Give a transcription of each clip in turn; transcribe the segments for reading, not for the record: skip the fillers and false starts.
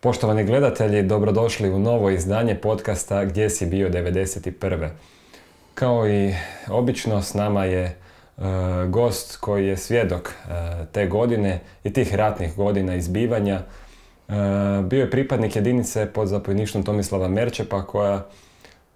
Poštovani gledatelji, dobrodošli u novo izdanje podcasta Gdje si bio 91. Kao i obično, s nama je gost koji je svjedok te godine i tih ratnih godina izbivanja. Bio je pripadnik jedinice pod zapovjedništvom Tomislava Merčepa, koja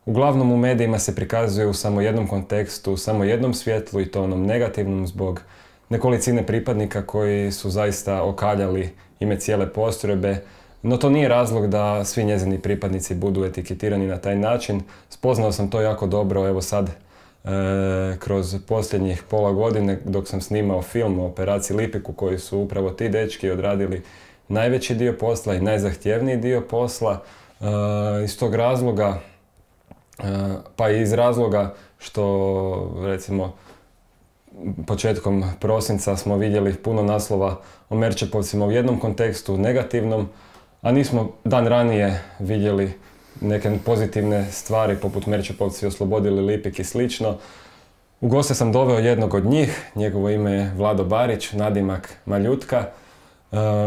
uglavnom u medijima se prikazuje u samo jednom kontekstu, u samo jednom svjetlu, i to onom negativnom, zbog nekolicine pripadnika koji su zaista okaljali ime cijele postrojbe. No to nije razlog da svi njezini pripadnici budu etiketirani na taj način. Spoznao sam to jako dobro, evo sad, kroz posljednjih pola godine dok sam snimao film o operaciji Lipiku, koji su upravo ti dečki odradili najveći dio posla i najzahtjevniji dio posla. Iz tog razloga, pa i iz razloga što, recimo, početkom prosinca smo vidjeli puno naslova o Merčepovcima u jednom kontekstu, negativnom, a nismo dan ranije vidjeli neke pozitivne stvari poput Merčepovci oslobodili Lipik i slično. U goste sam doveo jednog od njih, njegovo ime je Vlado Barić, nadimak Maljutka.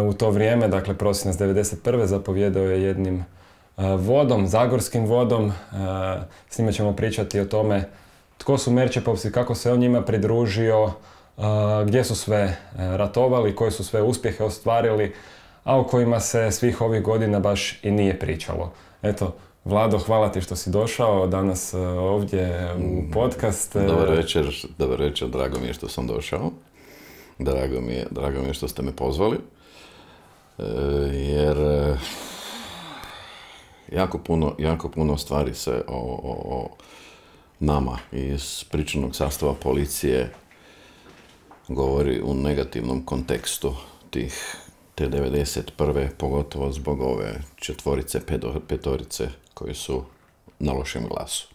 U to vrijeme, dakle prosinac 91. zapovjedao je jednim vodom, zagorskim vodom. S njime ćemo pričati o tome tko su Merčepovci, kako se on njima pridružio, gdje su sve ratovali, koje su sve uspjehe ostvarili, a o kojima se svih ovih godina baš i nije pričalo. Eto, Vlado, hvala ti što si došao danas ovdje u podcast. Dobar večer, drago mi je što sam došao. Drago mi je što ste me pozvali. Jer jako puno stvari se o nama iz pričanog sastava policije govori u negativnom kontekstu te 91. pogotovo zbog ove petorice koji su na lošem glasu.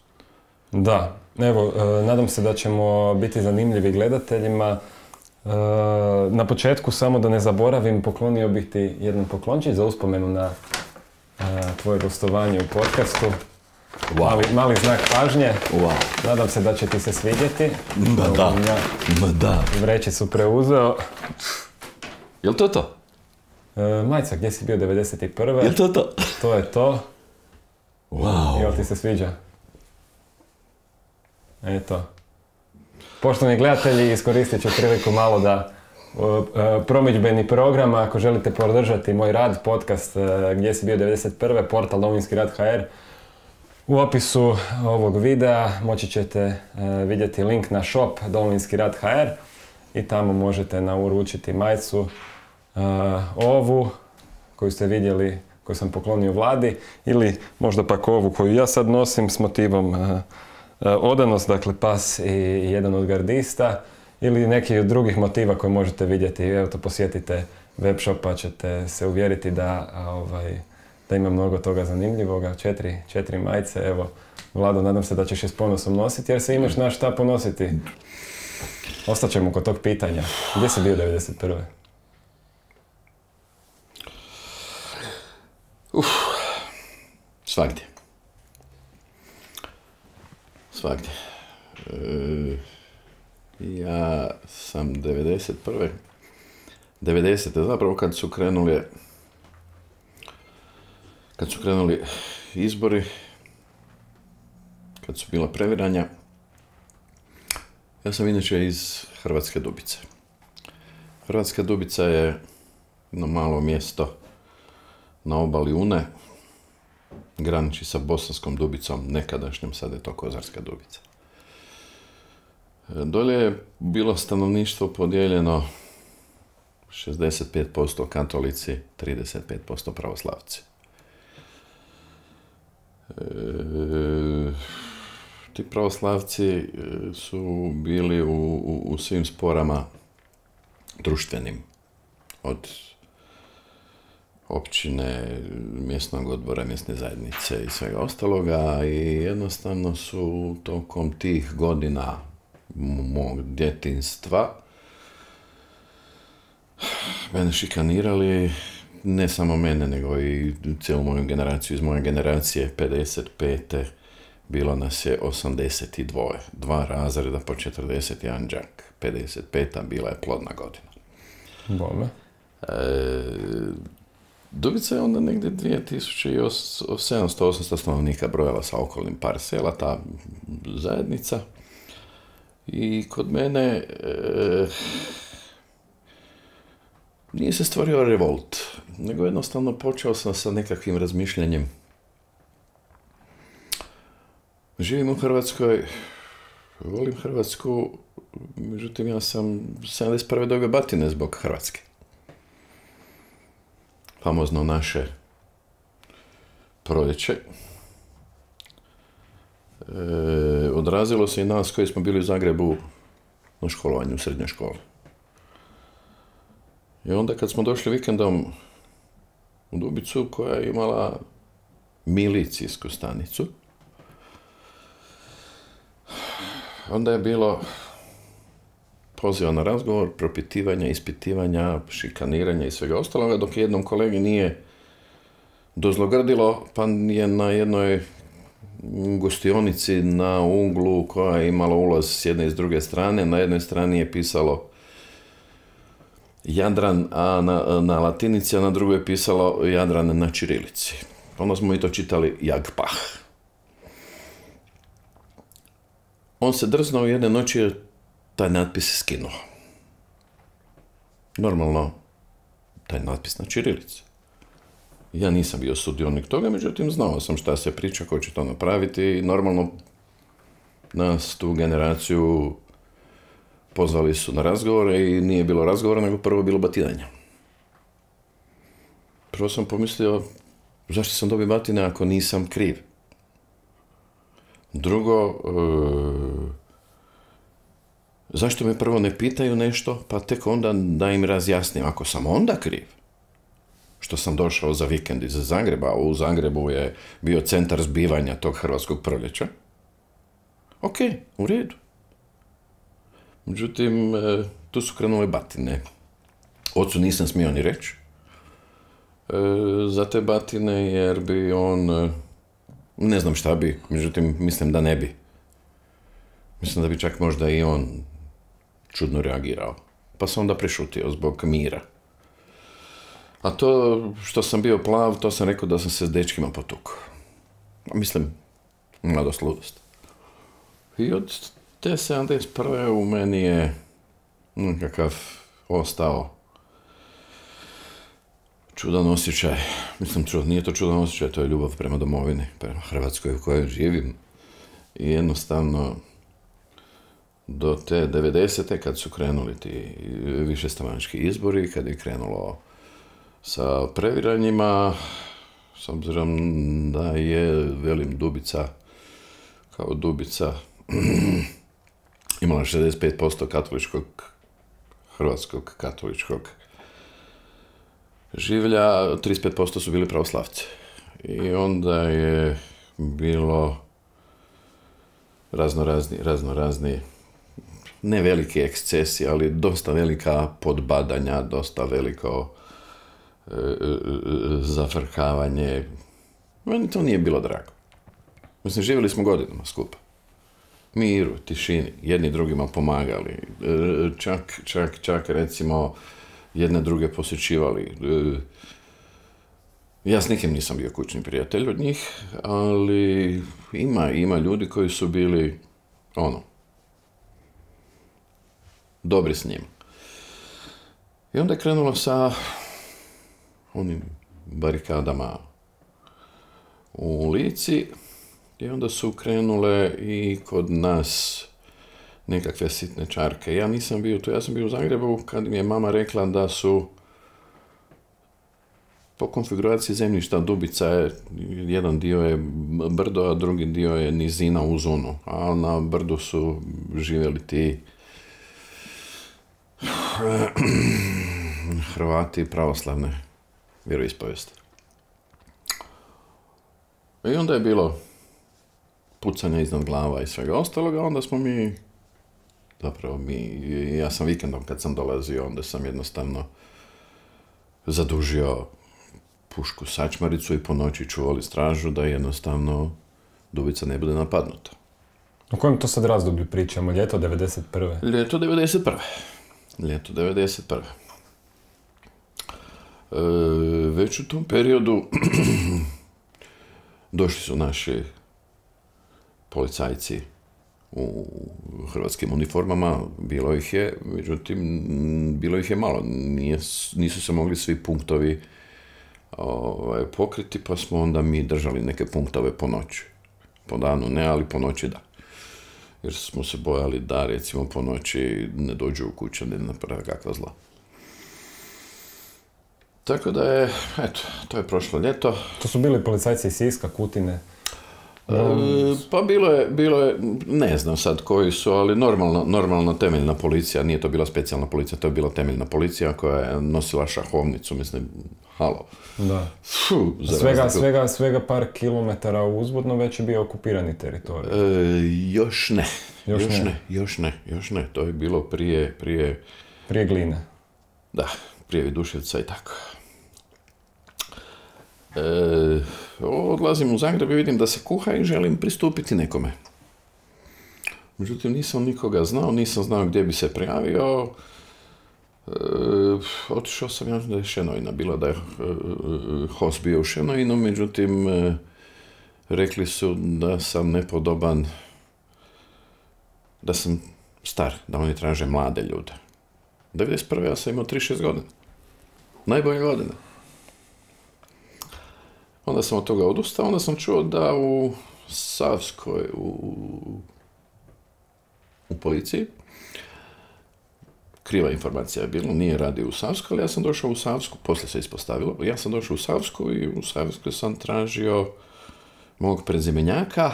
Da, evo, nadam se da ćemo biti zanimljivi gledateljima. Na početku, samo da ne zaboravim, poklonio bih ti jedan poklončić za uspomenu na tvoje gostovanje u podcastu. Wow. Mali znak pažnje. Wow. Nadam se da će ti se svidjeti. Ma da. Vrećicu preuzeo. Jel to to? Majca, gdje si bio 91. Jel to to? To je to. Wow. Jel ti se sviđa? Eto. Poštovani gledatelji, iskoristit ću priliku malo da promidžbeni program, ako želite podržati moj rad, podcast Gdje si bio 91. portal Domovinski rad HR. U opisu ovog videa moći ćete vidjeti link na shop Domovinski rad HR i tamo možete nauručiti majicu ovu koju ste vidjeli, koju sam poklonio Vladi, ili možda pak ovu koju ja sad nosim s motivom odanost, dakle pas i jedan od gardista, ili neki od drugih motiva koje možete vidjeti. Evo to, posjetite web shop pa ćete se uvjeriti da ima mnogo toga zanimljivoga. 4 majice, evo. Vlado, nadam se da ćeš je s ponosom nositi, jer se imaš na šta ponositi. Ostaćemo kod tog pitanja. Gdje si bio 91. Svagdje. Ja sam 90. zapravo kad su krenuli izbori, kad su bila previranja, ja sam inače iz Hrvatske Dubice. Hrvatska Dubica je jedno malo mjesto na obali Une, graniči sa Bosanskom Dubicom, nekadašnjom, sad je to Kozarska Dubica. Dolje je bilo stanovništvo podijeljeno 65% katolici, 35% pravoslavci. Ti pravoslavci su bili u svim sporama društvenim, od općine, mjesnog odbora, mjesne zajednice i svega ostaloga, i jednostavno su tokom tih godina mog djetinjstva mene šikanirali, ne samo mene, nego i cijelu moju generaciju. Iz moje generacije 55. bilo nas je 82. 2 razreda po 41 đak. 55. bila je plodna godina. Bome. Dubica je onda negdje 2700-800 stanovnika brojala sa okolnim par sela, ta zajednica. I kod mene nije se stvorio revolt, nego jednostavno počeo sam sa nekakvim razmišljanjem. Živim u Hrvatskoj, volim Hrvatsku, međutim ja sam 71. dobio batine zbog Hrvatske. Famozno naše proljeće. Odrazilo se i nas koji smo bili u Zagrebu na školovanju u srednjoj školi. I onda kad smo došli vikendom u Dubicu koja je imala milicijsku stanicu, onda je bilo poziva na razgovor, propitivanja, ispitivanja, šikaniranja i svega ostaloga, dok jednom kolegi nije dozlogrdilo, pa je na jednoj gostionici na uglu koja je imala ulaz s jedne i s druge strane, na jednoj strani je pisalo Jadran, a na latinici, a na drugoj je pisalo Jadran na čirilici. Onda smo i to čitali Jagpah. On se drznuo jedne noći je taj natpis skinuo. Normalno, taj natpis na čirilici. Ja nisam bio sudionik toga, međutim znao sam šta se priča, ko će to napraviti i normalno nas tu generaciju pozvali su na razgovore i nije bilo razgovora, nego prvo bilo batinanja. Prvo sam pomislio, zašto sam dobio batine ako nisam kriv? Drugo, zašto me prvo ne pitaju nešto, pa tek onda da im razjasnim ako sam onda kriv? Što sam došao za vikend iz Zagreba, u Zagrebu je bio centar zbivanja tog hrvatskog proljeća. Ok, u redu. Međutim, tu su krenule batine. Ocu nisam smio ni reći za te batine, jer bi on, ne znam šta bi, međutim, mislim da ne bi. Mislim da bi čak možda i on čudno reagirao. Pa sam onda prešutio zbog mira. A to što sam bio plav, to sam rekao da sam se s dečkima potukao. Mislim, mladost, ludost. I od te 71. u meni je nekakav ostao čudan osjećaj. Mislim, nije to čudan osjećaj, to je ljubav prema domovini, prema Hrvatskoj u kojoj živim. I jednostavno, do te 90. kad su krenuli ti višestranački izbori, kad je krenulo sa previranjima, s obzirom da je, velim, Dubica, kao Dubica, imala 65% hrvatskog katoličkog življa, 35% su bili pravoslavci. I onda je bilo raznorazni, ne veliki ekscesi, ali dosta velika podbadanja, dosta veliko zafrkavanje. Meni to nije bilo drago. Mislim, živjeli smo godinama skupa. Miru, tišini, jedni drugima pomagali. Čak recimo, jedne druge posjećivali. Ja s nikim nisam bio kućni prijatelj od njih, ali ima ljudi koji su bili, dobri s njim. I onda je krenulo sa onim barikadama u Lici i onda su krenule i kod nas nekakve sitne čarke. Ja nisam bio tu, ja sam bio u Zagrebu kad mi je mama rekla da su po konfiguraciji zemljišta Dubica je, jedan dio je brdo, a drugi dio je nizina uz Unu. A na brdu su živjeli ti Hrvati pravoslavne vjeroispovijesti. I onda je bilo pucanja iznad glava i svega ostaloga, onda smo ja sam vikendom kad sam dolazio, onda sam jednostavno zadužio pušku sačmaricu i po noći čuvali stražu da jednostavno Dubica ne bude napadnuta. O kojem to sad razdoblju pričamo? Ljeto 91. Ljeto 91. Već u tom periodu došli su naši policajci u hrvatskim uniformama, bilo ih je, međutim, bilo ih je malo. Nisu se mogli svi punktovi pokriti, pa smo onda mi držali neke punktove po noći. Po danu ne, ali po noći da. Jer smo se bojali da, recimo, po noći ne dođu u kuću, ne naprave kakva zla. Tako da je, eto, to je prošlo ljeto. To su bili policajci iz Siska, Kutine? Pa bilo je, ne znam sad koji su, ali normalno temeljna policija, nije to bila specijalna policija, to je bila temeljna policija koja je nosila šahovnicu, mislim, halo. Da. Svega par kilometara uzvodno već je bio okupirani teritorij. Još ne. To je bilo prije... Prije Gline. Da, prije Viduševca i tako. Odlazim u Zagreb i vidim da se kuha i želim pristupiti nekome. Međutim, nisam nikoga znao, nisam znao gdje bi se prijavio. Otišao sam, ja da je Šenojna bila, da je host bio u Šenojnu, međutim, rekli su da sam nepodoban, da sam star, da oni traže mlade ljude. 1991. ja sam imao 36 godina. Najbolje godine. Onda sam od toga odustao, onda sam čuo da u Savskoj, u policiji, kriva informacija je bilo, nije radio u Savskoj, ali ja sam došao u Savsku, poslije se ispostavilo, ja sam došao u Savsku i u Savskoj sam tražio mog prezimenjaka.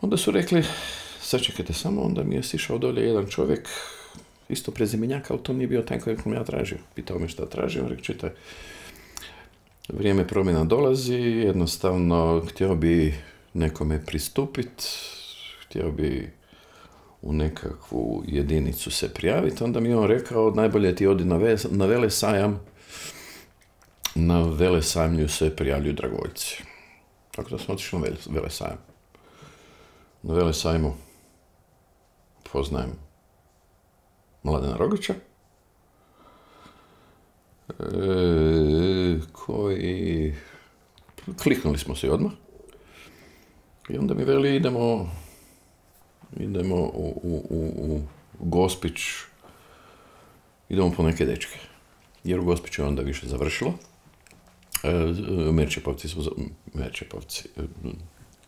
Onda su rekli, sačekajte samo, onda mi je sišao dolje jedan čovjek, isto prezimenjaka, ali to nije bio taj kojeg sam ja tražio. Pitao me šta tražio, rekao, čitaj, vrijeme promjena dolazi, jednostavno htio bi nekome pristupiti, htio bi u nekakvu jedinicu se prijaviti, onda mi je on rekao, najbolje ti odi na velesajam, na velesajmlju se prijavljuju dragovoljci. Tako da sam otišao na velesajam. Na velesajmu poznajem Mladena Rogića, koji kliknuli smo se odmah i onda mi veli idemo u Gospić, idemo po neke dečke, jer u Gospiću je onda više završilo. Merčepovci.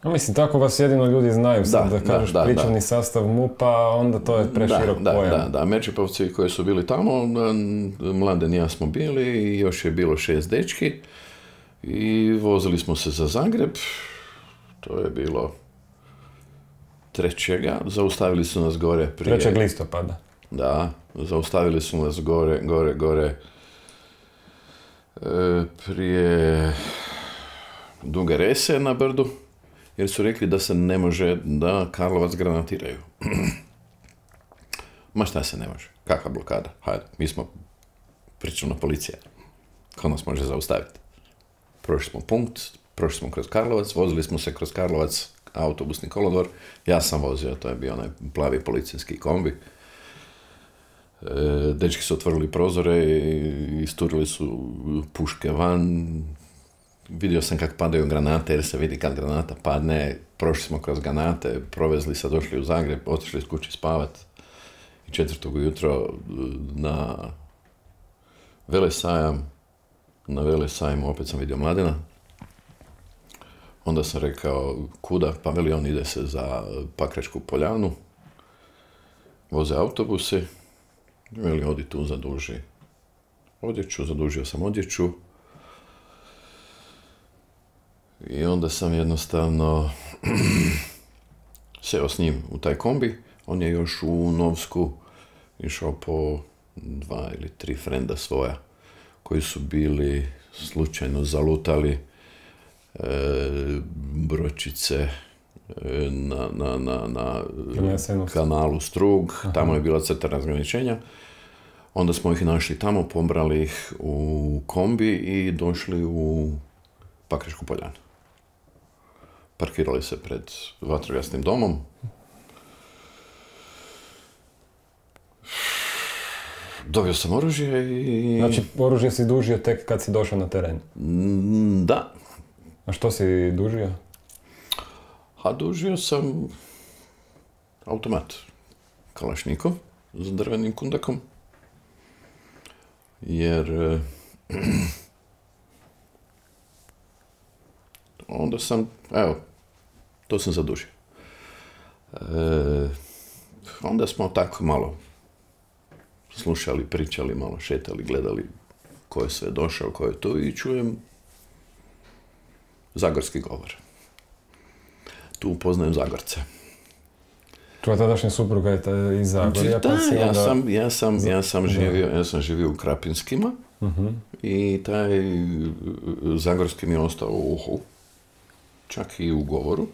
Mislim, tako vas jedino ljudi znaju, sad da kažeš pričavni sastav MUP-a, onda to je preširok pojam. Da, Merčepovci koji su bili tamo, Mladen i ja smo bili i još je bilo 6 dečki i vozili smo se za Zagreb, to je bilo 3. Zaustavili su nas gore prije... 3. listopada. Da, zaustavili su nas gore prije Duge Rese na brdu, jer su rekli da se ne može, da Karlovac granatiraju. Ma šta se ne može? Kakva blokada? Hajde, mi smo pričuvna policija. Ko nas može zaustaviti? Prošli smo punkt, prošli smo kroz Karlovac, vozili smo se kroz Karlovac, autobusni kolodvor. Ja sam vozio, to je bio onaj plavi policijski kombi. Dečki su otvorili prozore i isturili su puške van. Vidio sam kako padaju granate, jer se vidi kad granata padne. Prošli smo kroz granate, provezli se, došli u Zagreb, otišli iz kući spavat. I 4. ujutro na velesajam, na velesajmu opet sam vidio Mladena. Onda sam rekao, kuda? Pa veli on ide se za Pakračku poljanu. Voze autobusi. Veli, odi tu, zaduži odjeću. Zadužio sam odjeću. I onda sam jednostavno seo s njim u taj kombi. On je još u Novsku išao po 2 ili 3 frenda svoja koji su bili slučajno zalutali bročice na kanalu Strug. Tamo je bila crta razgraničenja. Onda smo ih našli tamo, pobrali ih u kombi i došli u Pakračku poljanu. Parkirali se pred vatrogasnim domom. Dobio sam oružje i... Znači, oružje si dužio tek kad si došao na teren? Da. A što si dužio? A dužio sam automat Kalašnikov s drvenim kundakom. Jer onda sam, evo, to sam zadužio. Onda smo tako malo slušali, pričali, malo šetali, gledali ko je sve došao, ko je tu i čujem zagorski govor. Tu upoznajem Zagorce. Tvoja tadašnja supruga je iz Zagorja, pa si onda... Ja sam živio u Krapinskima i taj zagorski mi je ostao u uhu, čak i u govoru.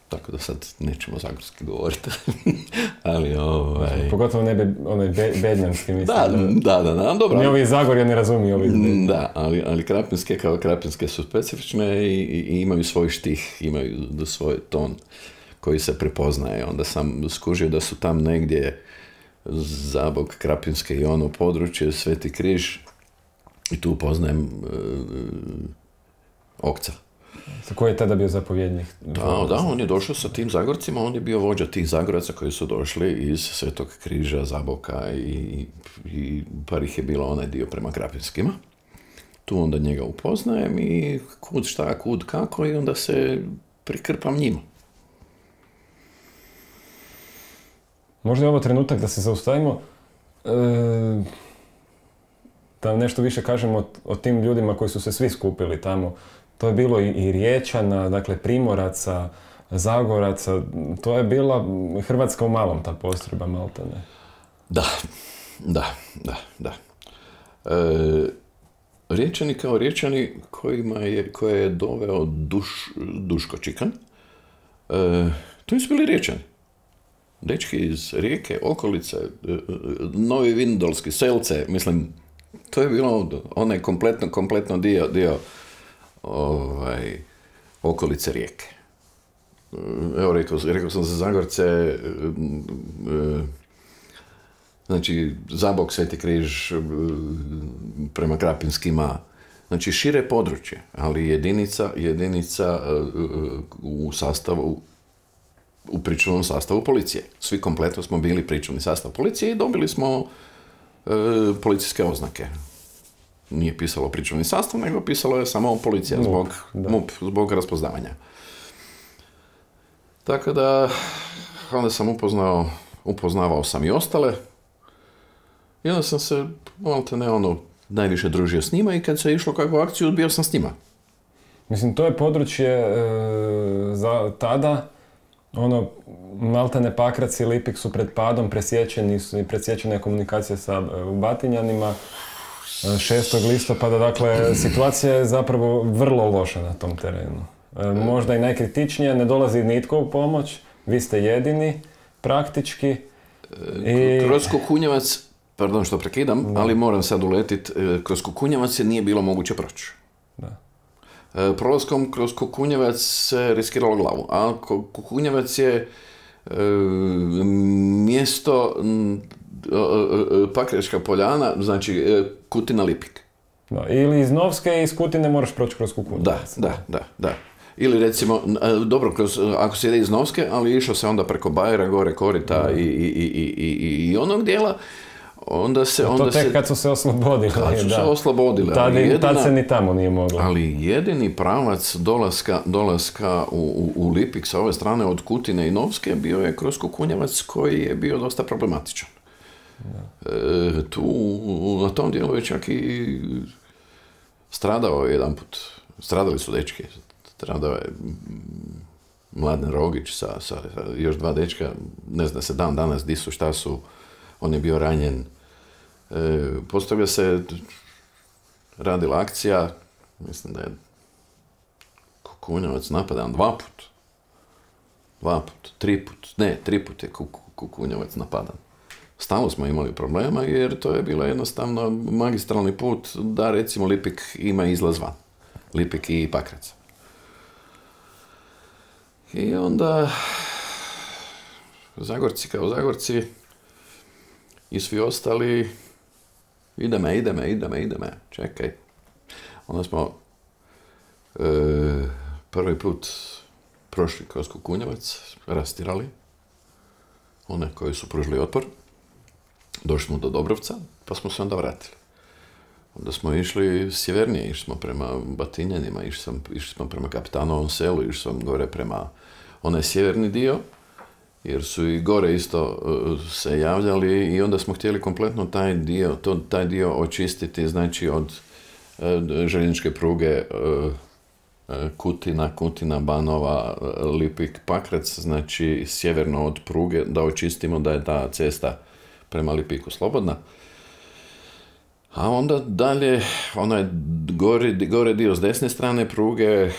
Tako da sad nećemo zagorski govoriti, ali Pogotovo ne onaj bednjanski, mislim. Da, dobro. Ni ovi iz Zagorja ne razumiju ovi iz Bednja. Da, ali krapinske kao krapinske su specifične i imaju svoj štih, imaju svoj ton koji se prepoznaje. Onda sam skužio da su tam negdje Zabok, Krapinske i ono područje, Sveti Križ, i tu poznajem Okca. Koji je tada bio zapovjednik? Da, on je došao sa tim Zagorcima, on je bio vođa tih Zagoraca koji su došli iz Svetog Križa, Zaboka i par ih je bilo onaj dio prema Krapinskima. Tu onda njega upoznajem i kud šta, kud kako i onda se prikrpam njima. Možda je ovo trenutak da se zaustavimo, da nešto više kažemo o tim ljudima koji su se svi skupili tamo. To je bilo i Riječana, dakle Primoraca, Zagoraca, to je bila Hrvatska u malom, ta postrojba maltene. Da. Riječani kao Riječani koje je doveo Duško Čikan, to nisu bili Riječani. Dečki iz Rijeke, okolice, Novi Vindolski, Selce, mislim, to je bilo onaj kompletno dio okolice Rijeke. Evo, rekao sam za Zagorce, znači Zabok, Sveti Križ, prema Krapinskima, znači šire područje, ali jedinica u pričuvnom sastavu policije. Svi kompletno smo bili pričuvni sastav policije i dobili smo policijske oznake. Nije pisalo pričuvni sastav, nego pisalo je samo policija zbog raspoznavanja. Tako da, onda sam upoznavao sam i ostale. I onda sam se, najviše družio s njima i kad se išlo kakvu akciju, bio sam s njima. Mislim, to je područje za tada, maltene Pakrac i Lipik su pred padom, presječena je komunikacija u Batinjanima. 6. listopada, dakle, situacija je zapravo vrlo loša na tom terenu. Možda i najkritičnija, ne dolazi nitko u pomoć, vi ste jedini, praktički. Kroz Kukunjevac, pardon što prekidam, ali moram sad uletiti, kroz Kukunjevac se nije bilo moguće proći. Prolaskom kroz Kukunjevac se riskiralo glavu, a Kukunjevac je mjesto Pakračka poljana, znači Kutina Lipik. Ili iz Novske i iz Kutine moraš proći kroz Kukunjevac. Da. Ili recimo, dobro, ako se ide iz Novske, ali išao se onda preko Bajera, gore Korita i onog dijela, onda se... tek kad su se oslobodili. Tad se ni tamo nije moglo. Ali jedini pravac dolaska u Lipik sa ove strane od Kutine i Novske bio je kroz Kukunjevac koji je bio dosta problematičan. Tu, na tom dijelu je čak i stradao jedan put. Stradali su dečki. Stradao je Mladen Rogić sa još 2 dečka. Ne zna se dan danas di su, šta su. On je bio ranjen. Postavlja se radila akcija. Mislim da je Kukunjevac napadan 2 put. 3 put je Kukunjevac napadan. Stalno smo imali problema jer to je bilo jednostavno magistralni put da recimo Lipik ima izlaz van. Lipik i Pakrac. I onda Zagorci kao Zagorci I svi ostali, ideme, čekaj. Onda smo prvi put prošli kroz Kukunjevac, rastirali one koji su pružili otpor. Došli smo do Dobrovca, pa smo se onda vratili. Onda smo išli sjevernije, išli smo prema Batinjanima, išli smo prema Kapitanovom selu, išli smo gore prema onaj sjeverni dio, jer su i gore isto se javljali i onda smo htjeli kompletno taj dio očistiti, znači od željezničke pruge Kutina, Banova, Lipik, Pakrac, znači sjeverno od pruge, da očistimo da je ta cesta prema Lipiku slobodna. A onda dalje, onaj gore dio s desne strane pruge,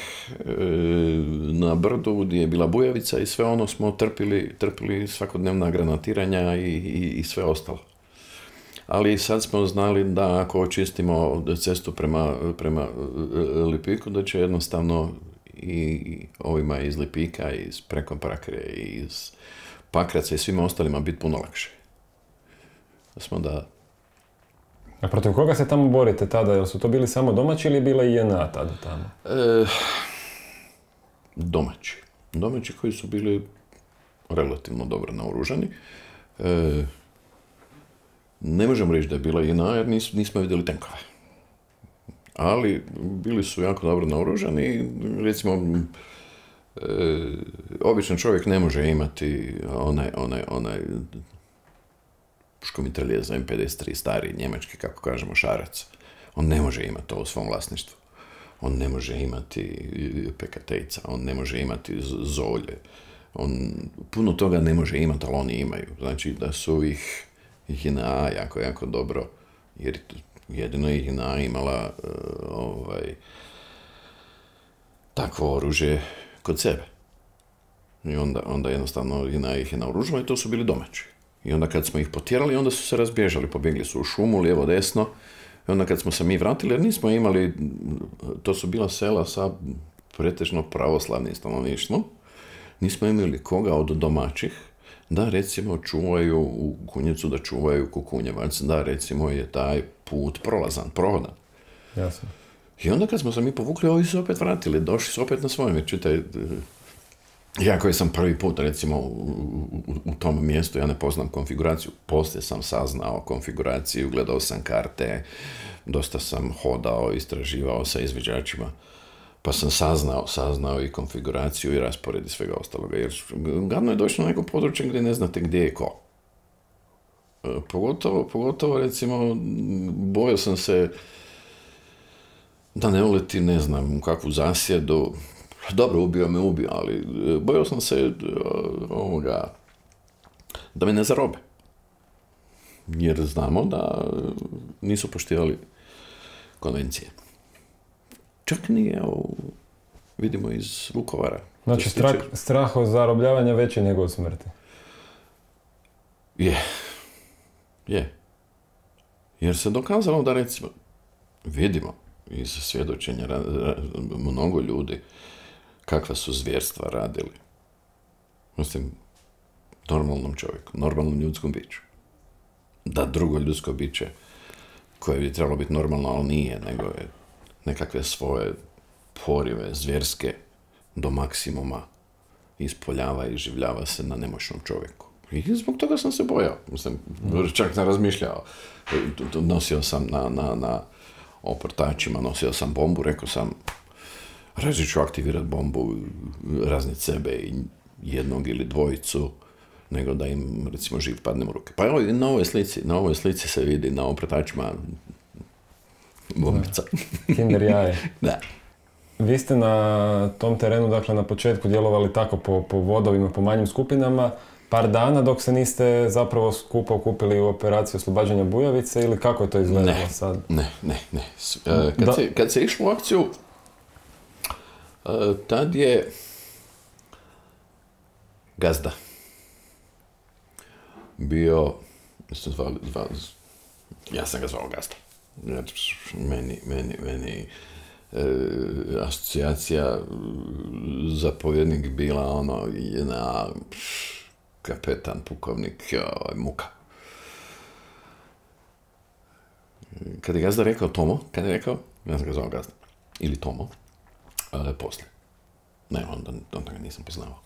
na brdu gdje je bila Bujavica i sve ono smo trpili svakodnevna granatiranja i sve ostalo. Ali sad smo znali da ako očistimo cestu prema Lipiku, da će jednostavno i ovima iz Lipika, iz Prekomprakre, iz Pakraca i svima ostalima biti puno lakše. A protiv koga se tamo borite tada? Jel su to bili samo domaći ili je bila i JNA tada tamo? Domaći koji su bili relativno dobro naoružani. Ne možemo reći da je bila JNA jer nismo vidjeli tenkove. Ali bili su jako dobro naoružani i recimo običan čovjek ne može imati onaj puškomitralje za M53 stari njemački, kako kažemo, šarac. On ne može imati to u svom vlasništvu. On ne može imati PKT-ica, on ne može imati zolje. On puno toga ne može imati, ali oni imaju. Znači da su ih JNA jako dobro, jer jedino je JNA imala takvo oružje kod sebe. I onda jednostavno JNA ih je naoružila i to su bili domaći. I onda kad smo ih potjerali, onda su se razbježali, pobjegli su u šumu, lijevo, desno. I onda kad smo se mi vratili, jer nismo imali, to su bila sela sa pretežno pravoslavnim stanovništvom, nismo imali koga od domaćih da recimo čuvaju u Kunjevcu, da čuvaju Kukunjevac, da recimo je taj put prolazan, prohodan. Jasno. I onda kad smo se mi povukli, ovi su opet vratili, došli su opet na svojem. Čitaj, ja koji sam prvi put recimo u tom mjestu, ja ne poznam konfiguraciju, poslije sam saznao konfiguraciju, gledao sam karte, dosta sam hodao, istraživao sa izviđačima, pa sam saznao i konfiguraciju i raspored i svega ostaloga, jer gadno je doći na neko područje gdje ne znate gdje je ko. Pogotovo recimo, bojao sam se da ne uleti, ne znam, u kakvu zasjedu. Dobro, ubio, ali bojao sam se da me ne zarobe. Jer znamo da nisu poštivali konvencije. Čak nije, vidimo iz Vukovara. Znači, strah od zarobljavanja veći nego od smrti. Je. Jer se dokazalo da recimo, vidimo iz svjedočenja mnogo ljudi kakva su zvjerstva radili. Mislim, normalnom čovjeku, normalnom ljudskom biću. Da drugo ljudsko biće, koje bi trebalo biti normalno, ali nije, nego je nekakve svoje porive zvjerske do maksimuma ispoljava i življava se na nemoćnom čovjeku. I zbog toga sam se bojao. Mislim, čak sam razmišljao. Nosio sam na oportačima, nosio sam bombu, rekao sam, rađe ću aktivirati bombu, razniti sebe i jednog ili dvojicu, nego da im, recimo, živ padnem u ruke. Pa evo, na ovoj slici se vidi na oportačima bombica. Kinder jaje. Da. Vi ste na tom terenu, dakle, na početku djelovali tako po vodovima, po manjim skupinama, par dana dok se niste zapravo skupa okupili u operaciju oslobađanja Bujavice ili kako je to izgledalo sad? Ne. Kad se išlo u akciju, tad je Gazda bio, ja sam ga zvao Gazda. Meni asocijacija zapovjednik bila jedna kapetan, pukovnik, muka. kad je gazda rekao Tomo, kad je rekao, ja sam ga zvao gazda, ili Tomo, poslije. Ne, onda ga nisam poznavao.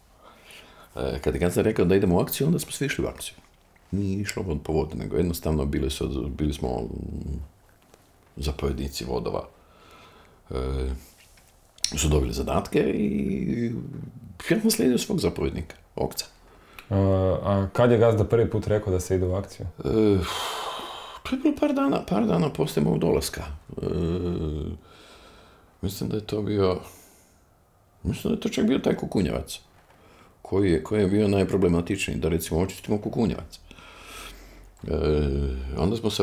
Kad je gazda rekao da idemo u akciju, onda smo svi išli u akciju. Nije išlo po vodi, nego jednostavno bili smo zapovjednici vodova. Su dobili zadatke i ja sam slijedio svog zapovjednika, Okca. A kad je gazda prvi put rekao da se ide u akciju? To je bilo par dana poslije mog dolaska. Mislim da je to čak bio taj kukunjevac, koji je bio najproblematičniji, da recimo očistimo kukunjevac. Onda smo se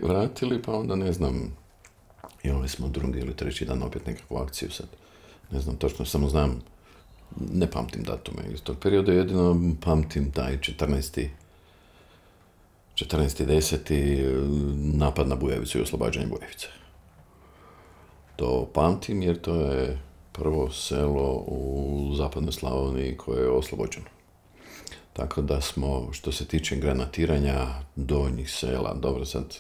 vratili, pa onda ne znam, imali smo drugi ili treći dan opet nekakvu akciju sad. Ne znam točno, samo znam, ne pamtim datume iz tog perioda, jedino pamtim taj 14.10. napad na Bujavicu i oslobađanje Bujavice. To pamtim jer to je prvo selo u zapadnoj Slavoniji koje je oslobođeno. Tako da smo, što se tiče granatiranja donjih sela, dobro sad,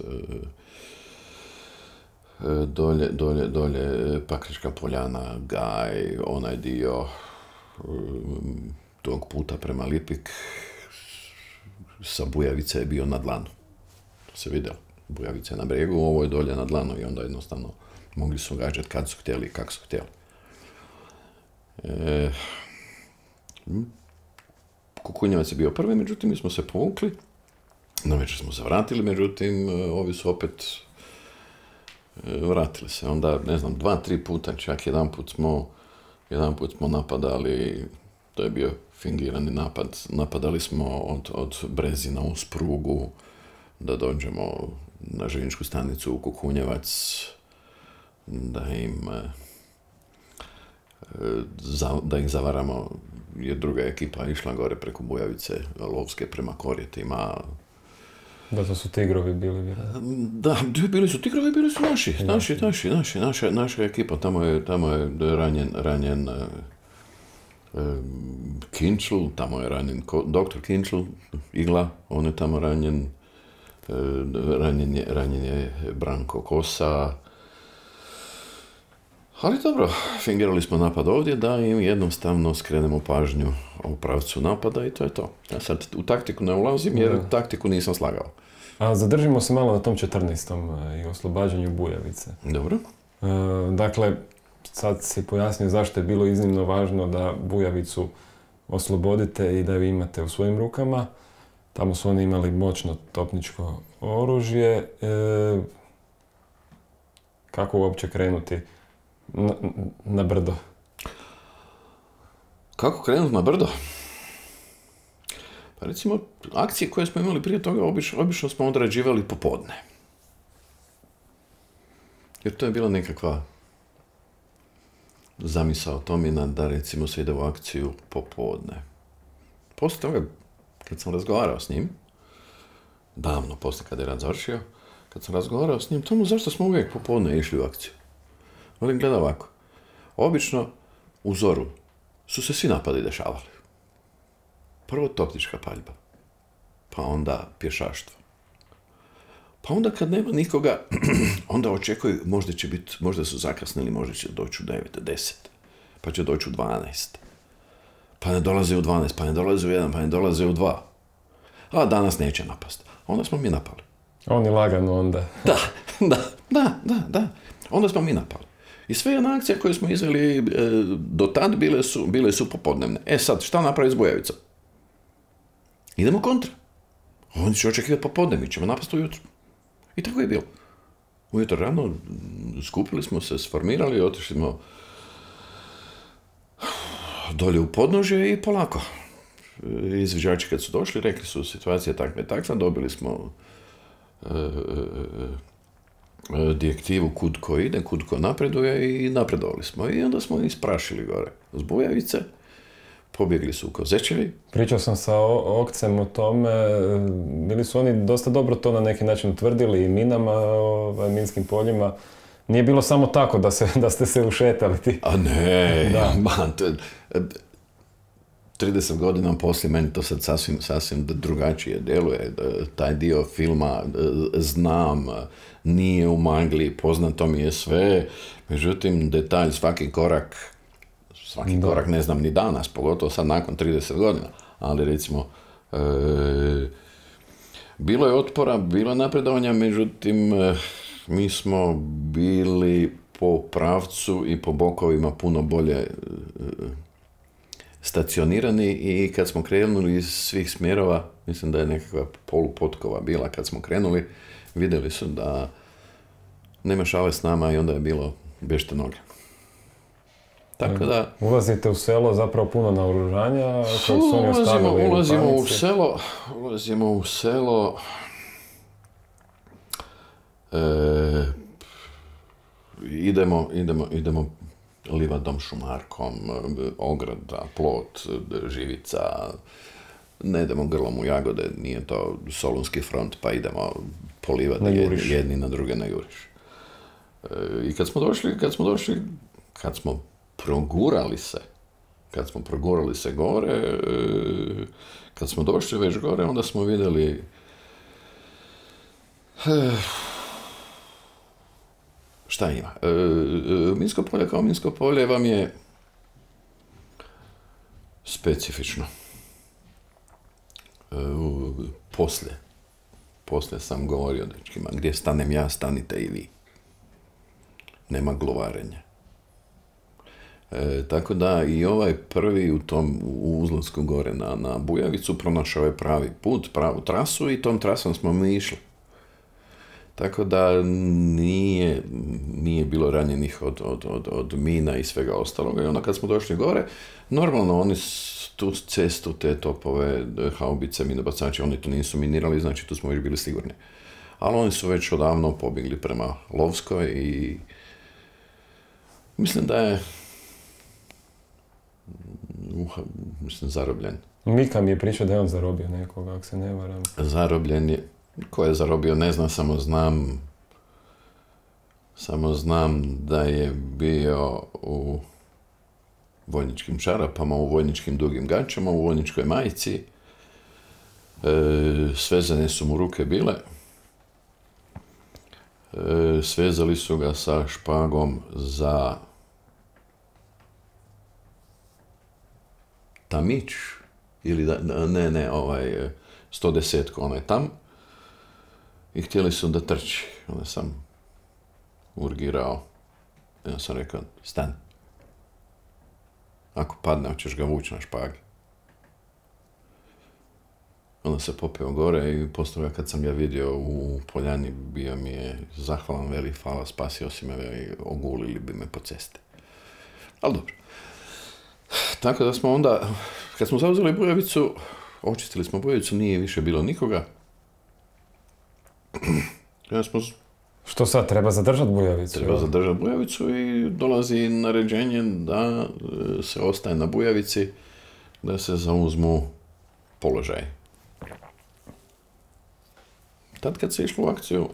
dolje Pakrička Poljana, Gaj, onaj dio tog puta prema Lipik, sa Bujavice je bio na dlanu. To se vidjelo. Bujavica je na bregu, ovo je dolje na dlanu i onda jednostavno mogli su gađati kad su htjeli i kako su htjeli. Kukunjevac je bio prvi, međutim mi smo se povukli. Na večer smo se vratili, međutim ovi su opet vratili se. Onda, ne znam, 2-3 puta, čak jedan put smo napadali, to je bio fingirani napad. Napadali smo od Brezina uz prugu da dođemo na željezničku stanicu u Kukunjevac, da ih zavaramo, jer druga ekipa išla gore preko Bujavice, Lovske prema Korjetima. Da, to su tigrovi bili, vjerojatno. Da, bili su tigrovi, bili su naša ekipa. Tamo je ranjen Kinčl, tamo je ranjen doktor Kinčl, Igla, on je tamo ranjen, ranjen je Branko Kosa. Ali dobro, fingirali smo napad ovdje da im jednostavno skrenemo pažnju u pravcu napada i to je to. Ja sad u taktiku ne ulazim jer taktiku nisam slagao. A zadržimo se malo na tom 14. i oslobađanju Bujavice. Dobro. Dakle, sad si pojasnio zašto je bilo iznimno važno da Bujavicu oslobodite i da ju imate u svojim rukama. Tamo su oni imali moćno topničko oružje. Kako uopće krenuti na brdo? Kako krenuti na brdo? Pa recimo, akcije koje smo imali prije toga obično smo odrađivali popodne. Jer to je bila nekakva zamisao Tomina da recimo se ide u akciju popodne. Poslije toga, kad sam razgovarao s njim, davno poslije kad je rat završio, kad sam razgovarao s njim, Tomu, zašto smo uvijek popodne išli u akciju? On gleda ovako. Obično u zoru su se svi napadi dešavali. Prvo topnička paljba, pa onda pješaštvo. Pa onda kad nema nikoga, onda očekuju, možda su zakasnili, možda će doći u 9, 10, pa će doći u 12. Pa ne dolaze u 12, pa ne dolaze u 1, pa ne dolaze u 2. A danas neće napast. Onda smo mi napali. Oni lagano onda. Da. Onda smo mi napali. I sve jedna akcija koje smo izveli do tad bile su popodnevne. Sad, šta napraviti s Bujavicom? Idemo kontra. Oni će očekivati popodne, mi ćemo napasti ujutro. I tako je bilo. Ujutro rano skupili smo se, sformirali, otišli smo dolje u podnožje i polako. Izviđači kad su došli, rekli su situacija takva i takva, dobili smo direktivu kud ko ide, kud ko napreduje i napredovali smo. I onda smo isprašili gore s Bujavice, pobjegli su u Kozečevi. Pričao sam sa Okcem o tome, bili su oni dosta dobro to na neki način utvrdili i minama, minskim poljima. Nije bilo samo tako da ste se ušetali ti. A ne, man, 30 godina poslije meni to sad sasvim drugačije djeluje. Taj dio filma znam, nije u magli, poznato mi je sve, međutim detalj, svaki korak ne znam ni danas, pogotovo sad nakon 30 godina, ali recimo bilo je otpora, bilo je napredovanja, međutim mi smo bili po pravcu i po bokovima puno bolje stacionirani i kad smo krenuli iz svih smjerova, mislim da je nekakva polupotkova bila kad smo krenuli, vidjeli su da nema šale s nama i onda je bilo bežte noge. Tako da... Ulazite u selo zapravo puno naoružanja koje su oni ostavili ulazimo u selo idemo livadom, šumarkom, ograda, plot, živica, ne idemo grlom u jagode, nije to Solunski front, pa idemo polivati jedni na druge na juriš. I kad smo progurali se gore, kad smo došli već gore, onda smo vidjeli šta ima. Minsko polje kao minsko polje vam je specifično. Poslije sam govorio dečkima, gdje stanem ja, stanite i vi. Nema glovarenja. Tako da i ovaj prvi u uzlasku gore na Bujavicu pronašao je pravi put, pravu trasu i tom trasom smo mi išli. Tako da nije bilo ranjenih od mina i svega ostaloga. I onda kad smo došli gore, normalno oni tu cestu, te topove, haubice, minobacači, oni to nisu minirali, znači tu smo već bili sigurni. Ali oni su već odavno pobjegli prema Lovskoj i mislim da je zarobljen. Mika mi je pričao da je on zarobio nekoga, ako se ne varam. Zarobljen je. Ko je zarobio, ne znam, samo znam da je bio u vojničkim čarapama, u vojničkim dugim gaćama, u vojničkoj majici. Svezane su mu ruke bile. Svezali su ga sa špagom za tamić, ili 110-ku, onaj tam. I htjeli su da trči. Onda sam urgirao. I onda sam rekao, stan. Ako padne, hoćeš ga vući na špagi. Onda se popeo gore i poslije kad sam ga vidio u poljani, bio mi je zahvalan, veli, hvala, spasio si me, veli, ogulili bi me po cesti. Ali dobro. Tako da smo onda, kad smo zauzeli Bujavicu, očistili smo Bujavicu, nije više bilo nikoga. Što sad, treba zadržati Bujavicu? Treba zadržati Bujavicu i dolazi naređenje da se ostaje na Bujavici, da se zauzmu položaj. Tad kad se išlo u akciju,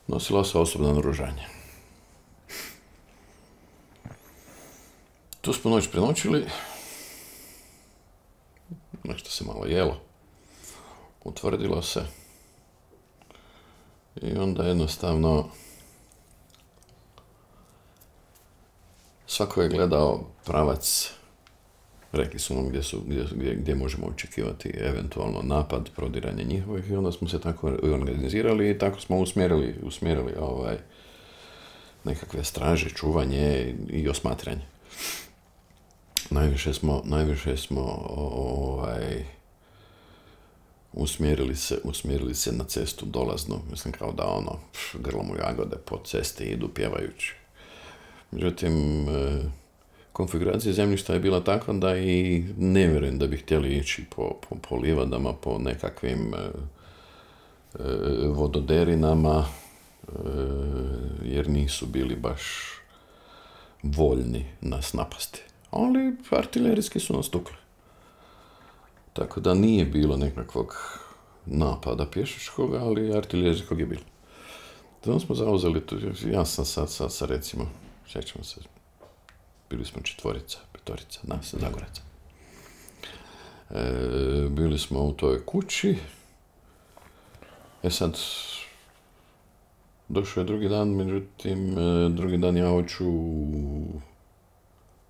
nosilo se osobno naoružanje. Tu smo noć prenoćili, nešto se malo jelo, utvrdilo se i onda jednostavno svako je gledao pravac, rekli su nam gdje možemo očekivati eventualno napad, prodiranje njihovih i onda smo se tako organizirali i tako smo usmjerili nekakve straže, čuvanje i osmatranje. Najviše smo usmjerili se na cestu dolaznu, mislim kao da grlom u jagode po cesti idu pjevajući. Međutim, konfiguracija zemljišta je bila takva da i ne vjerujem da bi htjeli ići po livadama, po nekakvim vododerinama, jer nisu bili baš voljni nas napasti. Ali artiljerijski su nas tukli. Tako da nije bilo nekakvog napada pješačkog, ali artiljerijskog je bilo. Zato smo zauzeli tu, ja sam sad recimo, sjećamo se, bili smo 4, 5, nas, Zagoraca. Bili smo u toj kući. Sad, došao je drugi dan, međutim, drugi dan ja hoću u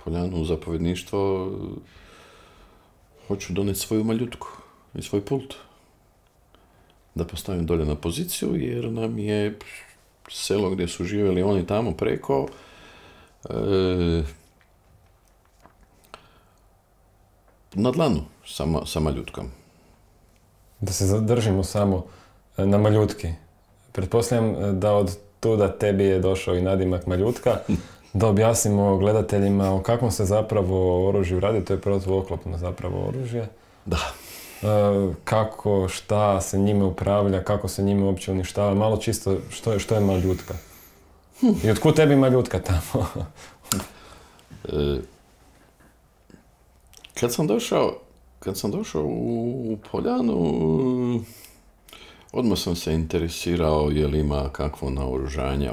Poljanu u zapovjedništvo, hoću doneti svoju maljutku i svoj pult. Da postavim dolje na poziciju, jer nam je selo gdje su živjeli oni tamo preko, na dlanu sa maljutkom. Da se zadržimo samo na maljutki. Pretpostavljam da od tuda tebi je došao i nadimak maljutka. Da objasnimo gledateljima o kakvom se zapravo oružju radi, to je protuoklopno zapravo oružje. Da. Kako, šta se njime upravlja, kako se njime uopće uništava, malo čisto što je maljutka. I otkud tebi maljutka tamo? Kad sam došao u Poljanu, odmah sam se interesirao je li ima kakvo naoružanje,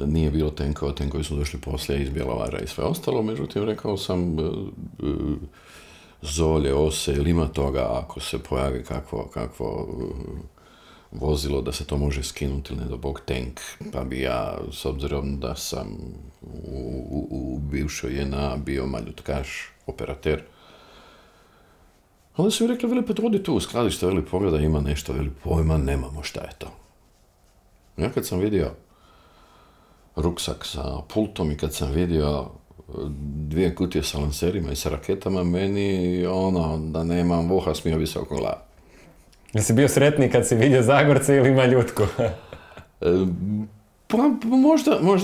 nije bilo tenkova, tenkovi su došli poslije iz Bjelovara i sve ostalo, međutim rekao sam zolje, ose, ili ima toga ako se pojavi kakvo vozilo da se to može skinuti ili ne do bog tank, pa bi ja, s obzirom da sam u bivšoj JNA bio maljutkaš, operater, onda su mi rekli, veli, pa odi tu u skladište, veli, pogleda, ima nešto, veli, pojma, nemamo, šta je to. Ja kad sam vidio ruksak sa pultom i kad sam vidio 2 kutije sa lanserima i sa raketama, meni, da nemam voha, smio bi se oko glave. Jesi bio sretniji kad si vidio Zagorce ili maljutku? Pa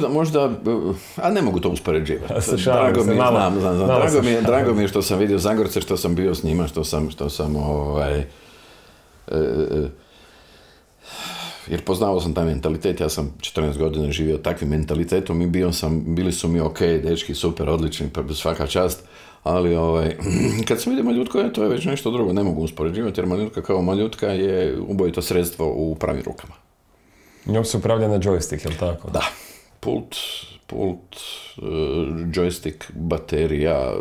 možda, a ne mogu to uspoređivati. Drago mi je što sam vidio Zagorce, što sam bio s njima, što sam jer poznao sam taj mentalitet, ja sam 14 godina živio takvim mentalitetom i bili su mi ok, dečki, super, odlični, pa svaka čast, ali kad sam vidio maljutku, to je već nešto drugo, ne mogu uspoređivati, jer maljutka kao maljutka je ubojito sredstvo u pravim rukama. Njom se upravlja na joystick, je li tako? Da. Pult, joystick, baterija,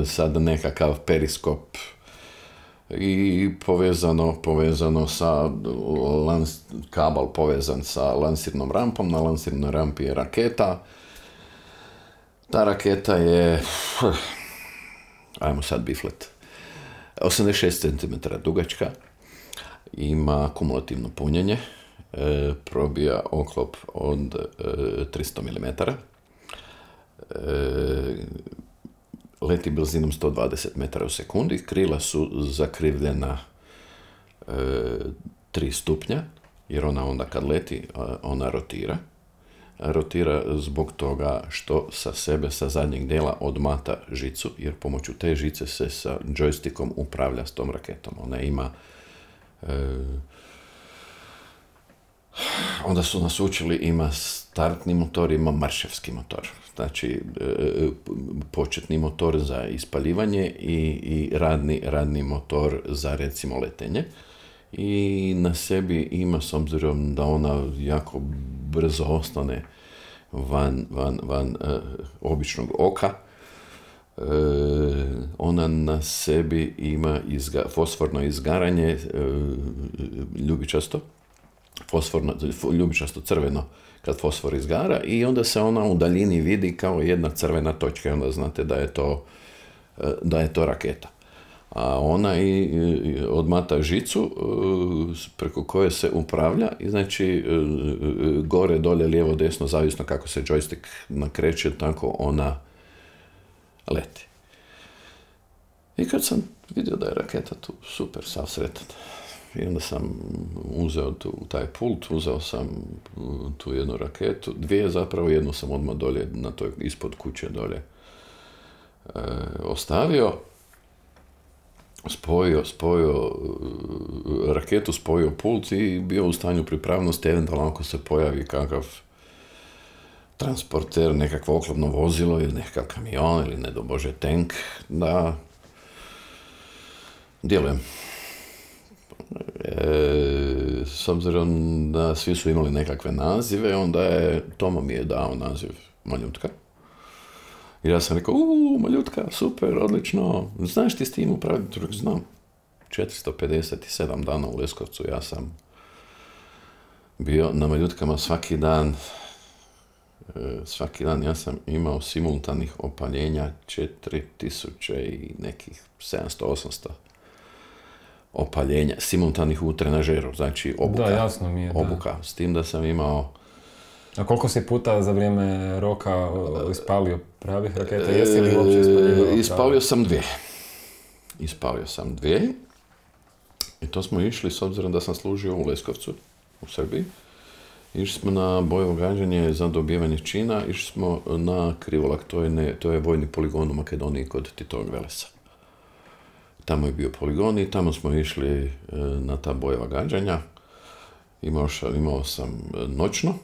sad nekakav periskop i povezano sa kabel povezan sa lansirnom rampom, na lansirnoj rampi je raketa. Ta raketa je, ajmo sad biflet, 86 cm dugačka, ima kumulativno punjenje, probija oklop od 300 mm, leti brzinom 120 metara u sekundi, krila su zakrivljena 3 stupnja, jer ona onda kad leti, ona rotira. Rotira zbog toga što sa sebe, sa zadnjeg dijela odmata žicu, jer pomoću te žice se sa joystickom upravlja s tom raketom. Ona ima onda su nas učili, ima startni motor, ima marševski motor. Znači, početni motor za ispaljivanje i radni motor za, recimo, letenje. I na sebi ima, s obzirom da ona jako brzo ostane van običnog oka, ona na sebi ima fosforno izgaranje, ljubičasto crveno kad fosfor izgara, i onda se ona u daljini vidi kao jedna crvena točka i onda znate da je to raketa. A ona odmata žicu preko koje se upravlja i znači gore, dolje, lijevo, desno, zavisno kako se joystick nakreće, tako ona leti. I kad sam vidio da je raketa tu, super, sav sretan. I onda sam uzeo taj pult, uzeo sam tu jednu raketu, 2 zapravo, jednu sam odmah dolje, na toj ispod kuće dolje ostavio, spojio raketu, spojio pult i bio u stanju pripravnosti, eventualno ako se pojavi kakav transporter, nekakvo oklopno vozilo ili nekakav kamion ili ne do Bože tank, da djelujem. S obzirom da svi su imali nekakve nazive, onda Tomo mi je dao naziv maljutka. I ja sam rekao, Maljutka, super, odlično, znaš ti s tim upraviti? Znam, 457 dana u Leskovcu, ja sam bio na Maljutkama svaki dan ja sam imao simultanih opaljenja 4000 i nekih 700-800 opaljenja, simultanih u trenažeru, znači obuka. Da, jasno mi je, obuka, s tim da sam imao... A koliko si puta za vrijeme roka ispalio pravih raketa? Jesi li uopće ispaljivao? Ispalio sam dvije. I to smo išli, s obzirom da sam služio u Leskovcu, u Srbiji. Išli smo na bojevo gađanje za dobivanje čina, išli smo na Krivolak, to je vojni poligon u Makedoniji kod Titovog Velesa. Tamo je bio poligon i tamo smo išli na ta bojeva gađanja. Imao sam noćno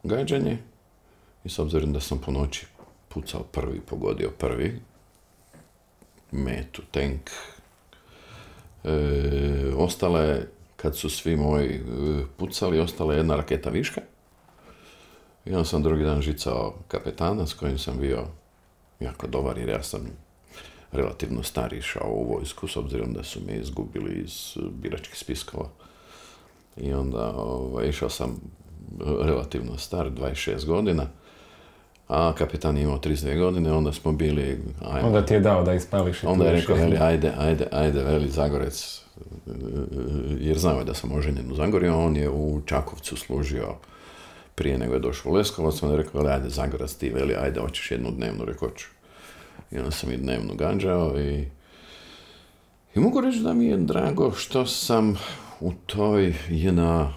gađanje i s obzirom da sam po noći pucao prvi, pogodio prvi, metu, tank, ostala je, kad su svi moji pucali, ostala je jedna raketa viška. I onda sam drugi dan žicao kapetana s kojim sam bio jako dobar, jer ja sam relativno star išao u vojsku, s obzirom da su me izgubili iz biračkih spiskova. I onda išao sam relativno star, 26 godina, a kapetan je imao 32 godine, onda smo bili... Onda ti je dao da ispališ. Onda je rekao, ajde, veli Zagorec, jer znao je da sam oženjen u Zagorju, on je u Čakovcu služio prije nego je došao u Leskovac, onda je rekao, ajde Zagorac ti, veli, ajde, hoćeš jednu dnevnu, rekao ću. I onda sam i dnevnu gađao i mogu reći da mi je drago što sam u toj JNA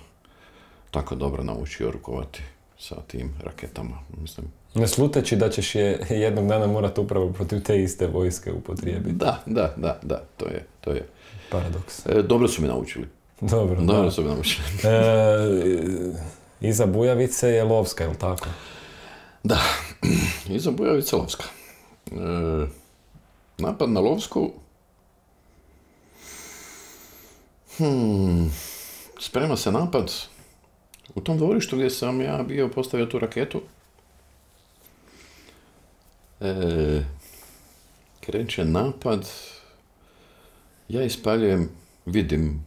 tako dobro naučio rukovati sa tim raketama, mislim. Ne sluteći da ćeš je jednog dana morati upravo protiv te iste vojske upotrijebiti. Da, to je. Paradoks. Dobro su mi naučili. Dobro su mi naučili. Iza Bujavice je Lovska, je li tako? Da, iza Bujavice Lovska. Napad na Lovsku... Sprema se napad u tom dvorištu gdje sam ja bio postavio tu raketu. Kreće napad, ja ispaljujem, vidim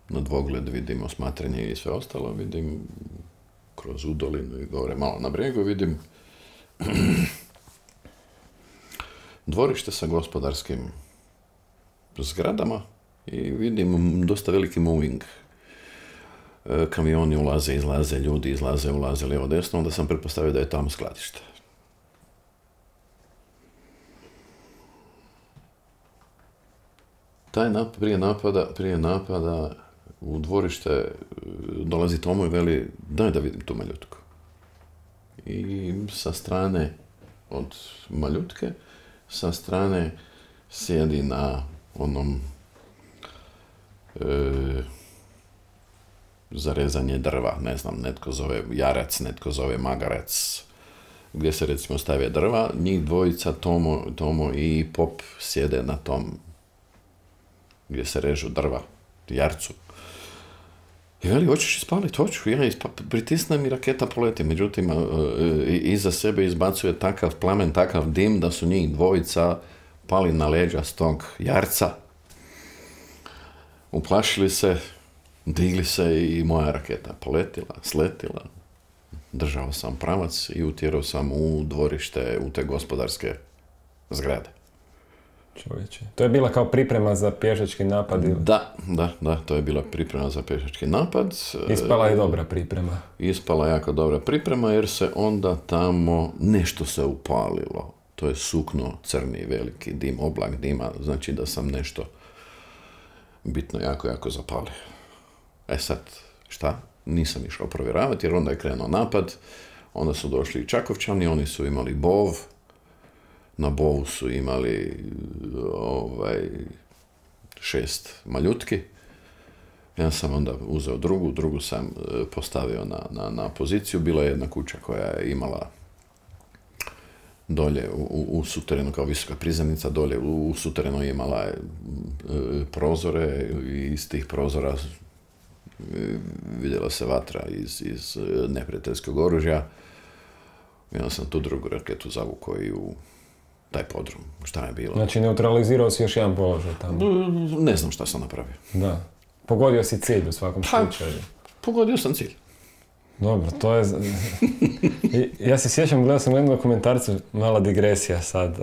na dvogled, vidim osmatranje i sve ostalo, vidim kroz udolinu i gore malo na bregu, vidim dvorište sa gospodarskim zgradama i vidim dosta veliki moving. Kamioni ulaze, izlaze, ljudi izlaze, ulaze lijevo desno, onda sam pretpostavio da je tamo skladište. Prije napada u dvorište dolazi Tomo i veli, daj da vidim tu Maljutku. I sa strane od Maljutke, sa strane sjedi na onom za rezanje drva, ne znam, netko zove jarac, netko zove magarac, gdje se recimo stave drva, njih dvojica, Tomo i Pop, sjede na tom gdje se režu drva, jarcu. I veli, hoćeš ispaliti? Hoću, ja pritisnem i raketa poleti, međutim, iza sebe izbacuje takav plamen, takav dim, da su njih dvojica pali na leđa s tog jarca, uplašili se, digli se i moja raketa poletila, sletila. Držao sam pravac i utjerao sam u dvorište, u te gospodarske zgrade. Čovječe. To je bila kao priprema za pješački napad? Ili? Da, to je bila priprema za pješački napad. Ispala je dobra priprema. Ispala jako dobra priprema jer se onda tamo nešto se upalilo. To je sukno, crni, veliki dim, oblak dima, znači da sam nešto bitno jako zapalio. Sad, šta? Nisam išao provjeravati jer onda je krenuo napad, onda su došli i Čakovčani, oni su imali bov, na bovu su imali 6 maljutki. Ja sam onda uzeo drugu sam postavio na poziciju. Bila je jedna kuća koja je imala dolje u suterenu, kao visoka prizemnica, dolje u suterenu je imala prozore i iz tih prozora vidjela se vatra iz neprijateljskog oružja. I onda sam tu drugu raketu zavukao i u taj podrum. Šta je bilo? Znači, neutralizirao si još jedan položaj tamo. Ne znam šta sam napravio. Da. Pogodio si cilj u svakom slučaju. Pogodio sam cilj. Dobro, to je... Ja se sjećam, gledao sam u jednom dokumentarcu, mala digresija sad.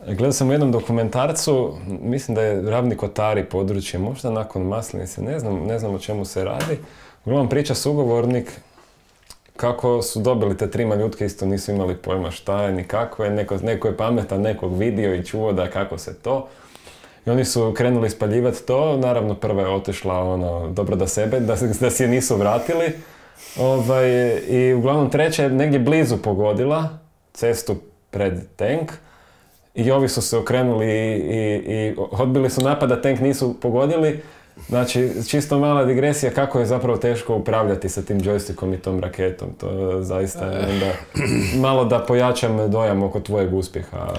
Gledao sam u jednom dokumentarcu, mislim da je Ravni Kotari područje, možda nakon Maslenice, ne znam o čemu se radi. Uglavnom priča sugovornik kako su dobili te 3 maljutke, isto nisu imali pojma šta je ni kako je, neko je pametan, nekog vidio i čuo da kako se to. I oni su krenuli spaljivati to, naravno prva je otišla dobro da sebe, da si je nisu vratili. I uglavnom treća je negdje blizu pogodila cestu pred tank i ovi su se okrenuli i odbili su napad da tank nisu pogodili. Znači, čisto mala digresija kako je zapravo teško upravljati sa tim joystickom i tom raketom. To zaista je onda malo da pojačam dojam oko tvojeg uspjeha.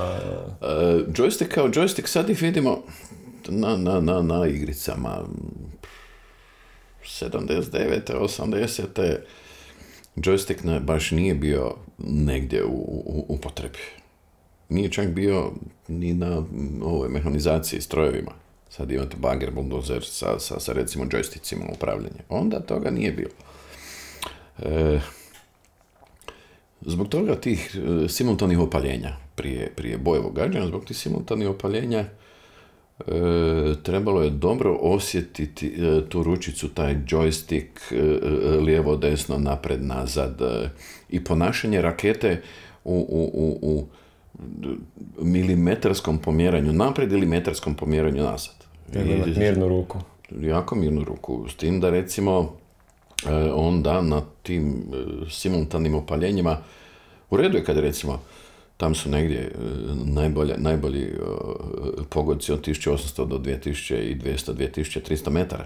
Joystick kao joystick sad ih vidimo na igricama 79. 80. Joystick baš nije bio negdje u upotrebi. Nije čak bio ni na ovoj mehanizaciji, strojevima. Sad imate bager, buldozer sa recimo joysticima upravljanja. Onda toga nije bilo. Zbog toga tih simultanih opaljenja prije bojevog gađanja, zbog tih simultanih opaljenja trebalo je dobro osjetiti tu ručicu, taj joystick, lijevo, desno, napred, nazad i ponašanje rakete u milimetarskom pomjeranju napred ili metarskom pomjeranju nazad. Mirnu ruku. Jako mirnu ruku. S tim da recimo onda na tim simultanim opaljenjima u redu je kad recimo tam su negdje najbolji pogodci od 1800 do 2200, 2300 metara.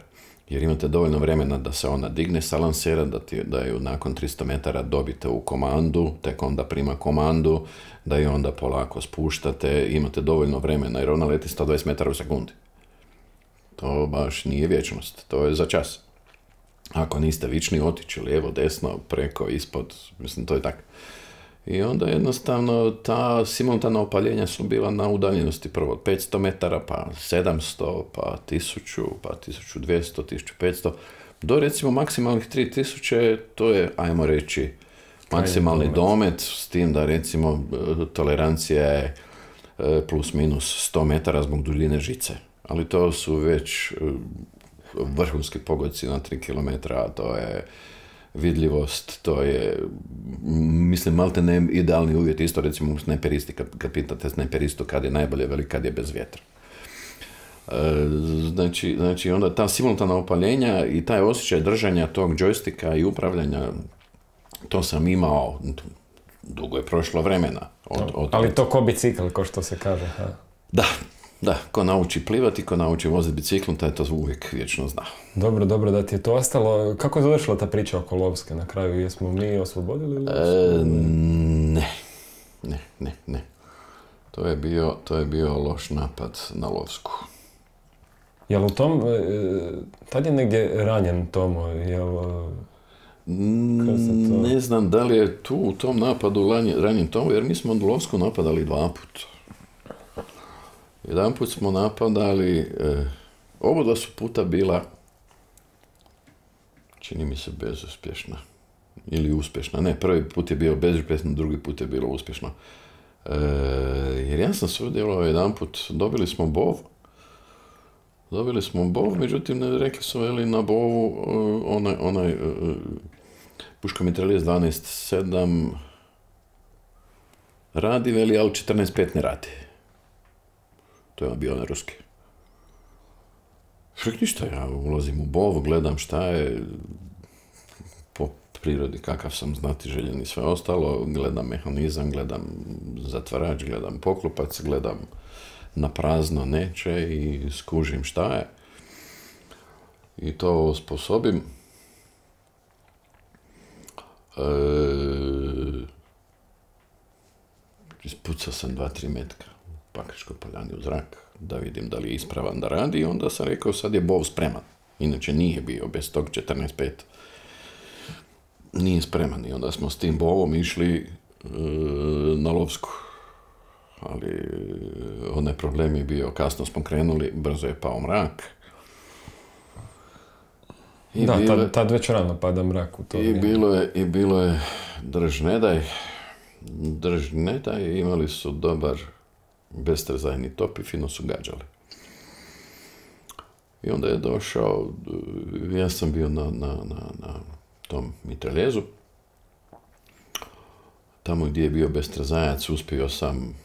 Jer imate dovoljno vremena da se ona digne sa lansera, da ju nakon 300 metara dobite u komandu, tek onda prima komandu, da ju onda polako spuštate, imate dovoljno vremena jer ona leti 120 metara u sekundi. To baš nije vječnost, to je za čas. Ako niste vični, otići lijevo, desno, preko, ispod, mislim, to je tako. I onda jednostavno ta simultana opaljenja su bila na udaljenosti prvo 500 metara, pa 700, pa 1000, pa 1200, 1500, do recimo maksimalnih 3000, to je, ajmo reći, maksimalni domet, s tim da recimo tolerancija je plus minus 100 metara zbog duljine žice. Ali to su već vrhunski pogodci na 3 km, to je vidljivost, to je, mislim, malte ne idealni uvjet, isto recimo u snajperisti, kad pitate snajperistu kad je najbolje, veli kad je bez vjetra. Znači onda ta simultana opaljenja i taj osjećaj držanja tog joysticka i upravljanja, to sam imao, dugo je prošlo vremena. Ali to ko bicikl, ko što se kaže. Ha? Da, ko nauči plivati, ko nauči voziti biciklom, taj to uvijek vječno zna. Dobro da ti je to ostalo. Kako je završila ta priča oko Lovske na kraju? Jesmo mi oslobodili Lovsku? Ne. To je bio loš napad na Lovsku. Jel u tom, tad je negdje ranjen Tomo? Ne znam da li je tu u tom napadu ranjen Tomo, jer mi smo Lovsku napadali 2 puta. Jedan put smo napadali, oba su puta bila, čini mi se, bezuspješna. Ili uspješna. Ne, prvi put je bio bezuspješno, drugi put je bilo uspješno. Jer ja sam sudjelovao jedan put, dobili smo bov, međutim, rekli su na bovu onaj puško mitraljez 12.7 radi, veli, ali 14.5 ne radi. To je bio na ruski. Ništa, ja ulazim u bovu, gledam šta je, po prirodi kakav sam znati željen i sve ostalo, gledam mehanizam, gledam zatvarač, gledam poklopac, gledam na prazno neće i skužim šta je. I to osposobim. Ispucao sam 2-3 metka u Pakračkoj poljani u zrak, da vidim da li je ispravan da radi, i onda sam rekao sad je bov spreman. Inače nije bio bez tog 14.5. nije spreman i onda smo s tim bovom išli na Lovsku. Ali onaj problem je bio, kasno smo krenuli, brzo je pao mrak. Tad već rano pada mrak u to vrijeme. I bilo je drž ne daj, imali su dobar bestrezajni top i fino su gađali. I onda je došao, ja sam bio na tom mitraljezu, tamo gdje je bio bestrazajac uspio sam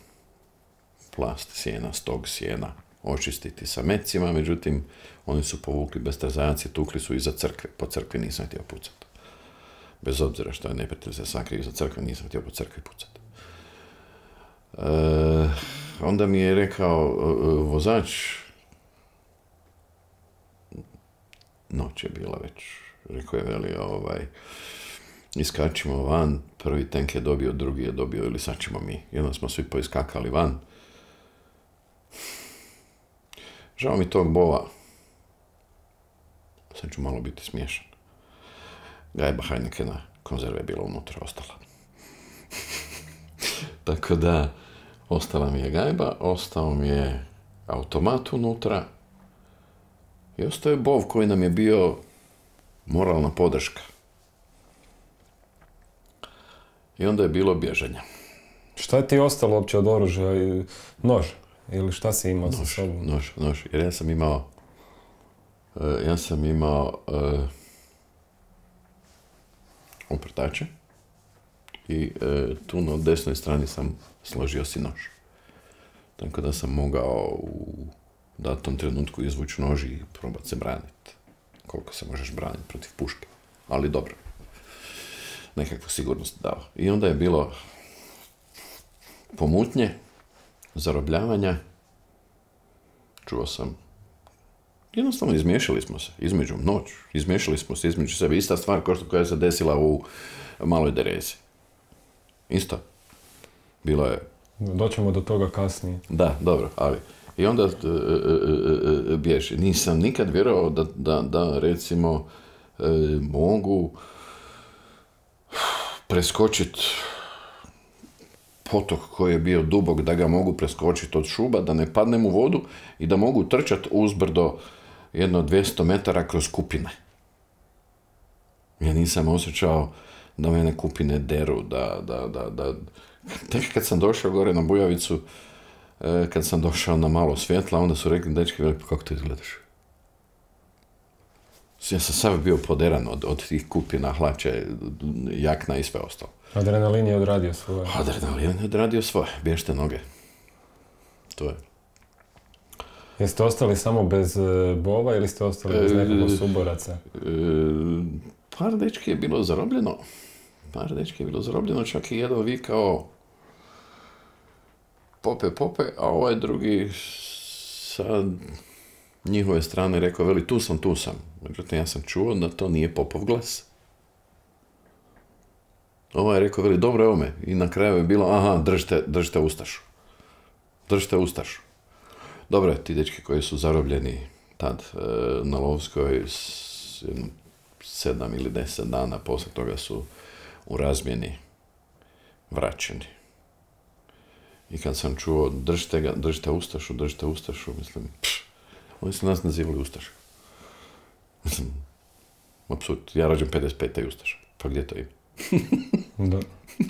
plast sjena, stog sjena očistiti sa mecima, međutim oni su povukli bestrazajac i tukli su iza crkve, po crkvi nisam htio pucati. Bez obzira što je neprijatelj se sakrio iza crkve, nisam htio po crkvi pucati. Onda mi je rekao vozač, noć je bila već, rekao je veli, iskačimo van, prvi tank je dobio, drugi je dobio ili sad ćemo mi. I onda smo svi poiskakali van. Žao mi tog bova. Sad ću malo biti smiješan. Gajba Heinekena konzerve je bila unutra, ostala. Tako da, ostala mi je gajba, ostao mi je automat unutra i ostao je bov koji nam je bio moralna podrška. I onda je bilo bježanja. Šta je ti ostalo uopće od oružja? Nož? Ili šta si imao sa sobom? Nož. Jer ja sam imao oprtače i tu na desnoj strani sam složio si nož. Tako da sam mogao u datom trenutku izvući nož i probati se braniti. Koliko se možeš braniti protiv puške. Ali dobro. Nekakvu sigurnost dao. I onda je bilo pomutnje, zarobljavanja. Čuo sam. Jednostavno izmiješali smo se između sebe. Ista stvar koja se desila u Maloj Derezi. Isto. Bilo je. Doćemo do toga kasnije. Da, dobro, ali. I onda bježi. Nisam nikad vjerovao da recimo mogu preskočiti potok koji je bio dubok, da ga mogu preskočiti od šuba, da ne padnem u vodu i da mogu trčati uzbrdo jedno 200 metara kroz kupine. Ja nisam osjećao da mene kupine deru, da... Tek kad sam došao gore na Bujavicu, kad sam došao na malo svjetla, onda su rekli, dečki, kako to izgledaš? Ja sam sav bio poderan od tih kupina, hlače, jakna i sve ostalo. Adrenalin je odradio svoje. Bježte noge. To je. Jeste ostali samo bez bova ili ste ostali bez nekog suboraca? Par dečki je bilo zarobljeno. Čak i jedan vikao pope, a ovaj drugi sa njihove strane rekao, veli, tu sam. Međutim, ja sam čuo da to nije popov glas. Ovaj je rekao, veli, dobro, evo me. I na kraju je bilo, aha, držite Ustašu. Dobro, ti dečki koji su zarobljeni tad na Lovskoj 7 ili 10 dana poslije toga su u razmjeni vraćeni. I kad sam čuo, držite Ustašu, mislim, oni su nas nazivali Ustaša. Mislim, apsurd, ja rađem 55. Ustaša, pa gdje to ima? Da.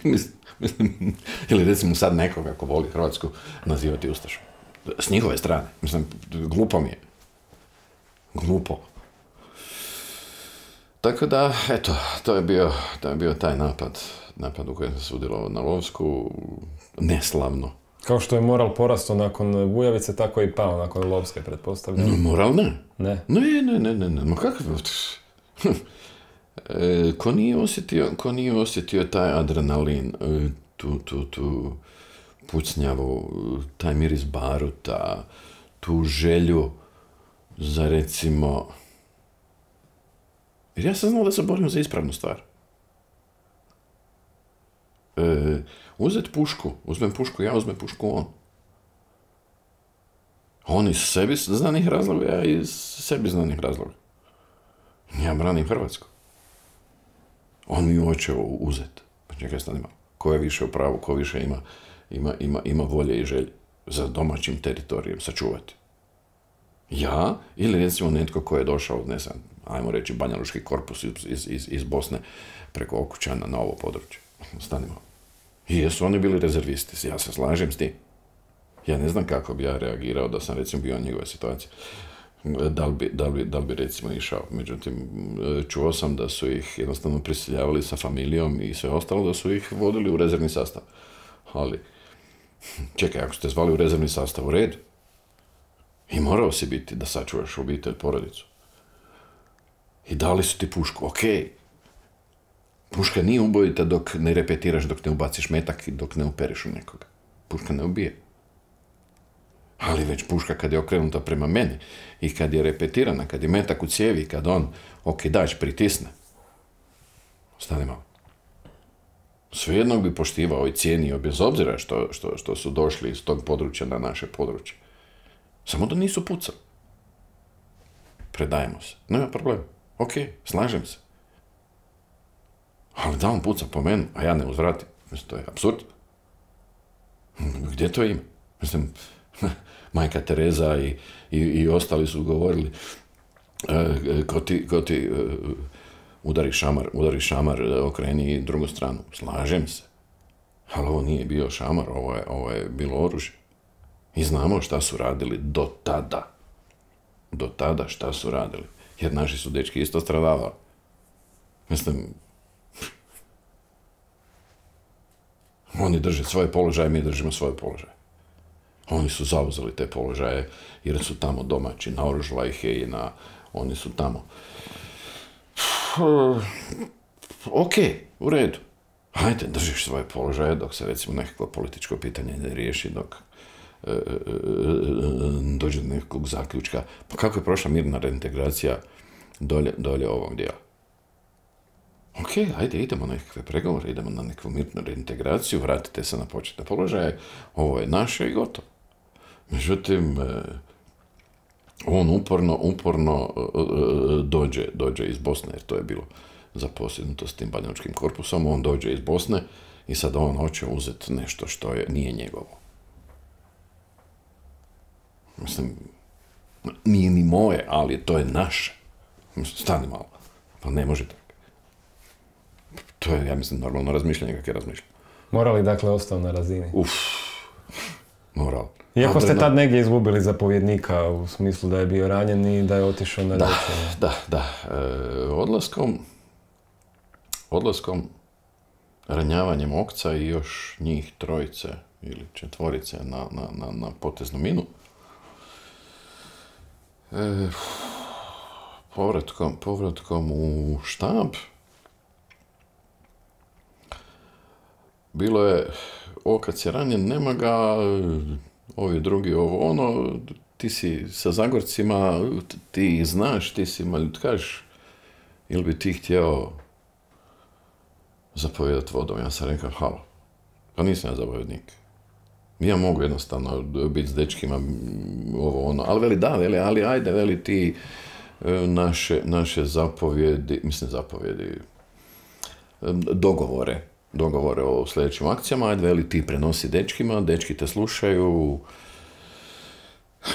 Mislim, ili recimo sad nekoga ko voli Hrvatsku nazivati Ustašom. S njihove strane. Mislim, glupo mi je. Glupo. Tako da, eto, to je bio taj napad u kojem sam sudjelovao na Lovsku, neslavno. Kao što je moral porastao nakon Bujavice, tako je i pao nakon Lovske, pretpostavljam. No, moral ne. Ne? Ne. Ma kakav? Ko nije osjetio taj adrenalin, tu pucnjavu, taj miris baruta, tu želju za recimo... Jer ja sam znao da se borim za ispravnu stvar. Uzmem pušku, ja uzmem pušku on. On iz sebi znanih razloga, ja iz sebi znanih razloga. Ja branim Hrvatsku. On mi hoće uzeti. Pa čekaj, stani malo. Ko je više u pravu, ko više ima volje i želje za domaćim teritorijem sačuvati? Ja ili recimo netko ko je došao, ne znam, ajmo reći Banja Lučki korpus iz Bosne preko Okučana na ovo područje. Stani malo. I jesu oni bili rezervisti, ja se slažem s tim. Ja ne znam kako bi ja reagirao da sam recimo bio u njegove situacije. Da li bi recimo išao. Međutim, čuo sam da su ih jednostavno prisiljavali sa familijom i sve ostalo, da su ih vodili u rezervni sastav. Ali, čekaj, ako ste zvali u rezervni sastav, u redu. I morao si biti da sačuvaš obitelj, porodicu. I dali su ti pušku, okej. Puška nije ubojita dok ne repetiraš, dok ne ubaciš metak i dok ne uperiš u nekoga. Puška ne ubije. Ali već puška kad je okrenuta prema meni i kad je repetirana, kad je metak u cijevi, kad on okidač pritisne. Stani malo. Svejedno bi poštivao i cijenio, bez obzira što su došli iz tog područja na naše područje. Samo da nisu pucali. Predajemo se. Nema problema. Ok, slažem se. Ali da on puca po meni, a ja ne uzvratim. Mislim, to je apsurd. Gdje to ima? Mislim, majka Tereza i ostali su govorili ko ti udari šamar, okreni drugu stranu. Slažem se. Ali ovo nije bio šamar, ovo je bilo oružje. I znamo šta su radili do tada. Do tada šta su radili. Jer naši su dečki isto stradavali. Mislim, oni drže svoje položaje, mi držimo svoje položaje. Oni su zauzeli te položaje jer su tamo domaći, naoružala ih je i oni su tamo. Ok, u redu. Hajde, držiš svoje položaje dok se recimo nekako političko pitanje ne riješi, dok dođe do nekog zaključka. Pa kako je prošla mirna reintegracija dolje ovog dijela? Ok, ajde, idemo na nekakve pregovore, idemo na neku mirnu reintegraciju, vratite se na početne položaje, ovo je naše i gotovo. Međutim, on uporno dođe iz Bosne, jer to je bilo zaposjednuto s tim banjačkim korpusom, on dođe iz Bosne i sad on hoće uzeti nešto što nije njegovo. Mislim, nije ni moje, ali to je naše. Stani malo, pa ne može tako. To je, ja mislim, normalno razmišljanje kako je razmišljanje. Moral je dakle ostao na razini? Moral. Iako ste tad negdje izgubili zapovjednika u smislu da je bio ranjen i da je otišao na liječenje. Da. Odlaskom, ranjavanjem Okca i još njih trojice ili četvorice na poteznu minu, povratkom u štab, bilo je, kad si ranjen, nema ga, ovi drugi, ovo ono, ti si sa Zagorcima, ti ih znaš, ti si maljutkaš, ili bi ti htio zapovjedati vodom? Ja sam rekao, halo, pa nisam ja zapovjednik. Ja mogu jednostavno biti s dečkima, ovo ono, ali veli da, ali ajde, veli ti naše zapovjedi, dogovore o sljedećim akcijama, ajde, veli ti prenosi dečkima, dečki te slušaju,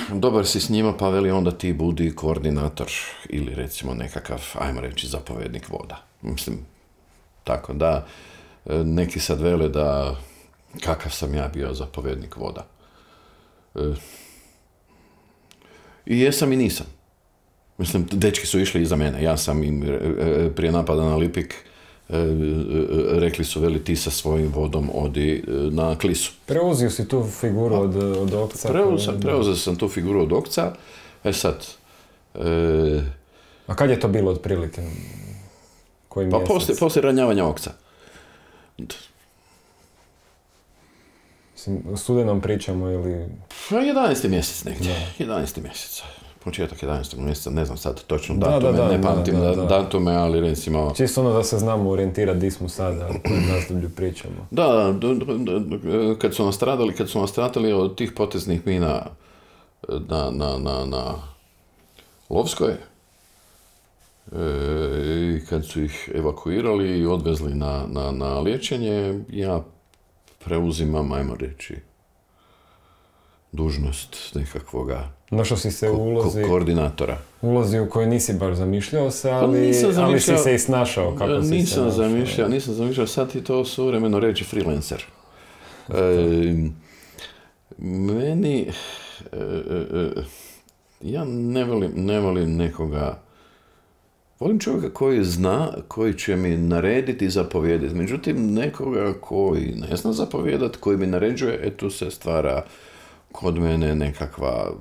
dobar si s njima, pa veli onda ti budi koordinator ili recimo nekakav, ajmo reći, zapovjednik voda. Mislim, tako da, neki sad vele da kakav sam ja bio zapovjednik voda. I jesam i nisam. Mislim, dečki su išli iza mene. Ja sam im prije napada na Lipik rekli su, veli, ti sa svojim vodom odi na Klisu. Preuzio si tu figuru od Okca? Preuzeo sam tu figuru od Okca. Sad... A kad je to bilo otprilike? Koji pa mjesec? poslije ranjavanja Okca. U studenom pričamo ili... 11. mjesec negdje. 11. mjesec. Početak 11. mjeseca, ne znam sad točno datume, ne pamtim datume, ali recimo... Čisto ono da se znamo orijentirati di smo sada, u kojem razdoblju pričamo. Da, kad su nastradali od tih poteznih mina na Lovskoj, I kad su ih evakuirali i odvezli na liječenje, ja preuzimam, ajmo reći, dužnost nekakvoga Našao si se u koordinatora. Ulozi u kojoj nisi baš zamišljao se, ali si se i snašao. Kako si nisam zamišljao, sad ti to suvremeno reći freelancer. Meni, ja ne volim nekoga, volim čovjeka koji zna, koji će mi narediti i zapovijedati. Međutim, nekoga koji ne zna zapovijedati, koji mi naređuje, tu se stvara kod mene nekakva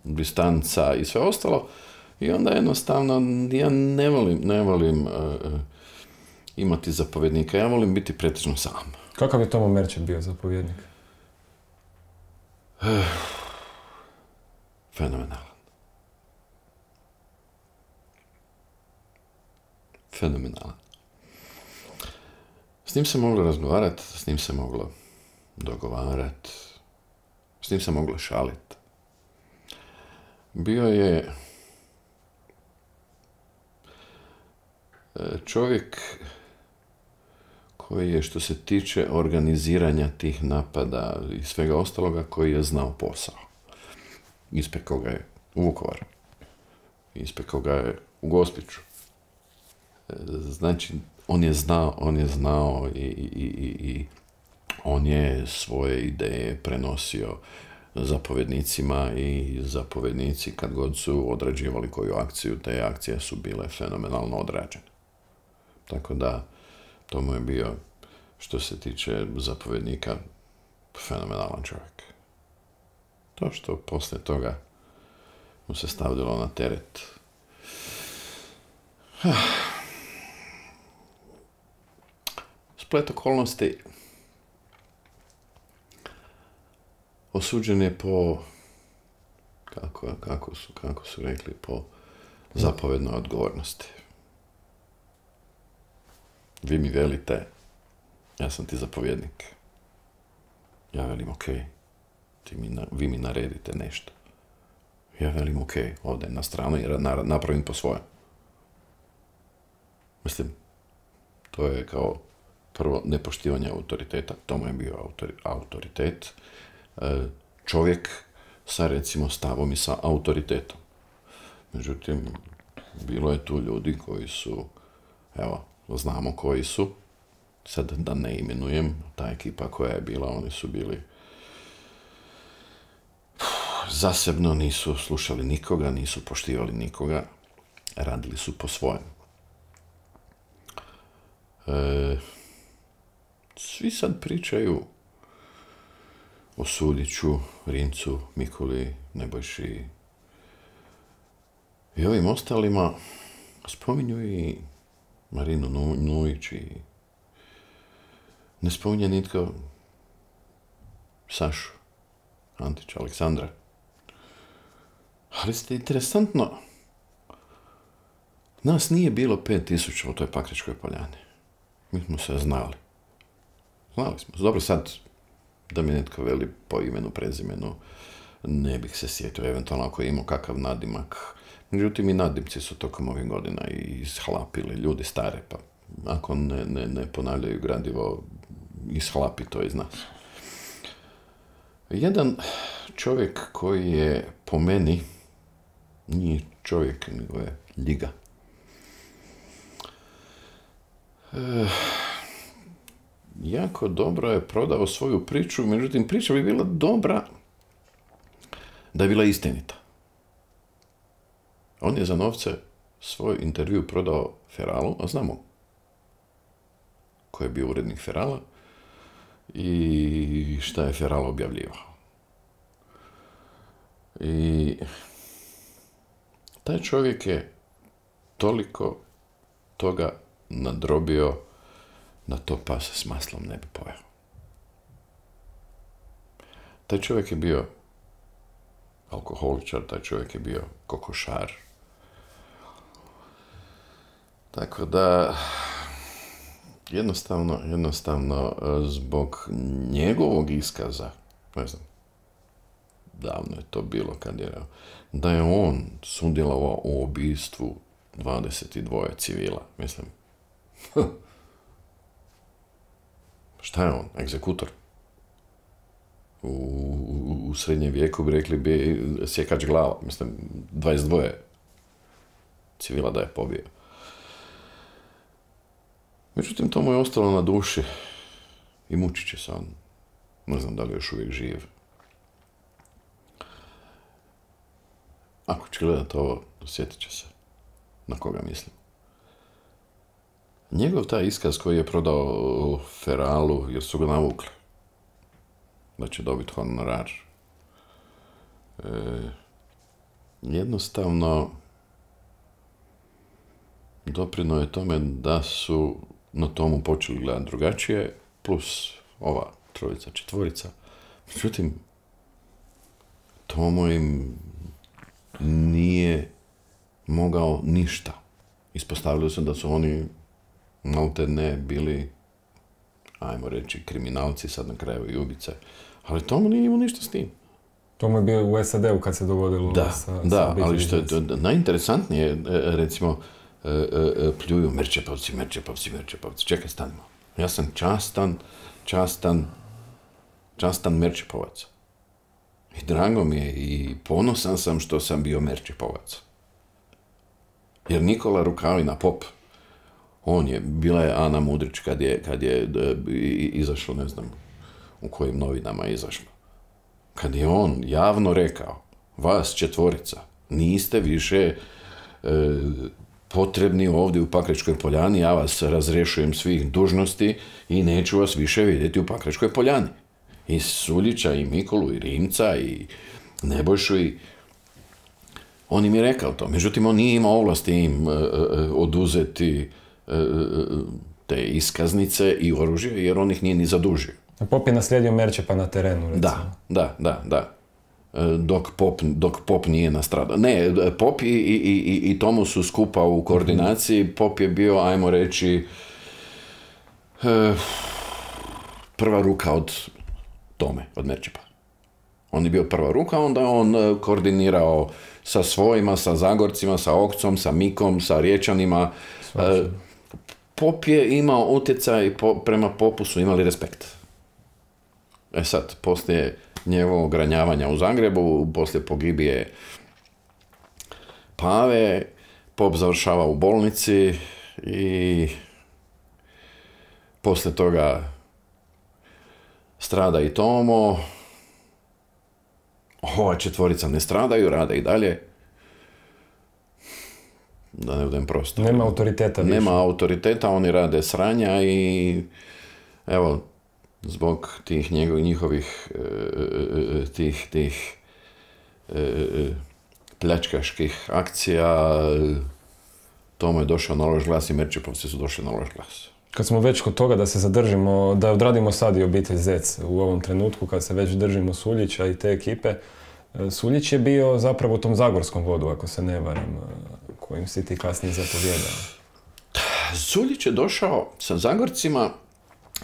distanca i sve ostalo. I onda jednostavno ja ne volim imati zapovjednika, ja volim biti pretežno sam. Kakav je Tomo Merčep bio zapovjednik? Fenomenalan. S njim se moglo razgovarati, s njim se moglo dogovarati, s njim se moglo šaliti. Bio je čovjek koji je, što se tiče organiziranja tih napada i svega ostaloga, koji je znao posao. Ispekao ga je u Vukovaru. Ispekao ga je u Gospiću. Znači, on je znao i on je svoje ideje prenosio zapovjednicima i zapovjednici kad god su odrađivali koju akciju, te akcije su bile fenomenalno odrađene. Tako da, to mu je bio, što se tiče zapovjednika, fenomenalan čovjek. To što poslije toga mu se stavljalo na teret. Splet okolnosti osuđen je po, kako su rekli, po zapovjednoj odgovornosti. Vi mi velite, ja sam ti zapovjednik. Ja velim, ok, vi mi naredite nešto. Ja velim, ok, ovdje na stranu i napravim po svojem. Mislim, to je kao prvo nepoštivanje autoriteta, to mu je bio autoritet. Čovjek sa, recimo, stavom i sa autoritetom. Međutim, bilo je tu ljudi koji su, evo, znamo koji su, sad da ne imenujem, ta ekipa koja je bila, oni su bili zasebno, nisu slušali nikoga, nisu poštivali nikoga, radili su po svojem. Svi sad pričaju o Sudiću, Rimcu, Mikuli, Nebojši i ovim ostalima. Spominju i Marinu Nujić i ne spominje nitko Sašu Antića, Aleksandra. Ali ste interesantno, nas nije bilo 5000 u toj Pakričkoj poljani. Mi smo se znali. Znali smo. Dobro, sad, da mi netko veli po imenu, prezimenu, ne bih se sjetio, eventualno ako je imao kakav nadimak. Međutim, i nadimci su tokom ovih godina ishlapili, ljudi stare, pa ako ne ponavljaju gradivo, ishlapi to iz nas. Jedan čovjek koji je, po meni, nije čovjek, nego je ljiga. Jako dobro je prodao svoju priču, međutim, priča bi bila dobra da je bila istinita. On je za novce svoj intervju prodao Feralu, a znamo ko je bio urednik Ferala i šta je Feral objavljivao. I taj čovjek je toliko toga nadrobio da to pas s maslom ne bi pojeo. Taj čovjek je bio alkoholičar, taj čovjek je bio kokošar. Tako da, jednostavno, zbog njegovog iskaza, ne znam, davno je to bilo kad je, da je on sudjelovao u ubistvu 22 civila, mislim. Šta je on? Egzekutor? U srednjem vijeku bi rekli bi sjekač glava, mislim, 22 civila da je pobio. Međutim, to mu je ostalo na duši i mučit će se on. Ne znam da li je još uvijek živ. Ako će gledat ovo, sjetit će se na koga mislim. Njegov taj iskaz koji je prodao Feralu, jer su ga navukli da će dobiti honorar, jednostavno doprino je tome da su na tomu počeli gledati drugačije, plus ova trojica, četvorica. Međutim, Tomo im nije mogao ništa. Ispostavili su da su oni malte ne bili, ajmo reći, kriminalci, sad na kraju i ubice. Ali Tomo nije imao ništa s tim. Tomo je bio u SAD-u kad se dogodilo Da, ali što je najinteresantnije, recimo, pljuju Merčepovci. Čekaj, stanimo. Ja sam častan Merčepovac. I drago mi je i ponosan sam što sam bio Merčepovac. Jer Nikola Rukavina, pop, bila je Ana Mudrić kad je izašlo, ne znam u kojim novinama je izašlo. Kad je on javno rekao, vas četvorica, niste više potrebni ovdje u Pakračkoj poljani, ja vas razrješujem svih dužnosti i neću vas više vidjeti u Pakračkoj poljani. I Suljića, i Mikolu, i Rimca, i Nebojšu, i on im je rekao to. Međutim, on nije imao ovlasti im oduzeti te iskaznice i oružje, jer on ih nije ni zadužio. Pop je naslijedio Merčepa na terenu, recimo. Da. Dok Pop nije nastradao. Ne, Pop i Tomo su skupa u koordinaciji. Pop je bio, ajmo reći, prva ruka od Tome, od Merčepa. On je bio prva ruka, onda on koordinirao sa svojima, sa Zagorcima, sa Okcom, sa Mikom, sa Riječanima. Pop je imao utjecaj, prema Popu su imali respekt. Sad, poslije njegovog ranjavanja u Zagrebu, poslije pogibije Pave, Pop završava u bolnici i poslije toga strada i Tomo. Ova četvorica ne stradaju, rade i dalje. Da ne budem prosto. Nema autoriteta više. Nema autoriteta, oni rade sranja i evo, zbog tih njihovih pljačkaških akcija Tomo je došao na loš glas i Merčepovci su došli na loš glas. Kad smo već kod toga da se zadržimo, da odradimo sad i obitelj Zec u ovom trenutku, kad se već držimo Suljića i te ekipe, Suljić je bio zapravo u tom zagorskom vodu, ako se ne varam, kojim si ti kasnije zapovjedao. Suljić je došao sa Zagorcima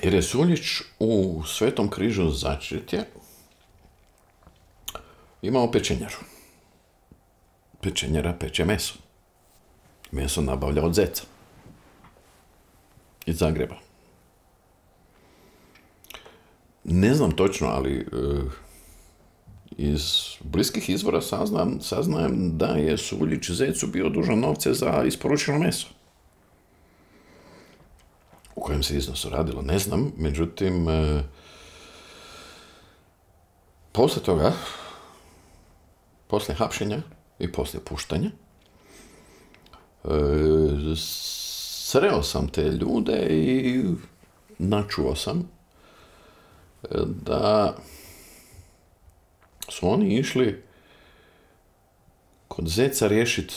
jer je Suljić u Svetom križu Začretje imao pečenjaru. Pečenjara peče meso. Meso nabavlja od Zeca. Iz Zagreba. Ne znam točno, ali iz bliskih izvora saznajem da je Suljić Zecu bio dužan novce za isporučeno meso. U kojem se iznosu radilo, ne znam. Međutim, poslije toga, poslije hapšenja i poslije puštanja, sreo sam te ljude i načuo sam da su oni išli kod Zeca riješiti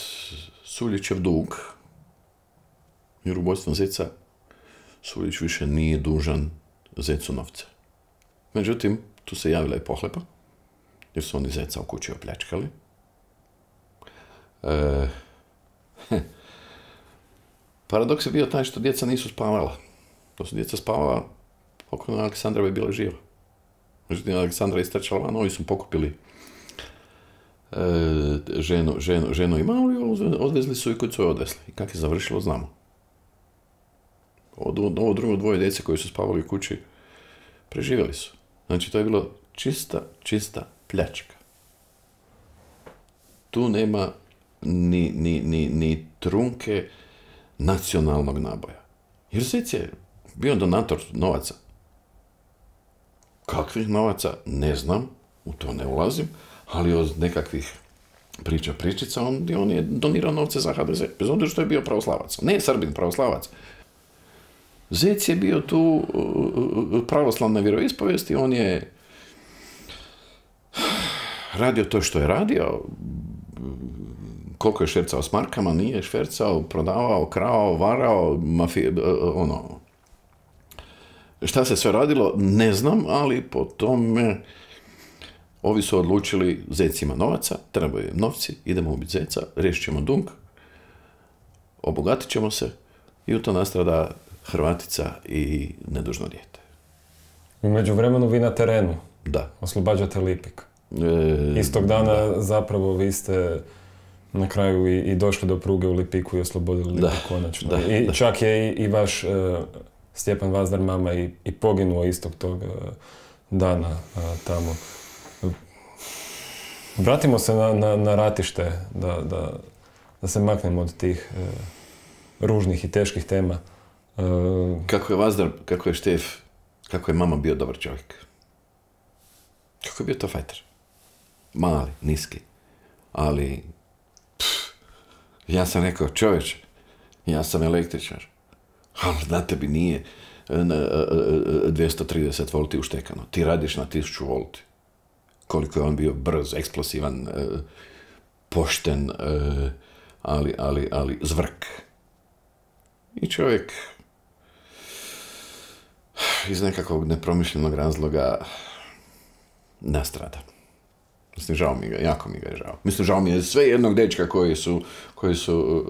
Suljićev dug, jer ubojstvom Zeca Suljić više nije dužan Zecu novce. Međutim, tu se javila i pohlepa, jer su oni Zeca u kući opljačkali. Paradoks je bio taj što djeca nisu spavala. To su djeca spavala, pokojna Aleksandra bi bila živa. Međutim, Aleksandra je istrčala van, ovi su pokupili ženu i malu i odvezli su i kod su je odvezli. I kako je završilo, znamo. Ovo drugo dvoje djece koji su spavali u kući preživjeli su. Znači, to je bilo čista pljačka. Tu nema ni trunke nacionalnog naboja. Jer Zec je bio donator novaca. Kakvih novaca? Ne znam, u to ne ulazim, ali od nekakvih pričica on je donirao novce za HDZ, bez obzira što je bio pravoslavac. Ne Srbin, pravoslavac. Zec je bio tu pravoslavne vjeroispovijesti, on je radio to što je radio, koliko je švercao s markama, nije švercao, prodavao, krao, varao, šta se sve radilo, ne znam, ali po tome ovi su odlučili, Zec ima novaca, trebaju novci, idemo ubiti Zeca, riješit ćemo dug, obogatit ćemo se i u to nastrada Hrvatica i nedužno dijete. U međuvremenu vi na terenu. Da. Oslobađate Lipik. Istog dana zapravo vi ste na kraju i došli do pruge u Lipiku i oslobodili Lipik konačno. Čak je i vaš Stjepan Vazdar mama i poginuo istog tog dana tamo. Vratimo se na ratište, da se maknemo od tih ružnih i teških tema. Kako je Vazdar, kako je Štef, kako je mama bio dobar čovjek. Kako je bio to fajter. Mali, niski. Ali, ja sam rekao, čovječe, ja sam električar. Ali na tebi nije 230 volti uštekano. Ti radiš na 1000 volti. Koliko je on bio brz, eksplosivan, pošten, ali zvrk. I čovjek iz nekakvog nepromišljenog razloga nastrada. Mislim, žao mi ga, jako mi ga je žao. Mislim, žao mi je sve jednog dečka koji su